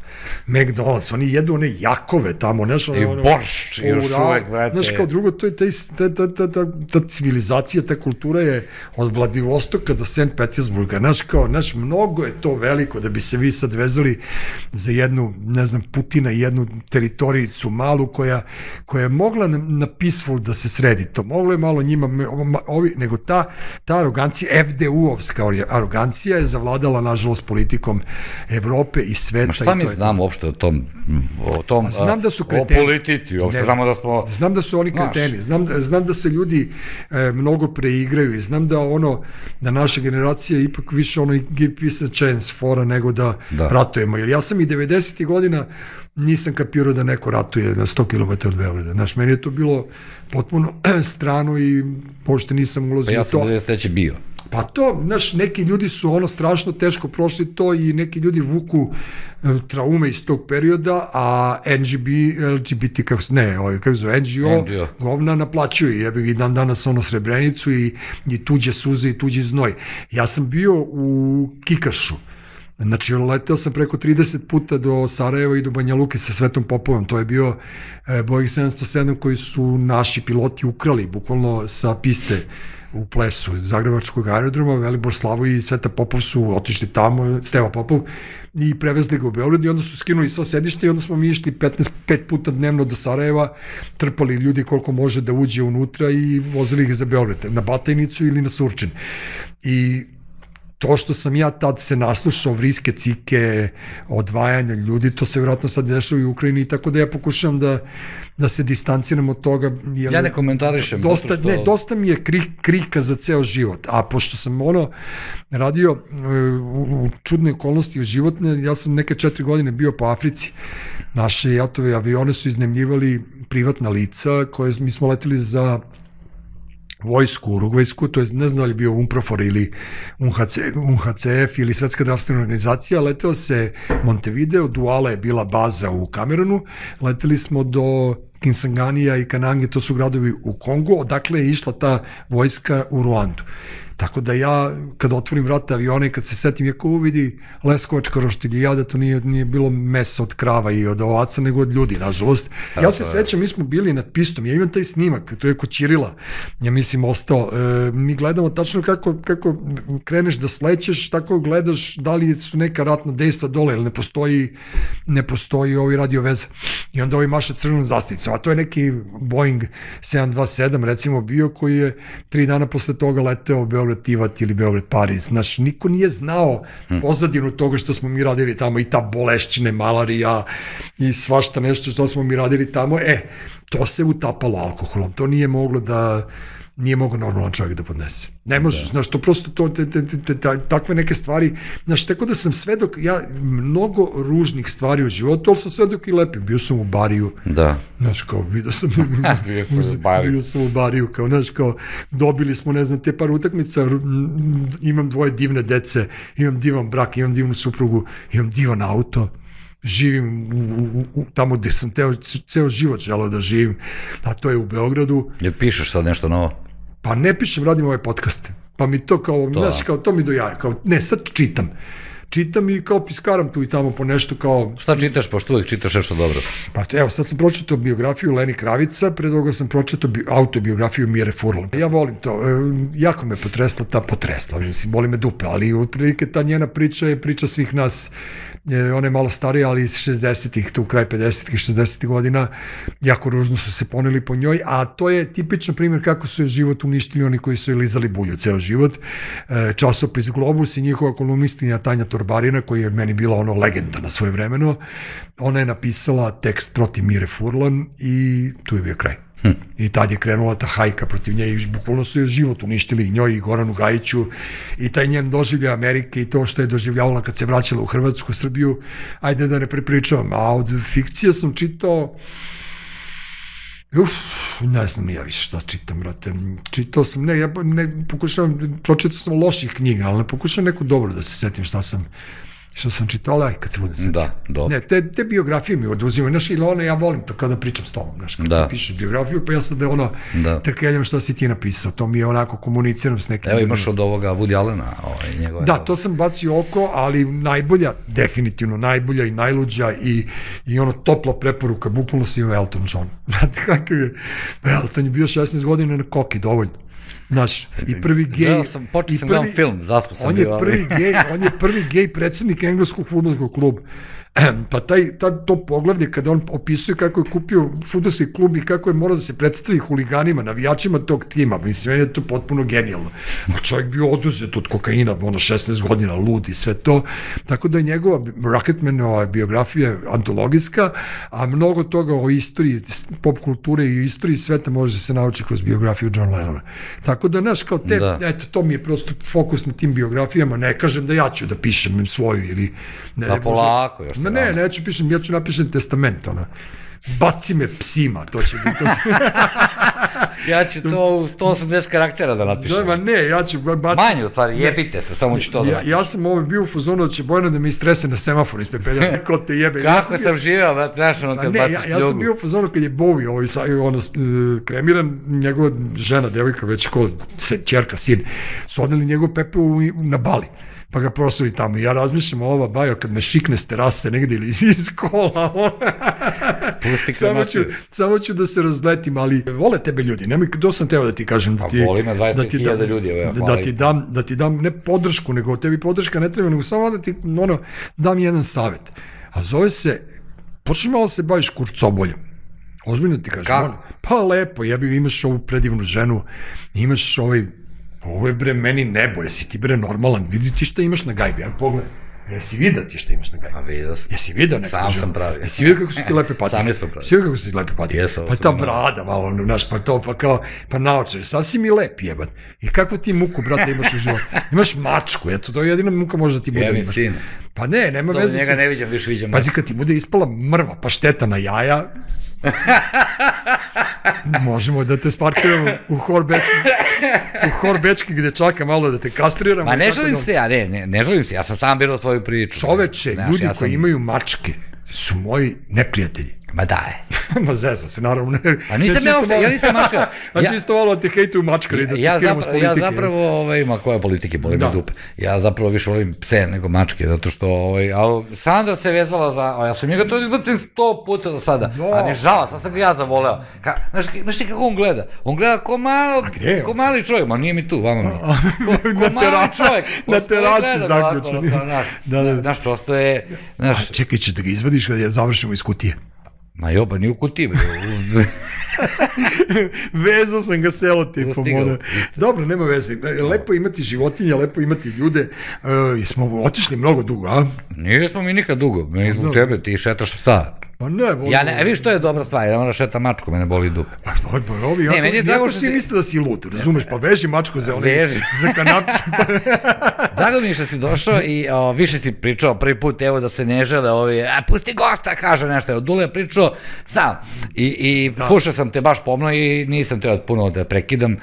McDonald's, oni jedu one jakove tamo, znaš, i boršč, i još uvek, brate. Znaš, kao drugo, to je ta civilizacija, ta kultura je od Vladivostoka do St. Petersburga, znaš, kao, znaš, mnogo je to veliko da bi se vi sad vezali za jednu, ne znam, Putina i jednu teritorijicu malu koja je mogla na peaceful da se sredi to, moglo je malo njima, nego ta arogancija, FDU-ovska arogancija je zavladala, nažalost, politikom Evrope i sveta. Ma šta mi znamo znam uopšte o tom, znam da su o kreteni. politici, uopšte znamo da smo... Znam da su oni kreteni, znam da se ljudi mnogo preigraju i znam da naša generacija ipak više give peace a chance fora nego da ratujemo. Jer ja sam i 90. godina nisam kapirao da neko ratuje na 100 km od Beograda. Znaš, meni je to bilo potpuno strano i pošto nisam ulazio u to. Pa ja sam 93. bio. Pa to, znaš, neki ljudi su strašno teško prošli to i neki ljudi vuku traume iz tog perioda, a LGBT, kako zove, NGO, govna naplaćuju, jebi i dan danas Srebrenicu i tuđe suze i tuđi znoj. Ja sam bio u Kikašu, znači leteo sam preko 30 puta do Sarajeva i do Banja Luke sa Svetom Popovom, to je bio Boeing 707 koji su naši piloti ukrali, bukvalno sa piste u Plesu, Zagrebačkog aerodroma, Velibor Slavoj i Sveta Popov su otišli tamo, Steva Popov, i prevezli ga u Beograd i onda su skinuli sva sedišta i onda smo mi išli 5 puta dnevno do Sarajeva, trpali ljudi koliko može da uđe unutra i vozili ih za Beograd, na Batajnicu ili na Surčin. I to što sam ja tad se naslušao vriske, cike, odvajanja ljudi, to se vjerojatno sad dešava i u Ukrajini, tako da ja pokušavam da se distanciram od toga. Ja ne komentarišem. Dosta mi je krika za ceo život, a pošto sam radio u čudne okolnosti životne, ja sam neke 4 godine bio po Africi. Naše jatove avione su iznemljivali privatna lica, koje mi smo leteli za vojsku, urugvajsku, to je ne znam da li bio UNPROFOR ili UNHCF ili Svetska zdravstvena organizacija, leteo se Montevideo, Duala je bila baza u Kamerunu, leteli smo do Kinsanganija i Kanange, to su gradovi u Kongu, odakle je išla ta vojska u Ruandu. Tako da ja, kada otvorim vrata aviona i kad se setim, jako uvidi Leskovačka roštilj i ja da to nije bilo meso od krava i od ovaca, nego od ljudi, nažalost. Ja se sećam, mi smo bili nad pistom, ja imam taj snimak, to je kod Ćirila, ja mislim ostao, mi gledamo tačno kako kreneš da slećeš, tako gledaš da li su neka ratna dejstva dole, ili ne postoji ovi radio veza. I onda ovi maša crvenom zastavicom, a to je neki Boeing 727, recimo, bio, koji je 3 dana posle toga leteo u Beograd-Tivat ili Beograd-Pariz. Znaš, niko nije znao pozadinu toga što smo mi radili tamo, i ta bolešćine, malarija i svašta nešto što smo mi radili tamo. To se utapalo alkoholom. To nije moglo normalan čovjek da podnese. Ne možeš, znaš, to prosto takve neke stvari, znaš, tako da sam svedok, ja mnogo ružnih stvari u životu, ali sam svedok i lepih, bio sam u Bariju, znaš, kao, vidio sam u Bariju, kao, znaš, kao, dobili smo, ne znam, te par utakmica, imam 2 divne dece, imam divan brak, imam divnu suprugu, imam divan auto, živim tamo gde sam ceo život želeo da živim, a to je u Beogradu. Jel pišeš sad nešto novo? Pa ne pišem, radim ove podcaste. Pa mi to kao, znaš, kao to mi do jaja. Ne, sad čitam. Čitam i kao piskaram tu i tamo po nešto kao... Šta čitaš, pošto uvek čitaš nešto dobro? Pa evo, sad sam pročitao biografiju Leni Kravica, pre toga sam pročitao autobiografiju Mire Furlan. Ja volim to, jako me potresla, mislim, boli me dupe, ali otprilike ta njena priča je priča svih nas. Ona je malo starija, ali iz 60-ih, tu kraj 50-ih, 60-ih godina, jako ružno su se poneli po njoj, a to je tipičan primjer kako su je život uništili oni koji su je lizali bulju ceo život. Časopis Globus i njihova kolumnistinja Tanja Torbarina, koja je meni bila legenda na svoje vremeno, ona je napisala tekst protiv Mire Furlan i tu je bio kraj. I tad je krenula ta hajka protiv nje i bukvalno su je život uništili i njoj i Goranu Gajiću i taj njen doživljaj Amerike i to što je doživljavala kad se vraćala u Hrvatsku, Srbiju, ajde da ne prepričavam, a od fikcije sam čitao, ne znam ni ja više šta čitam, brate, čitao sam, pročitao sam loših knjiga, ali ne pokušavam neko dobro da se setim šta sam čitao, aj kad se budem setio. Da, dobro. Ne, te biografije mi oduzimaju, znaš, ili ja volim to kada pričam s tobom, znaš, kada ti pišeš biografiju, pa ja sad trkeljam šta si ti napisao, to mi je onako komuniciram s nekim. Evo imaš od ovoga Woody Allena, njegove... Da, to sam bacio oko, ali najbolja, definitivno najbolja i najluđa i ono topla preporuka, bukvalno si ima Elton John. Znate kakav je, Elton je bio 16 godina na koki, dovoljno. Znaš, i prvi gej... Počeo sam gledam film, zaspo sam bio. On je prvi gej predsednik engleskog fudbalskog kluba. Pa to poglavlje kada on opisuje kako je kupio fudbalski klub i kako je morao da se predstavi huliganima, navijačima tog tima, mislim, je to potpuno genijalno. A čovjek bio oduzet od kokaina, 16 godina, lud i sve to, tako da je njegova Rocketmanova biografija antologijska, a mnogo toga o istoriji, pop kulture i istoriji sveta može se naučiti kroz biografiju John Lennona. Tako da, znaš, kao eto, to mi je prosto fokus na tim biografijama, ne kažem da ja ću da pišem svoju ili... Da polako još. Ne, neću pišem, ja ću napišem testament, baci me psima, to će biti. Ja ću to u 180 karaktera da napišem. Da, ne, ja ću baciti... Manje, u stvari, jebite se, samo ću to da napišem. Ja sam bio u fuzonu da će Bojana da me istrese na semaforu ispred pedalja, ko te jebe. Kako sam živeo, brate, znaš, ono kad baciš ljubu. Ja sam bio u fuzonu kad je Bowie, kremiran, njegova žena, devojka, već ko ćerka, sin, su odneli njegov pepeo na Bali. Pa ga prosuli tamo. Ja razmišljam ova bajo kad me šikne s terase negde ili iz kola. Samo ću da se razletim, ali vole tebe ljudi. Nemoj, to sam teo da ti kažem. Pa voli me 25.000 ljudi. Da ti dam ne podršku, nego tebi podrška ne treba, nego samo da ti dam jedan savjet. A zove se, počneš malo se baviš kurcoboljom. Ozbiljno ti kažem. Kako? Pa lepo, imaš ovu predivnu ženu, imaš ovo je bre meni nebo, jesi ti bre normalan, vidi ti šta imaš na gajbi, ja pogledaj, jesi vidio ti šta imaš na gajbi? A vidio sam. Jesi vidio neko? Sam sam pravio. Jesi vidio kako su ti lepe patike? Sami smo pravili. Jesi vidio kako su ti lepe patike? Pa ta brada malo, znaš, pa to, pa kao, pa naočar, sasvim i lep jebat. I kakvu ti muku, brate, imaš u životu? Imaš mačku, eto, to je jedina muka može da ti bude. Jevi sin. Pa ne, nema veze. Njega ne viđam, više viđam. Pazi, kad ti bude ispala mrva pašteta na jaja, možemo da te sparkiramo u Hor Bečki gde čaka malo da te kastriramo. Ma ne želim se, ne želim se, ja sam sam birao svoju priču. Čoveče, ljudi koji imaju mačke su moji neprijatelji. Ma daj. Ma zezam se, naravno. A nisam ja nisam mačka. Znači isto malo da te hejtuju mačkari, da ti skiramo s politike. Ja zapravo, ima koje politike, boli me dupe. Ja zapravo više volim pse nego mačke, zato što, ali Sandra se vezala za, ja sam njega to izbacim 100 puta do sada, a ne žala, sad sam ga ja zavoleo. Znaš ti kako on gleda? On gleda ko mali čovjek, ma nije mi tu, vama mi. Ko mali čovjek. Na terasi zaključeni. Znaš, prosto je... Čekaj, će da ga izvadiš kada završimo iz kutije. Ma jo, pa nije u kutiji, bre. Vezao sam ga selotipom. Dobro, nema veze. Lepo imati životinje, lepo imati ljude. Smo otišli mnogo dugo, a? Nismo mi nikad dugo. Meni zbog tebe, ti šetaš psa. Pa ne, viš što je dobra stvar, ja moram šeta mačku, mene boli dupe. Pa ovi, jako si misle da si lud, razumeš, pa veži mačku za kanapče. Drago mi je što si došao i više si pričao prvi put, evo da se ne žele ovi, pusti gosta, kaže nešto, od Dule je pričao sam i slušao sam te baš pomno i nisam trebao puno da prekidam,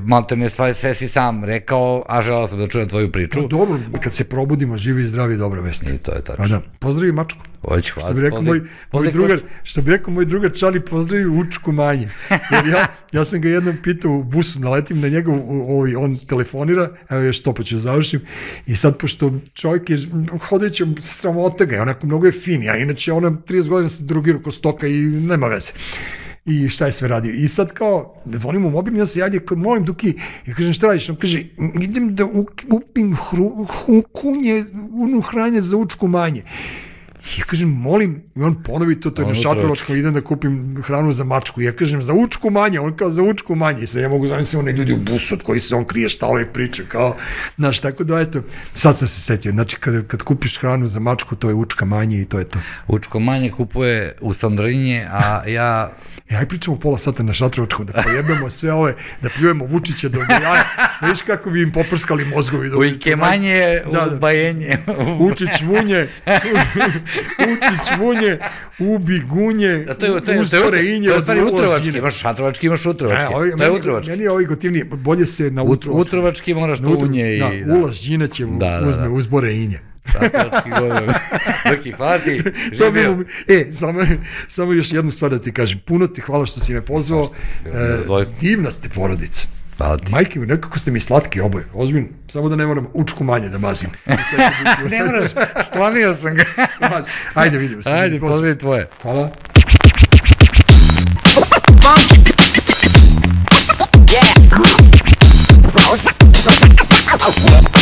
malte ne sve si sam rekao, a želao sam da čujem tvoju priču. Dobro, kad se probudimo, živi i zdravi, dobra vest. I to je tačno. Pozdravi mačku. Hoću, hvala. Što bi rekao moj drugar Čali, pozdravi Učku Manje. Jer ja sam ga jednom pitao u busu, naletim na njegov, on telefonira, evo još to pa ću završim, i sad pošto čovjek je hodajući sramota ga, onako mnogo je fin, a inače ona 30 godina se drogirao ko stoka i nema veze. I šta je sve radio. I sad kao, da volim u mobilni, ja se javlja, molim Duki, ja kažem šta radiš, on kaže, idem da upim hranje za Učku Manje. Ja kažem, molim, i on ponovi to je na Šatrovačko, idem da kupim hranu za mačku. Ja kažem, za Učku Manje, on kao za Učku Manje. I sad ja mogu zamisliti one ljudi u busu od koji se on krije, šta ove priče, kao, znaš, tako da, eto, sad sam se setio, znači, kad kupiš hranu za mačku, to je Učka Manje i to je to. Učko Manje kupuje u Sandrinje, a ja... Aj pričamo pola sata na Šatrovačku, da pojebemo sve ove, da pljujemo Vučića do jaja, da viš kako bi im poprskali mozgovi. Ujke Manje, u Bajenje. Učić Vunje, Ubi Gunje, Uspore Inje. To je stvari utrovački, imaš Šatrovački, imaš utrovački. To je utrovački. Meni je ovaj gotivnije, bolje se na utrovački. Utrovački moraš do Unje. Da, Ulaš Žinaće uzme Uzbore Inje. Šatrovački godin. Dok ih hvati, živio. Samo još jednu stvar da ti kažem. Puno ti hvala što si me pozvao. Divna ste porodica. Majke mi, nekako ste mi slatki oboje. Ozbiljno, samo da ne moram Učku Manje da mazim. Ne moraš, sklonio sam ga. Ajde, vidimo se. Ajde, pozdravi tvoje. Hvala. Yeah.